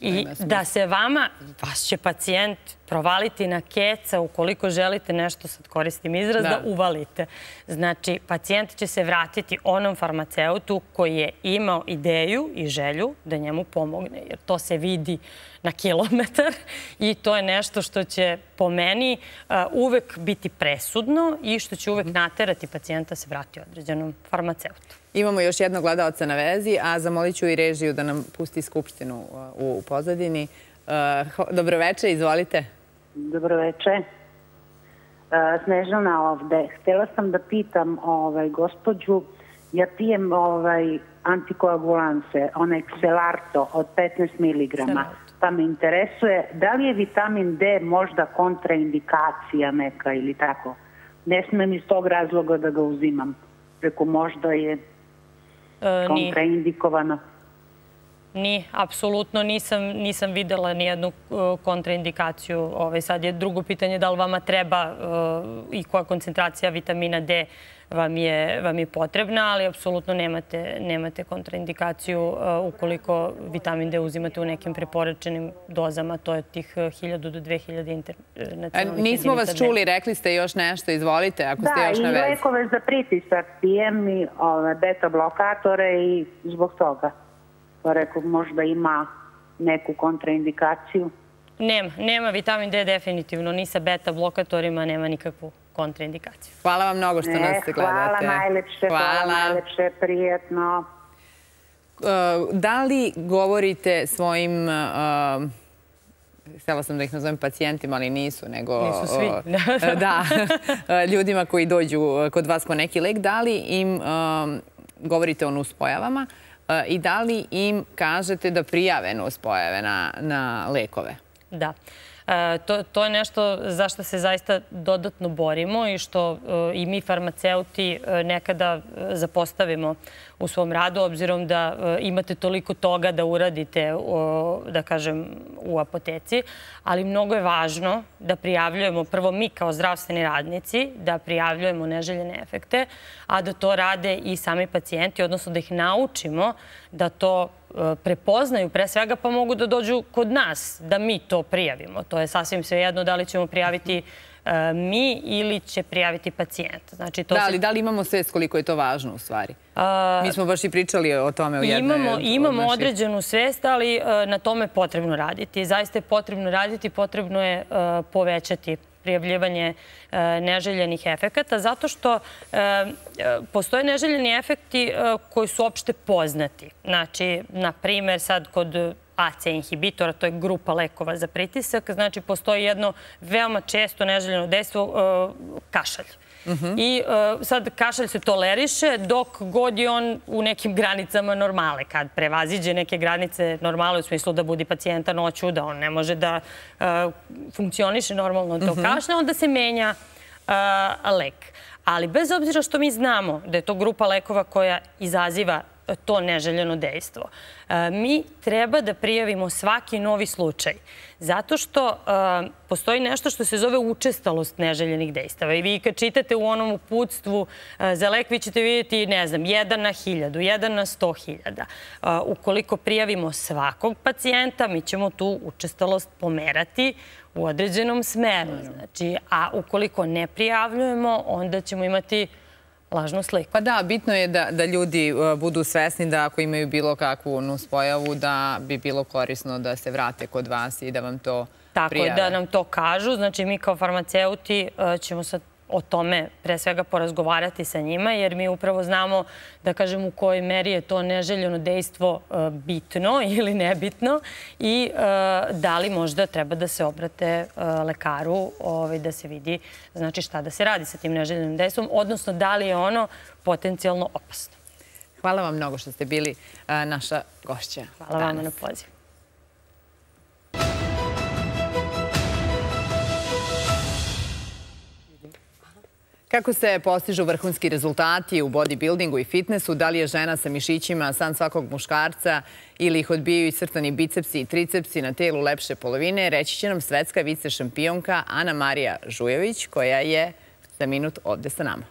I da se vama, vaš će pacijent provaliti na keca ukoliko želite nešto, sad koristim izraz, da uvalite. Znači, pacijent će se vratiti onom farmaceutu koji je imao ideju i želju da njemu pomogne, jer to se vidi na kilometar i to je nešto što će po meni uvek biti presudno i što će uvek naterati pacijenta se vrati određenom farmaceutu. Imamo još jednog gledalca na vezi, a zamolit ću i režiju da nam pusti skupštinu u pozadini. Dobroveče, izvolite. Dobroveče. Snežana ovde. Htela sam da pitam gospođu, ja pijem antikoagulanse, onaj Xelarto od 15 mg. Pa me interesuje da li je vitamin D možda kontraindikacija neka ili tako. Ne smem iz tog razloga da ga uzimam. Preko možda je kontraindikovano. Ni, apsolutno nisam videla nijednu kontraindikaciju. Sad je drugo pitanje da li vama treba i koja koncentracija vitamina D vam je potrebna, ali apsolutno nemate kontraindikaciju ukoliko vitamin D uzimate u nekim preporučenim dozama. To je tih 1000 do 2000 internacionalnih jedinica. Nismo vas čuli, rekli ste još nešto, izvolite, ako ste još na vezi. Da, i lekove za pritisak pijem i beta blokatore i zbog toga. Pa rekao, možda ima neku kontraindikaciju. Nema, vitamin D definitivno, ni sa beta blokatorima nema nikakvu kontraindikaciju. Hvala vam mnogo što nas gledate. Hvala najlepše, prijetno. Da li govorite svojim, htjela sam da ih nazovem pacijentima, ali nisu, nego... Nisu svi. Da, ljudima koji dođu kod vas po neki lek, da li im govorite o nuspojavama i da li im kažete da prijave nuspojave na lekove? Da. To je nešto za što se zaista dodatno borimo i što i mi farmaceuti nekada zapostavimo u svom radu, obzirom da imate toliko toga da uradite, da kažem, u apoteci. Ali mnogo je važno da prijavljujemo, prvo mi kao zdravstveni radnici, da prijavljujemo neželjene efekte, a da to rade i sami pacijenti, odnosno da ih naučimo da to prepoznaju pre svega, pa mogu da dođu kod nas, da mi to prijavimo. To je sasvim svejedno da li ćemo prijaviti mi ili će prijaviti pacijent. Da li imamo svest koliko je to važno u stvari? Mi smo baš i pričali o tome u jednoj od naših. Imamo određenu svest, ali na tome je potrebno raditi. Zaista je potrebno raditi, potrebno je povećati prijavljivanje neželjenih efekata, zato što postoje neželjeni efekti koji su opšte poznati. Znači, na primjer, sad kod AC inhibitora, to je grupa lekova za pritisak, znači postoji jedno veoma često neželjeno dejstvo, kašalj. I sad kašalj se toleriše dok god je on u nekim granicama normale. Kad prevaziđe neke granice normale u smislu da budi pacijenta noću, da on ne može da funkcioniše normalno to kašlja, onda se menja lek. Ali bez obzira što mi znamo da je to grupa lekova koja izaziva to neželjeno dejstvo, mi treba da prijavimo svaki novi slučaj. Zato što postoji nešto što se zove učestalost neželjenih dejstava. I vi kad čitate u onom uputstvu za lek, vi ćete vidjeti, ne znam, 1 na 1000, 1 na 100.000. Ukoliko prijavimo svakog pacijenta, mi ćemo tu učestalost pomerati u određenom smeru. A ukoliko ne prijavljujemo, onda ćemo imati lažnu sliku. Pa da, bitno je da ljudi budu svesni da ako imaju bilo kakvu nuspojavu, da bi bilo korisno da se vrate kod vas i da vam to prijave. Tako je, da nam to kažu. Znači, mi kao farmaceuti ćemo sad o tome pre svega porazgovarati sa njima, jer mi upravo znamo, da kažem, u kojoj meri je to neželjeno dejstvo bitno ili nebitno i da li možda treba da se obrate lekaru da se vidi šta da se radi sa tim neželjenim dejstvom, odnosno da li je ono potencijalno opasno. Hvala vam mnogo što ste bili naša gošća. Hvala vam na pozivu. Kako se postižu vrhunski rezultati u bodybuildingu i fitnessu, da li je žena sa mišićima san svakog muškarca ili ih odbijaju i crtani bicepsi i tricepsi na telu lepše polovine, reći će nam svetska vice šampionka Anamarija Žujević, koja je za minut ovde sa nama.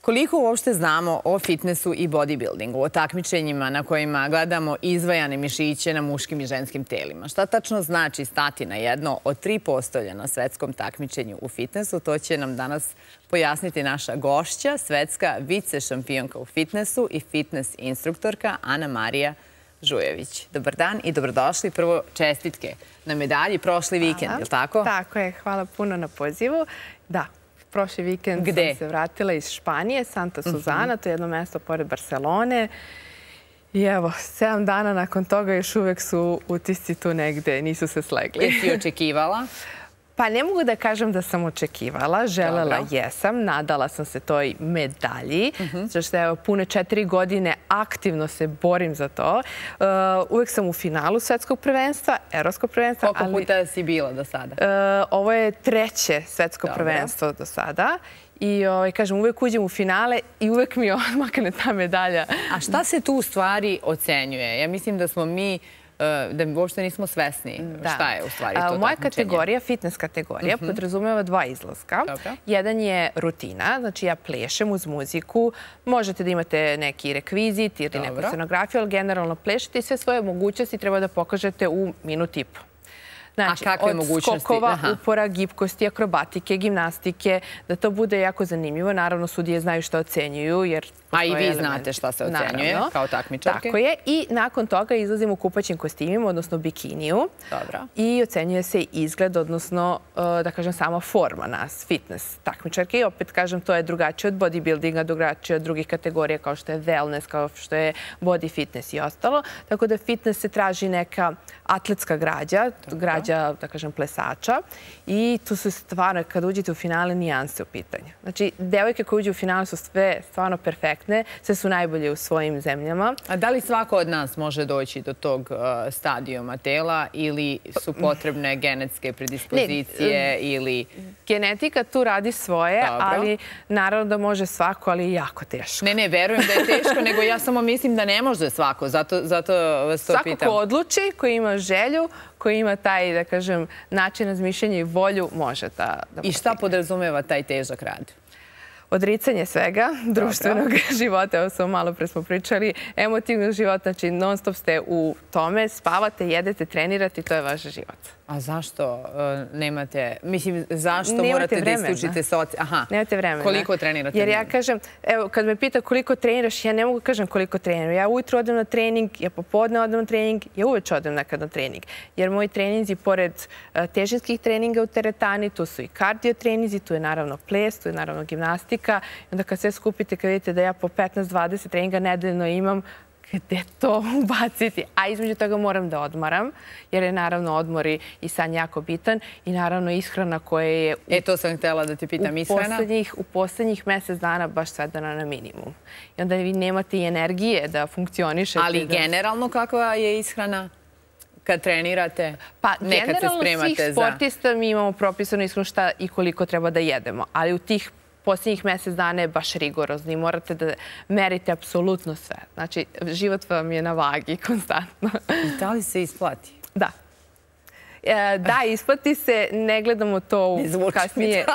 Koliko uopšte znamo o fitnessu i bodybuildingu, o takmičenjima na kojima gledamo izvajane mišiće na muškim i ženskim telima? Šta tačno znači stati na jedno od 3 postolja na svetskom takmičenju u fitnessu? To će nam danas pojasniti naša gošća, svetska vice šampionka u fitnessu i fitness instruktorka Anamarija Žujević. Dobar dan i dobrodošli. Prvo čestitke na medalji prošli vikend, je li tako? Tako je, hvala puno na pozivu. Da. Prošli vikend sam se vratila iz Španije, Santa Suzana, to je jedno mesto pored Barcelone. I evo, 7 dana nakon toga još uvek su utisci tu negde, nisu se slegli. Jesi očekivala? Pa ne mogu da kažem da sam očekivala, želela jesam, nadala sam se toj medalji, zato što evo pune 4 godine aktivno se borim za to. Uvek sam u finalu svetskog prvenstva, evropskog prvenstva. Koliko puta si bila do sada? Ovo je 3. svetsko prvenstvo do sada. I kažem, uvek uđem u finale i uvek mi odmakne ta medalja. A šta se tu u stvari ocenjuje? Ja mislim da smo mi da uopšte nismo svesni šta je u stvari to takmičenje. Moja kategorija, fitness kategorija, podrazumeva 2 izlaska. Jedan je rutina, znači ja plešem uz muziku. Možete da imate neki rekvizit ili neku scenografiju, ali generalno plešete i sve svoje mogućnosti treba da pokažete u minut i po. Znači, kakve od mogućnosti? skokova, upora, gibkosti, akrobatike, gimnastike, da to bude jako zanimljivo. Naravno, sudije znaju što ocenjuju, jer... A i vi znate šta se ocenjuje kao takmičarke. Tako je. I nakon toga izlazimo u kupaćim kostimima, odnosno bikiniju. Dobro. I ocenjuje se izgled, odnosno, da kažem, sama forma nas, fitness takmičarke. I opet, kažem, to je drugačije od bodybuildinga, drugačije od drugih kategorija kao što je wellness, kao što je body fitness i ostalo. Tako da fitness se traži neka atletska građa, da kažem, plesača. I tu su stvarno, kada uđete u finale, nijanse u pitanju. Znači, devojke koje uđu u finale su sve stvarno perfektne, sve su najbolje u svojim zemljama. A da li svako od nas može doći do tog stadijuma tela ili su potrebne genetske predispozicije ili... Genetika tu radi svoje, ali naravno da može svako, ali jako teško. Ne, verujem da je teško, nego ja samo mislim da ne može svako, zato vas to pitam. Svako ko odluči, koji ima želju, koji ima taj, da kažem, način razmišljanja i volju, može da... I šta podrazumeva taj težak rad? Odricanje svega, društvenog života, evo samo malo pre smo pričali, emotivnog života, znači non stop ste u tome, spavate, jedete, trenirate i to je vaš život. A zašto nemate, mislim, zašto morate da isključite Aha, nemate vremena. Koliko trenirate? Jer ja kažem, evo, kad me pita koliko treniraš, ja ne mogu kažem koliko treniram. Ja ujutro odem na trening, ja popodne odem na trening, ja uveče odem nekad na trening. Jer moji treninzi, pored težinskih treninga u teretani, tu su i kardio treninzi, tu je naravno ples, tu je naravno gimnastika. I onda kad sve skupite, kad vidite da ja po 15-20 treninga nedeljno imam, gde to ubaciti? A između toga moram da odmaram, jer je naravno odmor i san jako bitan i naravno ishrana koja je... to sam htjela da te pitam, ishrana? U poslednjih mesec dana baš svedena na minimum. I onda vi nemate i energije da funkcionišete. Ali generalno kakva je ishrana? Kad trenirate, pa nekad se spremate za... Generalno svih sportista mi imamo propisano ishranu šta i koliko treba da jedemo, ali u tih posljednjih mesec dana je baš rigorozno i morate da merite apsolutno sve. Znači, život vam je na vagi konstantno. I da li se isplati? Da. Da, isplati se, ne gledamo to kasnije.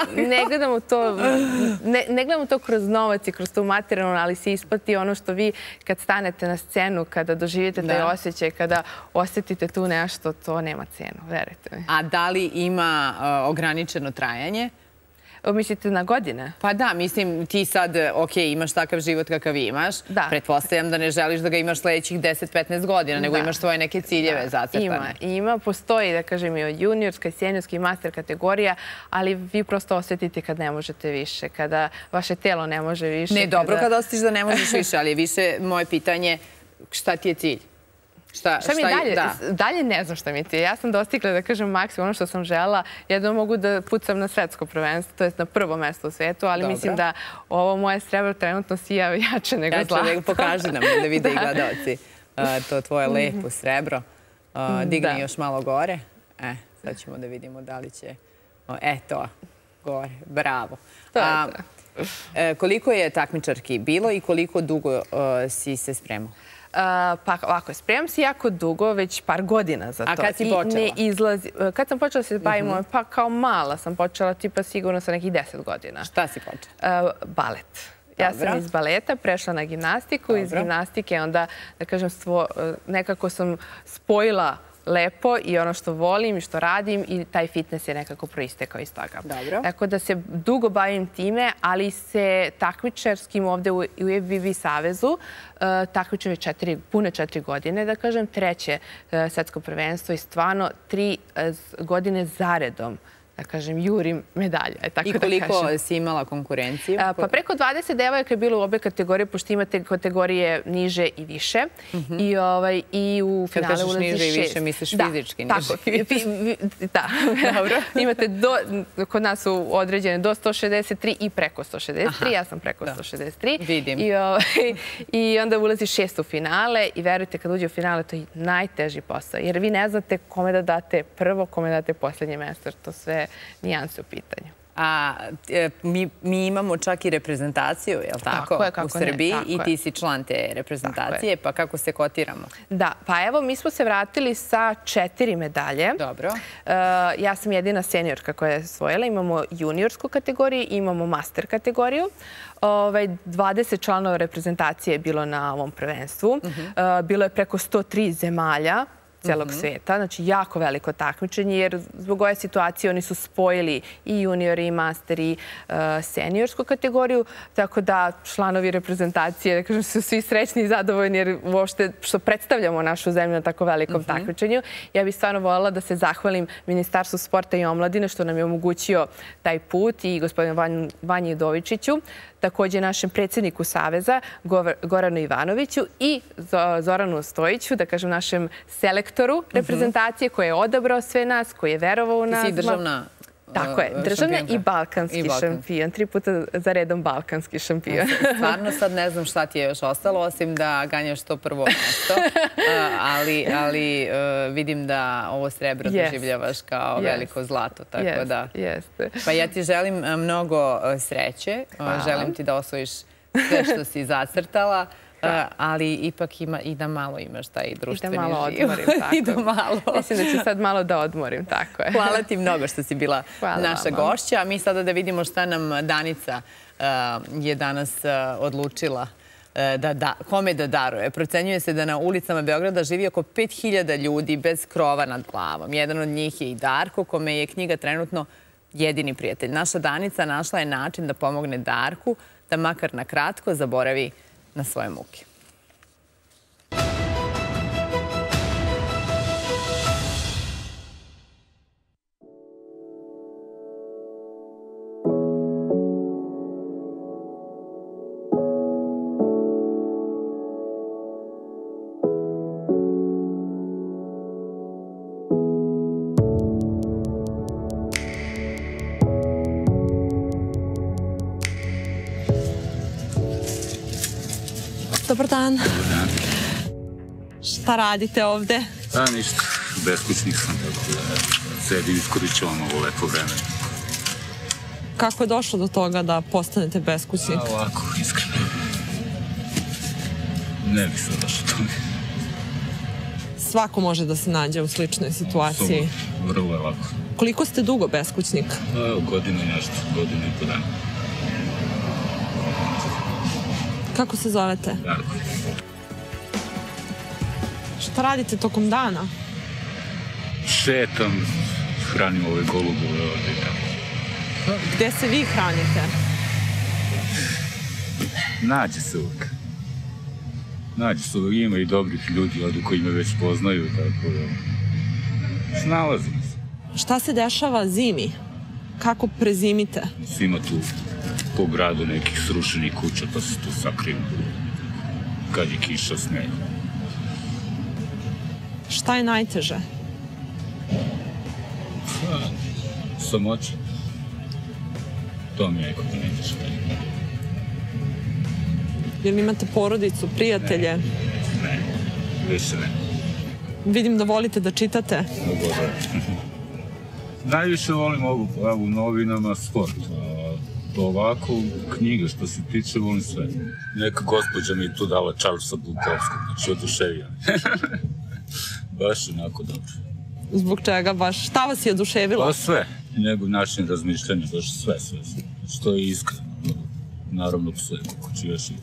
Ne gledamo to kroz novac i kroz tu materijalnu, ali se isplati ono što vi kad stanete na scenu, kada doživite taj osjećaj, kada osjetite tu nešto, to nema cenu, verujte mi. A da li ima ograničeno trajanje? Mislite na godine? Pa da, mislim, ti sad, ok, imaš takav život kakav imaš. Pretpostavljam da ne želiš da ga imaš sledećih 10-15 godina, nego imaš svoje neke ciljeve zacrtane. Ima, postoji, da kažem, i juniorska, seniorska i master kategorija, ali vi prosto osjetite kad ne možete više, kada vaše telo ne može više. Ne, dobro kada osjetiš da ne možeš više, ali je više moje pitanje šta ti je cilj? Šta mi je dalje? Dalje ne znam šta mi je cilj. Ja sam dostigla, da kažem, maksimum ono što sam želela. Jedno mogu da pucam na svetsko prvenstvo, to je na prvo mesto u svetu, ali mislim da ovo moje srebro trenutno sija jače nego zlato. Pokaži nam da vide i gledalci to tvoje lepo srebro. Digni još malo gore. Sad ćemo da vidimo da li će... To, gore. Bravo. Koliko je takmičarki bilo i koliko dugo si se spremao? Pa ovako, spremam se jako dugo, već par godina za to. A kad si počela? Kad sam počela se bavimo, pa kao mala sam počela, tipa sigurno sa nekih 10 godina. Šta si počela? Balet. Ja sam iz baleta prešla na gimnastiku, iz gimnastike onda, da kažem, nekako sam spojila lepo i ono što volim i što radim i taj fitness je nekako proistekao iz toga. Tako da se dugo bavim time, ali se takmičarskim ovde u FBB savezu takmičim već pune 4 godine, da kažem, treće svetsko prvenstvo i stvarno 3 godine zaredom, da kažem, jurim medalje. I koliko si imala konkurenciju? Pa preko 20 devojaka je bilo u obe kategorije, pošto imate kategorije niže i više. I u finale ulazi 6. Kad kažeš niže i više, misliš fizički niže? Da. Imate kod nas su određene do 163 i preko 163. Ja sam preko 163. Vidim. I onda ulazi 6 u finale i verujte, kad uđe u finale, to je najteži posao. Jer vi ne znate kome da date prvo, kome da date poslednje mesto. To sve nijanse u pitanju. A mi imamo čak i reprezentaciju, je li tako, u Srbiji i ti si član te reprezentacije, pa kako se kotiramo? Da, pa evo, mi smo se vratili sa 4 medalje. Dobro. Ja sam jedina seniorka koja je osvojila. Imamo juniorsku kategoriju, imamo master kategoriju. 20 članova reprezentacije je bilo na ovom prvenstvu. Bilo je preko 103 zemalja. celog sveta. Znači, jako veliko takmičenje, jer zbog ove situacije oni su spojili i juniori, i master, i seniorsku kategoriju, tako da članovi reprezentacije, da kažem, su svi srećni i zadovoljni, jer uopšte što predstavljamo našu zemlju na tako velikom takmičenju. Ja bih stvarno voljela da se zahvalim Ministarstvu sporta i omladine što nam je omogućio taj put i gospodinu Vanji Udovičiću, takođe našem predsjedniku Saveza, Goranu Ivanoviću i Zoranu Stojiću, da kažem našem selektoru reprezentacije koji je odabrao sve nas, koji je verovao u nas. Ti si državna Tako je, državna i balkanski šampion. 3 puta za redom balkanski šampion. Stvarno sad ne znam šta ti je još ostalo, osim da ganjaš to prvo mesto, ali vidim da ovo srebro doživljavaš kao veliko zlato, tako da... Pa ja ti želim mnogo sreće, želim ti da osvojiš sve što si zacrtala, ali ipak i da malo imaš taj društveni život. I da malo odmorim, tako. I da malo. Mislim da ću sad malo da odmorim, tako je. Hvala ti mnogo što si bila naša gošća. A mi sada da vidimo šta nam Danica je danas odlučila kome da daruje. Procenjuje se da na ulicama Beograda živi oko 5000 ljudi bez krova nad glavom. Jedan od njih je i Darko, kome je knjiga trenutno jedini prijatelj. Naša Danica našla je način da pomogne Darku, da makar na kratko zaboravi na svoje muke. Dobar dan. Šta radite ovde? Ništa. Beskućnik sam. Sedim, iskoričavam ovo lepo vreme. Kako je došlo do toga da postanete beskućnik? Ovako, iskreno. Ne bih sad došlo do toga. Svako može da se nađe u sličnoj situaciji. Vrlo je lako. Koliko ste dugo beskućnik? Godinu i nešto, godinu i po dana. Kako se zovete? Darko. Šta radite tokom dana? Šetam, hranim ove golubove ovde i tako. Gde se vi hranite? Nađe se uvek. Nađe se uvek, ima i dobrih ljudi ovde koji me već poznaju, tako da snalazim se. Šta se dešava zimi? Kako prezimite? Ima tu po gradu nekih srušenih kuća, pa se tu sakriju kad je kiša, sneg. Šta je najteže? Samoća. To mi je nekako najteže. Jel imate porodicu, prijatelje? Ne, više ne. Vidim da volite da čitate. Najviše volim u novinama sport. Ovako, knjige što se tiče, volim sve. Neka gospođa mi je tu dala Charlesa Bukowskog, znači oduševio. Baš onako dobro. Zbog čega baš? Šta vas je oduševilo? Pa sve. Njegov način razmišljanja, baš sve. Što je iskreno. Naravno psuje kako ću još i...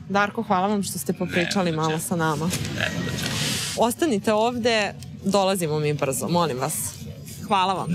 Darko, hvala vam što ste popričali malo sa nama. Nema da čemu. Ostanite ovde, dolazimo mi brzo, molim vas. Hvala vam.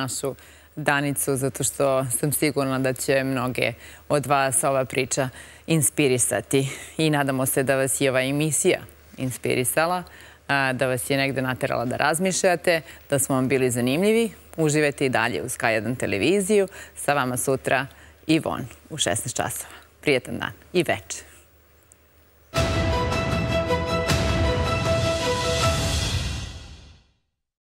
našu Danicu, zato što sam sigurna da će mnoge od vas ova priča inspirisati. I nadamo se da vas je ova emisija inspirisala, da vas je negde naterala da razmišljate, da smo vam bili zanimljivi. Uživajte i dalje uz K1 televiziju. Sa vama sutra Ivon u 16 časova. Prijetan dan i večer.